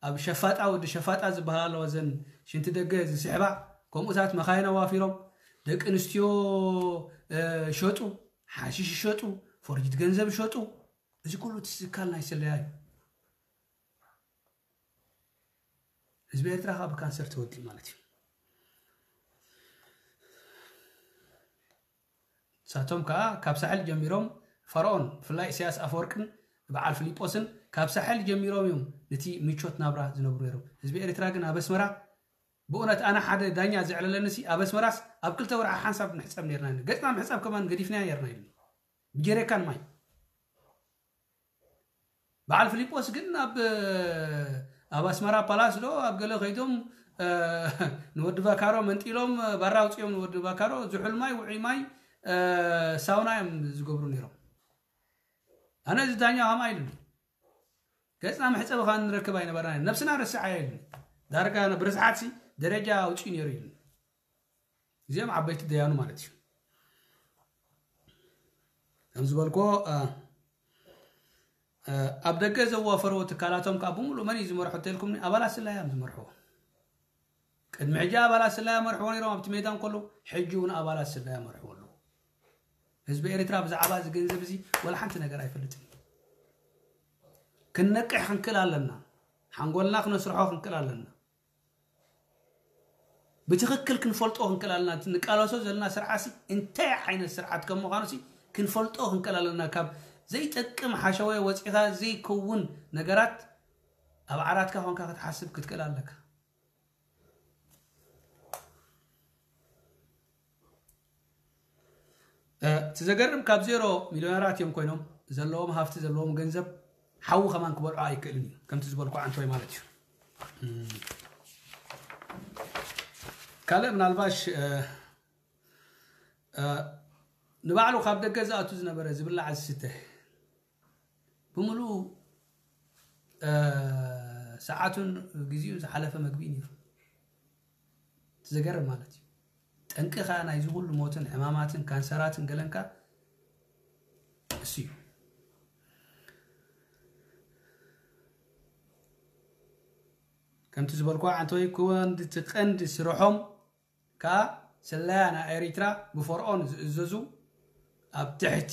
ኣብ ሸፋጣ፣ ወዲ ሸፋጣ ዝበሃል ኣለዋ፣ እዘን ሽንቲ ደገ ዝስሕባ፣ ከምኡታት መኻይን ኣዋፊሮም፣ ደቂ ኣንስትዮ ሸጡ፣ ሓሽሽ ሸጡ፣ ፎርጅት ገንዘብ ሸጡ። እዚ ኩሉ እቲ ትካል ናይ ስለያ እዩ። ህዝቢ ኤርትራ ካብ ካንሰር ተወዲኡ ማለት እዩ። ንሳቶም ከኣ ካብ ሳሕል ጀሚሮም፣ ፈርኦን ብፍላይ ኢሳያስ ኣፈወርቅን በዓል ፊሊጶስን ካብ ሳሕል ጀሚሮም እዮም ነቲ ምቾት ናብራ ዝነብሩ ነይሮም። ህዝቢ ኤርትራ ግን ኣብ ኣስመራ፣ ብእውነት ኣነ ሓደ ዳኛ ዘዕለለኒ ሲ፣ ኣብ ኣስመራስ ኣብ ክልተ ወርሒ ሓንሳብ ንሕጸብ ነርና። ገጽና ምሕጻብ ከማን ገዲፍና ነርና ኢሉ፣ ብጀሪካን ማይ። በዓል ፊሊጶስ ግን ኣብ ኣብ ኣስመራ ፓላስ ዶ ኣብ ገለ ከይዶም ንወዲ ቫካሮ መንጢሎም፣ ባራ ኣውፅኦም ንወዲ ቫካሮ ዝሑል ማይ፣ ውዑይ ማይ፣ ሳውና እዮም ዝገብሩ ነይሮም። ኣነ እዚ ዳኛ ከምኣ ኢሉኒ፣ ገፅና መሕፀቢ ከዓ ንረክብ ኣይነበርና፣ ነብስና ረስዓ ኢሉኒ። ዳርጋ ብርዝሓት ሲ ደረጃ ኣውፅኡ ነይሩ ኢሉኒ። እዚኦም ዓበይቲ ደያኑ ማለት እዩ። ከም ዝበልኮ ኣብ ደገ ዘዋፈርዎ ትካላቶም ከዓ ብምሉእ መን እዩ ዝመርሖ ተልኩምኒ? ኣባላት ስለያ እዮም ዝመርሕዎ። ቅድሚ ሕጂ ኣባላት ስለያ መርሕዎ ነይሮም ኣብቲ ሜዳ እንከሎ፣ ሕጂ እውን ኣባላት ስለያ መርሕዎ ኣለዉ። ህዝቢ ኤርትራ ብዛዕባ እዚ ገንዘብ እዚ ወላ ሓንቲ ነገር ኣይፈልጥን። ክንነቅሕ ክንክእል ኣለና። ሓንጎልና ክነስርሖ ክንክእል ኣለና። ብትኽክል ክንፈልጦ ክንክእል ኣለና። እቲ ንቃለሶ ዘለና ስርዓትሲ እንታይ ዓይነት ስርዓት ከም ምዃኑሲ ክንፈልጦ ክንክእል ኣለና። ካብ ዘይጠቅም ሓሸወ ወፂኻ ዘይከውን ነገራት ኣብ ዓራትካ ኮንካ ክትሓስብ ክትክእል ኣለካ። እቲ ዘገርም ካብ ዜሮ ሚልዮነራት እዮም ኮይኖም፣ ዘለዎም ሃፍቲ ዘለዎም ገንዘብ ሓዊ ከማን ክበልዖ ኣይክእልን እዩ። ከምቲ ዝበልኩ ዓንቶይ ማለት እዩ። ካልእ ምናልባሽ ንባዕሉ ካብ ደገ ዝኣቱ ዝነበረ ዝብላዕ ዝስተ ብምሉኡ ሰዓቱን ግዜኡን ዝሓለፈ መግቢ ነይሩ። እቲ ዘገርም ማለት እዩ። ጠንቅኻ ናይዚ ኩሉ ሞትን ሕማማትን ካንሰራትን ገለንካ እሱ እዩ። ከምቲ ዝበልኩ ዓንቶይ ክወንድቲ ቀንዲ ስርሖም ከኣ ስለያ ናይ ኤሪትራ ብፈርኦን ዝእዘዙ ኣብ ትሕቲ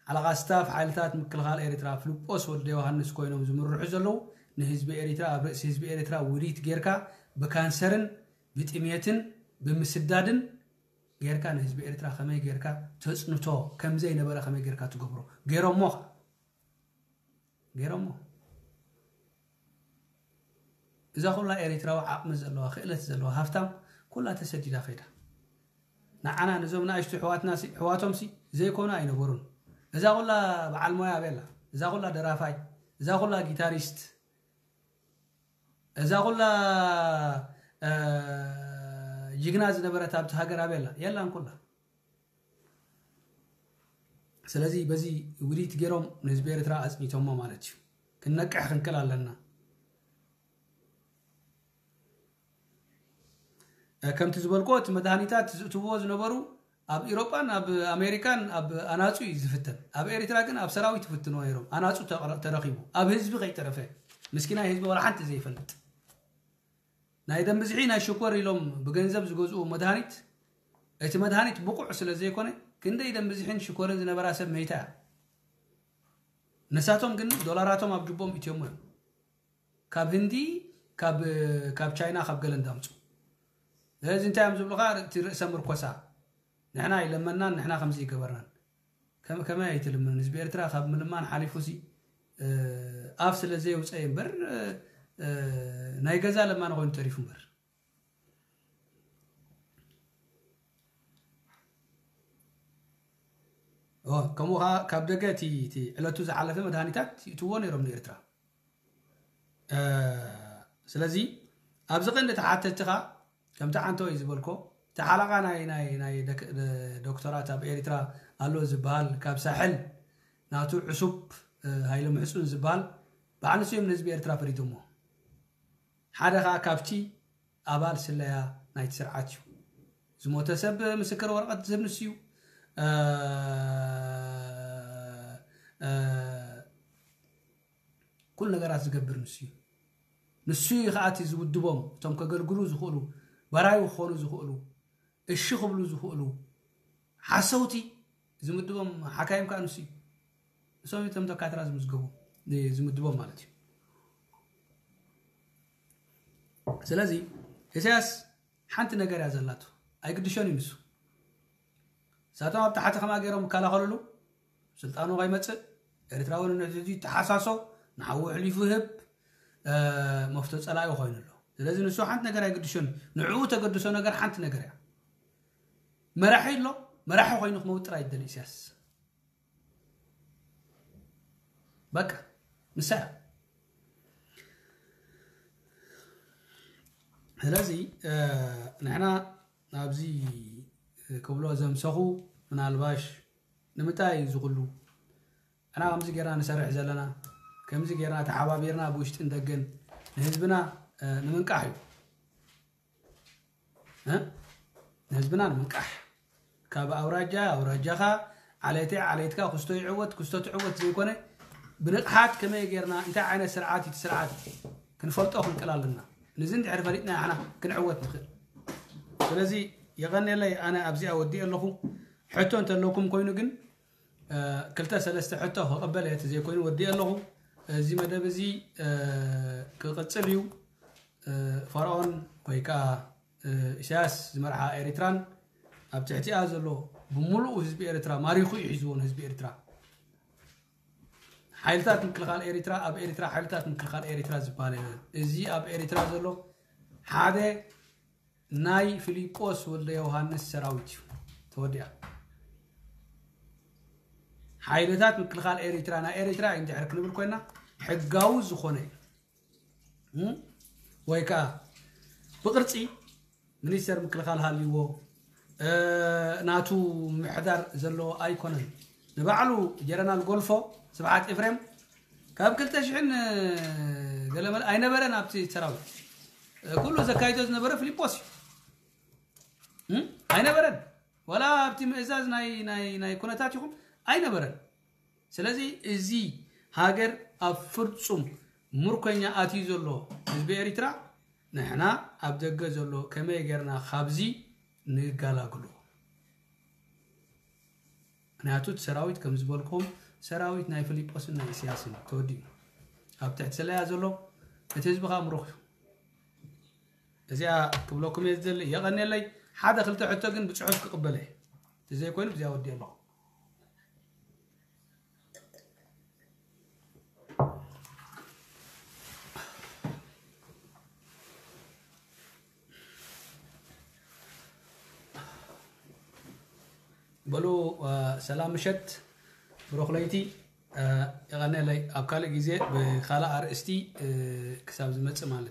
ሓለቓ ስታፍ ሓይልታት ምክልኻል ኤሪትራ ፍልጶስ ወልደ ዮሃንስ ኮይኖም ዝምርሑ ዘለዉ ንህዝቢ ኤሪትራ ኣብ ርእሲ ህዝቢ ኤሪትራ ውዲት ጌርካ ብካንሰርን ብጥሜትን ብምስዳድን ጌርካ ንህዝቢ ኤሪትራ ከመይ ጌርካ ተጽንቶ ከም ዘይነበረ ከመይ ጌርካ ትገብሮ ገይሮሞ ኸኣ ገይሮሞ። እዛ ኩላ ኤሪትራዊ ዓቕሚ ዘለዋ ክእለት ዘለዋ ሃፍታም ኩላ ተሰዲዳ ከይዳ። ንዓና ነዞም ንኣሽቱ ኣሕዋትና ሲ ኣሕዋቶም ሲ ዘይኮኑ ኣይነበሩን። እዛ ኩላ በዓል ሞያ ኣበይ ኣላ? እዛ ኩላ ደራፋይ፣ እዛ ኩላ ጊታሪስት፣ እዛ ኩላ ጅግና ዝነበረት ኣብቲ ሃገር ኣበይ ኣላ? የላን ኩላ። ስለዚ በዚ ውዲት ገይሮም ንህዝቢ ኤርትራ ኣጽኒቶሞ ማለት እዩ። ክንነቅሕ ክንክል ኣለና። ከምቲ ዝበልኮ እቲ መድሃኒታት ዝእትዎ ዝነበሩ ኣብ ኢሮጳን ኣብ ኣሜሪካን ኣብ ኣናጹ እዩ ዝፍተን። ኣብ ኤርትራ ግን ኣብ ሰራዊት ይፍትንዎ ነይሮም። ኣናጹ ተረኺቡ ኣብ ህዝቢ ከይተረፈ ምስኪናይ ህዝቢ ወላ ሓንቲ ዘይፈልጥ ናይ ደም ብዝሒ ናይ ሽኮር ኢሎም ብገንዘብ ዝገዝኡ መድሃኒት እቲ መድሃኒት ብቑዕ ስለ ዘይኮነ ክንደይ ደም ብዝሒን ሽኮርን ዝነበራ ሰብ መይታ እያ። ንሳቶም ግን ዶላራቶም ኣብ ጅቦም እትዮሞ እዮም። ካብ ህንዲ ካብ ቻይና ካብ ገለ እንዳምፁ እዚ እንታይ እዮም ዝብሉካ? እቲ ርእሰ ምርኮሳ ንሕና ኣይለመናን ንሕና ከምዚ ይገበርናን። ከመይ ኣይትልምን? ህዝቢ ኤርትራ ካብ ምልማን ሓሊፉ ሲ ኣፍ ስለ ዘየውፀየ እምበር ናይ ገዛ ለማኒ ኮይኑ ተሪፉ እምበር ከምኡ ከዓ ካብ ደገ እቲ ዕለቱ ዝሓለፈ መድሃኒታት ይእትዎ ነይሮም ንኤርትራ። ስለዚ ኣብዚ ቀንዲ ተሓተትኻ ከምቲ ዓንተወይ ዝበልኮ እቲ ሓለቓ ናይ ናይ ናይ ዶክተራት ኣብ ኤርትራ ኣሎ ዝበሃል ካብ ሳሕል ናቱ ዕሱብ ሃይለ ምሕፁን ዝበሃል በዓል ንሱ እዮም ንህዝቢ ኤርትራ ፈሪዶሞ። ሓደ ከዓ ካብቲ ኣባል ስለያ ናይቲ ስርዓት እዩ። ዝሞተ ሰብ ምስክር ወረቐት ዝህብ ንሱ እዩ። ኩሉ ነገራት ዝገብር ንሱ እዩ። ንሱ እዩ ከዓ እቲ ዝውድቦም እቶም ከገልግሉ ዝኽእሉ ባራዩ ክኾኑ ዝኽእሉ እሺ ክብሉ ዝኽእሉ ሓሰውቲ ዝምድቦም ሓካይም ከዓ ንሱ እዩ። እሶም እቶም ደካትራ ዝምዝገቡ ዝምድቦም ማለት እዩ። ስለዚ ኢሳያስ ሓንቲ ነገር እያ ዘላቱ ኣይግድሾን እዩ ንሱ። እሳቶም ኣብ ታሕቲ ከማ ገይሮም ይከላኸልሉ ስልጣኑ ከይመፅእ ኤርትራዊ ንንሕድሕዱ ይተሓሳሶ ንሓዉ ኣሕሊፉ ይህብ መፍቶ ፀላኢ ኮይኑ ኣሎ። ስለዚ ንሱ ሓንቲ ነገር ኣይግድሾን ንዕኡ ተገድሶ ነገር ሓንቲ ነገር እያ። መራሒ ኣሎ መራሒ ኮይኑ ክመውጥ ጥራይ ይደሊ ኢሳያስ። በቃ ንሳ እያ። ስለዚ ንሕና ኣብዚ ክብሎ ዘምሰኹ ምናልባሽ ንምንታይ እዩ ዝኽሉ ኣና ከምዚ ጌርና ንሰርሕ ዘለና ከምዚ ጌርና ተሓባቢርና ብውሽጥን ደገን ንህዝብና ንምንቃሕ እዩ። ንህዝብና ንምንቃሕ ካብ ኣውራጃ ኣውራጃኻ ዓሌተይ ዓሌትካ ክስቶ ይዕወት ክስቶ ትዕወት ዘይኮነ ብንቕሓት ከመይ ጌርና እንታይ ዓይነት ስርዓት እዩ ስርዓት ክንፈልጦ ክንቅል ኣለና። ንዚ እንድሕር ፈሊጥና ሓና ክንዕወት ንኽእል። ስለዚ የቐንየለይ ኣነ ኣብዚኣ ወዲእ ኣለኹ። ሕቶ እንተለኩም ኮይኑ ግን ክልተ ሰለስተ ሕቶ ክቕበል እየ። እቲ ዘይኮይኑ ወዲእ ኣለኹ። እዚ መደብ እዚ ክቕፅል እዩ። ፈርዖን ወይ ከዓ ኢሳያስ ዝመርሓ ኤሪትራን ኣብ ትሕቲኣ ዘሎ ብምሉኡ ህዝቢ ኤርትራ ማሪኹ እዩ ሒዝዎ ንህዝቢ ኤርትራ። ሓይልታት ምክልኻል ኤሪትራ ኣብ ኤሪትራ ሓይልታት ምክልኻል ኤሪትራ ዝበሃል የለን። እዚ ኣብ ኤሪትራ ዘሎ ሓደ ናይ ፊሊጶስ ወልደ ዮሃንስ ሰራዊት እዩ ተወዲኣ። ሓይልታት ምክልኻል ኤሪትራ ናይ ኤሪትራ እንድሕር ክንብል ኮይና ሕጋዊ ዝኾነ ወይ ከዓ ብቅርፂ ሚኒስተር ምክልኻል ሃልይዎ ናቱ ምሕዳር ዘለዎ ኣይኮነን። ንባዕሉ ጀረናል ጎልፎ ስብሓት ኤፍሬም ካብ ክልተ ሽሕን ገለመለ ኣይነበረን ኣብቲ ሰራዊት። ኩሉ ዘካይዶ ዝነበረ ፊሊጶስ እዩ። ኣይነበረን። ዋላ ኣብቲ ምእዛዝ ናይ ኩነታት ይኹን ኣይነበረን። ስለዚ እዚ ሃገር ኣብ ፍጹም ምርኮኛ ኣትዩ ዘሎ ህዝቢ ኤሪትራ ንሕና ኣብ ደገ ዘሎ ከመይ ጌርና ካብዚ ንጋላግሎ። ምክንያቱ እቲ ሰራዊት ከም ዝበልኩም ሰራዊት ናይ ፊሊጶስን ናይ ኢሳያስን ተወዲኡ ኣብ ትሕቲ ስለያ ዘሎ እቲ ህዝቢ ከዓ ምሩኽ እዩ። እዚኣ ክብለኩም እየ ዝደሊ። የቐንየለይ። ሓደ ክልተ ሕቶ ግን ብፅሑፍ ክቕበለ እየ። እቲ ዘይኮይኑ ብዚኣ ወዲ ኣለኹ። በሉ ሰላም ምሸት ብሩኽ ለይቲ። የቐነለይ ኣብ ካልእ ግዜ ብካልእ ኣርእስቲ ክሳብ ዝመፅእ ማለት እዩ።